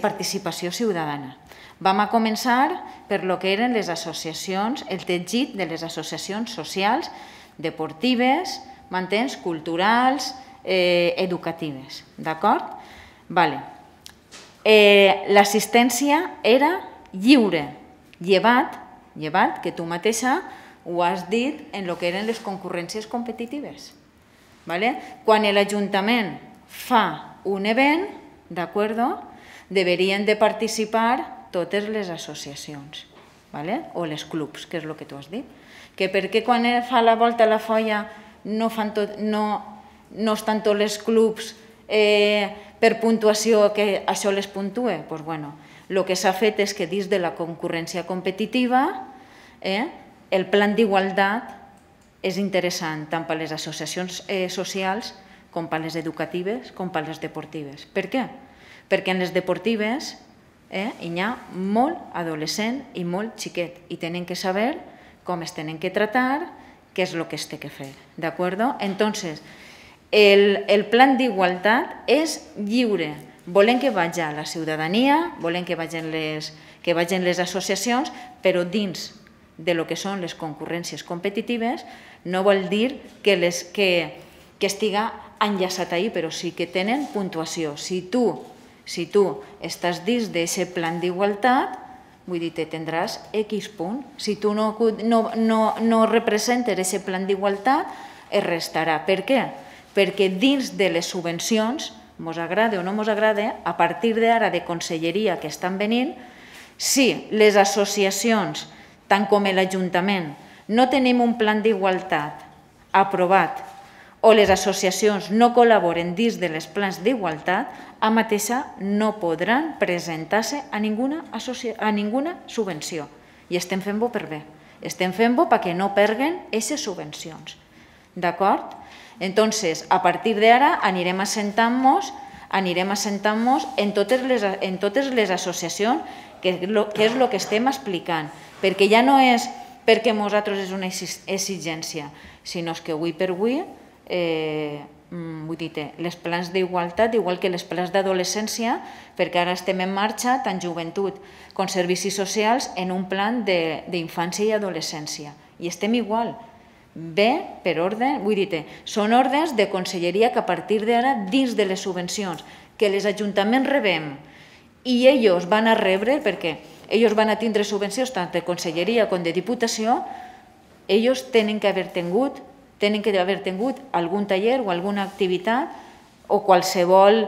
participació ciutadana. Vam a començar per lo que eren les associacions, el teixit de les associacions socials, deportives, m'entens? Culturals, educatives, d'acord? Vale. L'assistència era lliure, llevat que tu mateixa ho has dit en el que eren les concurrències competitives. Quan l'Ajuntament fa un event, d'acord, deurien de participar totes les associacions o els clubs, que és el que tu has dit. Que per què quan fa la volta a la folla no estan tots els clubs per puntuació que això les puntue? Doncs bé, el que s'ha fet és que dins de la concurrència competitiva el plan d'igualtat és interessant tant per les associacions socials com per les educatives com per les deportives. Per què? Perquè en les deportives hi ha molt adolescent i molt xiquet i tenen que saber com es tenen que tractar, què és el que es té que fer. D'acord? Entonces, el plan d'igualtat és lliure. Volem que vagi a la ciutadania, volem que vagin les associacions, però dins de lo que són les concurrències competitives no vol dir que estiga enllaçat ahí, però sí que tenen puntuació. Si tu estàs dins d'aquest plan d'igualtat, vull dir, tindràs X punt. Si tu no representes aquest plan d'igualtat, es restarà. Per què? Perquè dins de les subvencions, mos agrada o no mos agrada, a partir d'ara de conselleria que estan venint, si les associacions, tant com l'Ajuntament, no tenim un plan d'igualtat aprovat o les associacions no col·laboren dins de les plans d'igualtat, a mateixa no podran presentar-se a ninguna subvenció. I estem fent-ho per bé. Estem fent-ho perquè no perguen aquestes subvencions. D'acord? Entonces, a partir d'ara anirem assentant-nos en totes les associacions, que és el que estem explicant, perquè ja no és perquè nosaltres és una exigència, sinó que avui per avui, vull dir, les plans d'igualtat, igual que les plans d'adolescència, perquè ara estem en marxa, tant joventut com servicis socials, en un plan d'infància i adolescència. I estem igual. Bé, per ordre, vull dir, són ordres de conselleria que a partir d'ara, dins de les subvencions que els ajuntaments rebem i ells van a rebre, perquè ells van a tindre subvencions tant de conselleria com de diputació, ells tenen que haver tingut algun taller o alguna activitat o qualsevol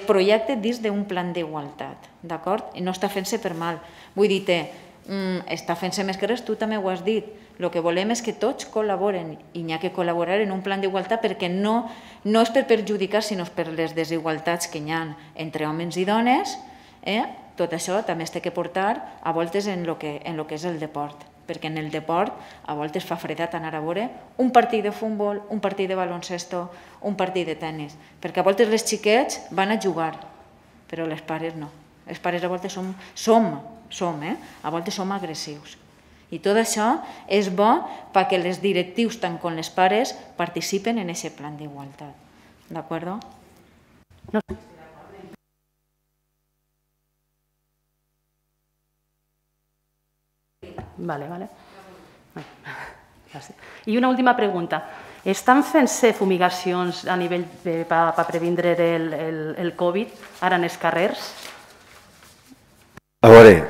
projecte dins d'un plan d'igualtat, d'acord? I no està fent-se per mal. Vull dir, està fent-se més que res, tu també ho has dit. El que volem és que tots col·laboren i n'hi ha que col·laborar en un plan d'igualtat perquè no és per perjudicar, sinó per les desigualtats que hi ha entre homes i dones. Tot això també es té que portar a voltes en el que és el deport, perquè en el deport a voltes fa fredat anar a veure un partit de futbol, un partit de baloncesto, un partit de tennis, perquè a voltes les xiquets van a jugar, però les pares no. Els pares a voltes a voltes som agressius. I tot això és bo perquè els directius, tant com les pares, participen en aquest plan d'igualtat. D'acord? Vale. I una última pregunta. Estan fent-se fumigacions a nivell per previndre el Covid ara en els carrers? A veure,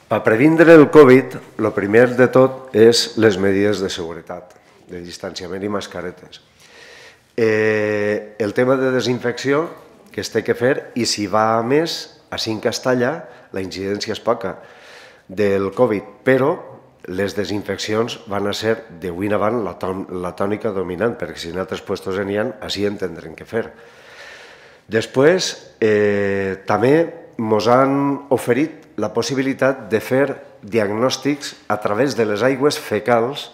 per previndre el Covid, el primer de tot és les mesures de seguretat, de distanciament i mascaretes. El tema de desinfecció, que es té que fer, i si va a més, així en Castalla, la incidència és poca del Covid, però les desinfeccions van a ser d'avui en avant la tònica dominant, perquè si en altres puestos n'hi ha, així en tindrem que fer. Després, també ens han oferit la possibilitat de fer diagnòstics a través de les aigües fecals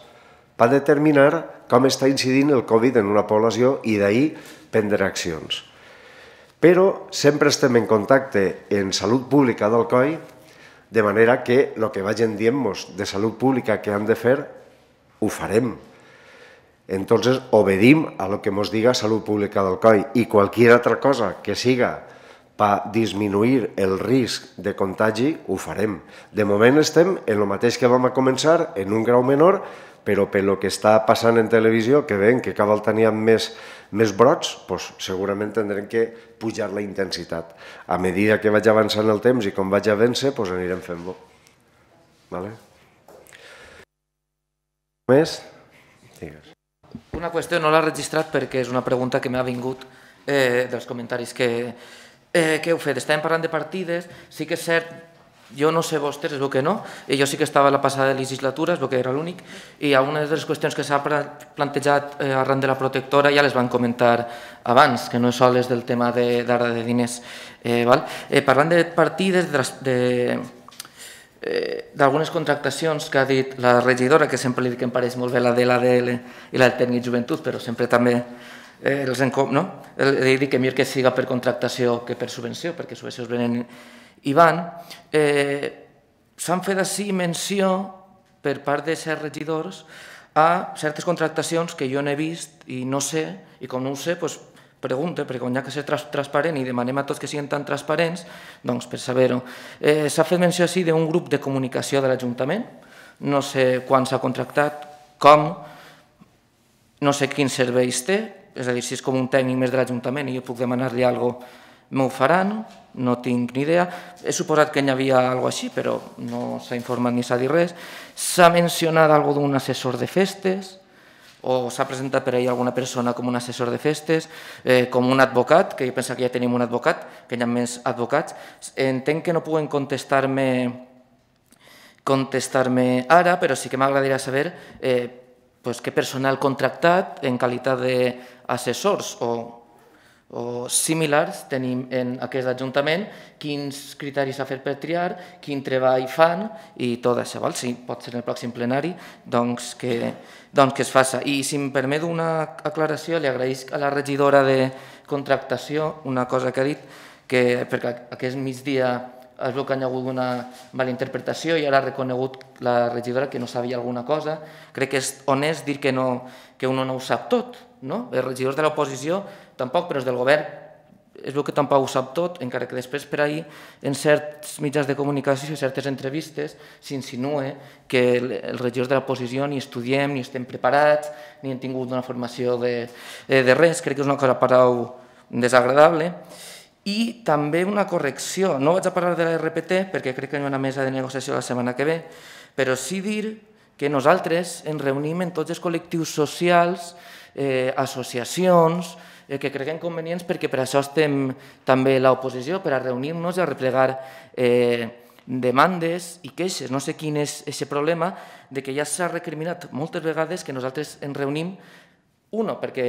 per determinar com està incidint el Covid en una població i d'ahir prendre accions. Però sempre estem en contacte en Salut Pública d'Alcoi, de manera que el que vagin dient-nos de salut pública que han de fer, ho farem. Entonces, obedim a lo que ens diga Salut Pública d'Alcoi i qualsevol altra cosa que siga per disminuir el risc de contagi, ho farem. De moment estem en el mateix que vam començar, en un grau menor, però pel que està passant en televisió, que veiem que cada volta n'hi ha més brots, segurament tindrem que pujar la intensitat. A mesura que vaig avançant el temps i com vaig a vèncer, anirem fent-ho. Més? Digues. Una qüestió no l'he registrat perquè és una pregunta que m'ha vingut dels comentaris que heu fet. Estàvem parlant de partides, sí que és cert, jo no sé vostès, es veu que no, jo sí que estava a la passada legislatura, es veu que era l'únic, i algunes de les qüestions que s'ha plantejat arran de la protectora ja les van comentar abans, que no és soles del tema d'ara de diners. Parlant de partides, d'algunes contractacions que ha dit la regidora, que sempre li dic que em pareix molt bé la de l'ADL i la del tècnic joventut, però sempre també he dit que millor que siga per contractació que per subvenció, perquè subvencions venen i van. S'han fet així menció per part de certs regidors a certes contractacions que jo no he vist i no sé, i com no ho sé, pregunto, perquè quan hi ha que ser transparent i demanem a tots que siguin tan transparents, doncs per saber-ho. S'ha fet menció així d'un grup de comunicació de l'Ajuntament, no sé quan s'ha contractat, com, no sé quins serveis té, és a dir, si és com un tècnic més de l'Ajuntament i jo puc demanar-li alguna cosa, m'ho faran, no tinc ni idea. He suposat que hi havia alguna cosa així, però no s'ha informat ni s'ha dit res. S'ha mencionat alguna cosa d'un assessor de festes, o s'ha presentat per ahir alguna persona com un assessor de festes, com un advocat, que jo penso que ja tenim un advocat, que hi ha més advocats. Entenc que no puguen contestar-me contestar-me ara, però sí que m'agradaria saber què personal contractat en qualitat d'assessors o similars tenim en aquest Ajuntament, quins criteris s'ha fet per triar, quin treball fan i tot això. Si pot ser en el pròxim plenari, doncs que es faci. I si em permet una aclaració, li agraïsc a la regidora de contractació una cosa que ha dit, perquè aquest migdia es veu que hi ha hagut una mala interpretació i ara ha reconegut la regidora que no sabia alguna cosa. Crec que és honest dir que uno no ho sap tot, no? Els regidors de l'oposició tampoc, però els del govern es veu que tampoc ho sap tot, encara que després per ahir en certs mitjans de comunicació i certes entrevistes s'insinua que els regidors de l'oposició ni estudiem, ni estem preparats, ni hem tingut una formació de res. Crec que és una cosa prou desagradable. I també una correcció, no vaig a parlar de la RPT perquè crec que hi ha una mesa de negociació la setmana que ve, però sí dir que nosaltres ens reunim en tots els col·lectius socials, associacions, que creguem convenients perquè per això estem també a l'oposició, per a reunir-nos i a replegar demandes i queixes. No sé quin és aquest problema de que ja s'ha recriminat moltes vegades que nosaltres ens reunim, perquè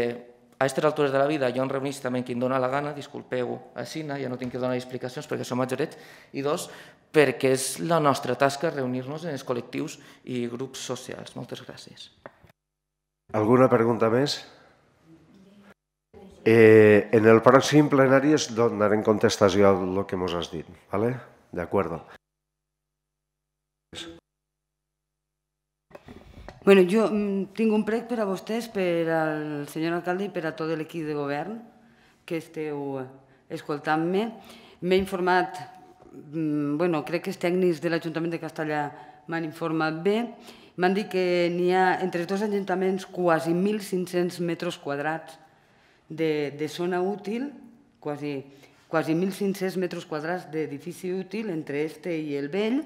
a aquestes altures de la vida jo em reunís també qui em dóna la gana, disculpeu així, ja no tinc que donar explicacions perquè som majorets, i dos, perquè és la nostra tasca reunir-nos en els col·lectius i grups socials. Moltes gràcies. Alguna pregunta més? En el pròxim plenari es donarem contestació a lo que mos has dit, ¿vale? De acuerdo. Bueno, jo tinc un prec per a vostès, per al senyor alcalde i per a tot l'equip de govern que esteu escoltant-me. M'he informat, crec que els tècnics de l'Ajuntament de Castellà m'han informat bé. M'han dit que n'hi ha entre els dos ajuntaments quasi 1.500 metres quadrats de zona útil, quasi 1.500 metres quadrats d'edifici útil entre este i el vell.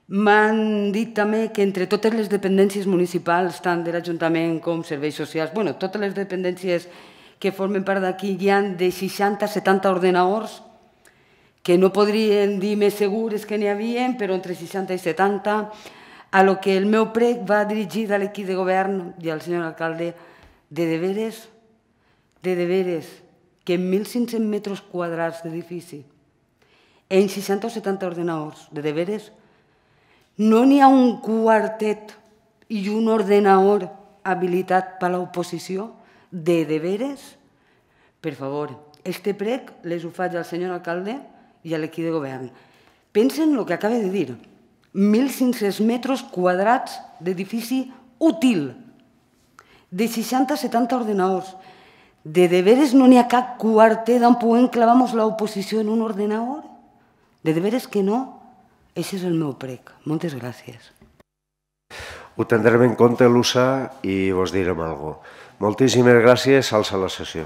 M'han dit també que entre totes les dependències municipals, tant de l'Ajuntament com serveis socials, totes les dependències que formen part d'aquí hi ha de 60 a 70 ordenadors, que no podrien dir més segures que n'hi havia, però entre 60 i 70, a lo que el meu prec va dirigit a l'equip de govern i al senyor alcalde, de veres, que en 1.500 metres quadrats d'edifici, en 60 o 70 ordenadors, de veres, no n'hi ha un quartet i un ordenador habilitat per l'oposició, de veres? Per favor, este prec les ho faig al senyor alcalde i a l'equip de govern. Pensen el que acaba de dir. 1.500 metres quadrats d'edifici útil, de 60 a 70 ordenadors. De veres no n'hi ha cap quartet on puguem clavar-nos l'oposició en un ordenador? De veres que no? Aquest és el meu prec. Moltes gràcies. Ho tindrem en compte, Lusa, i vos direm alguna cosa. Moltíssimes gràcies. Alça la sessió.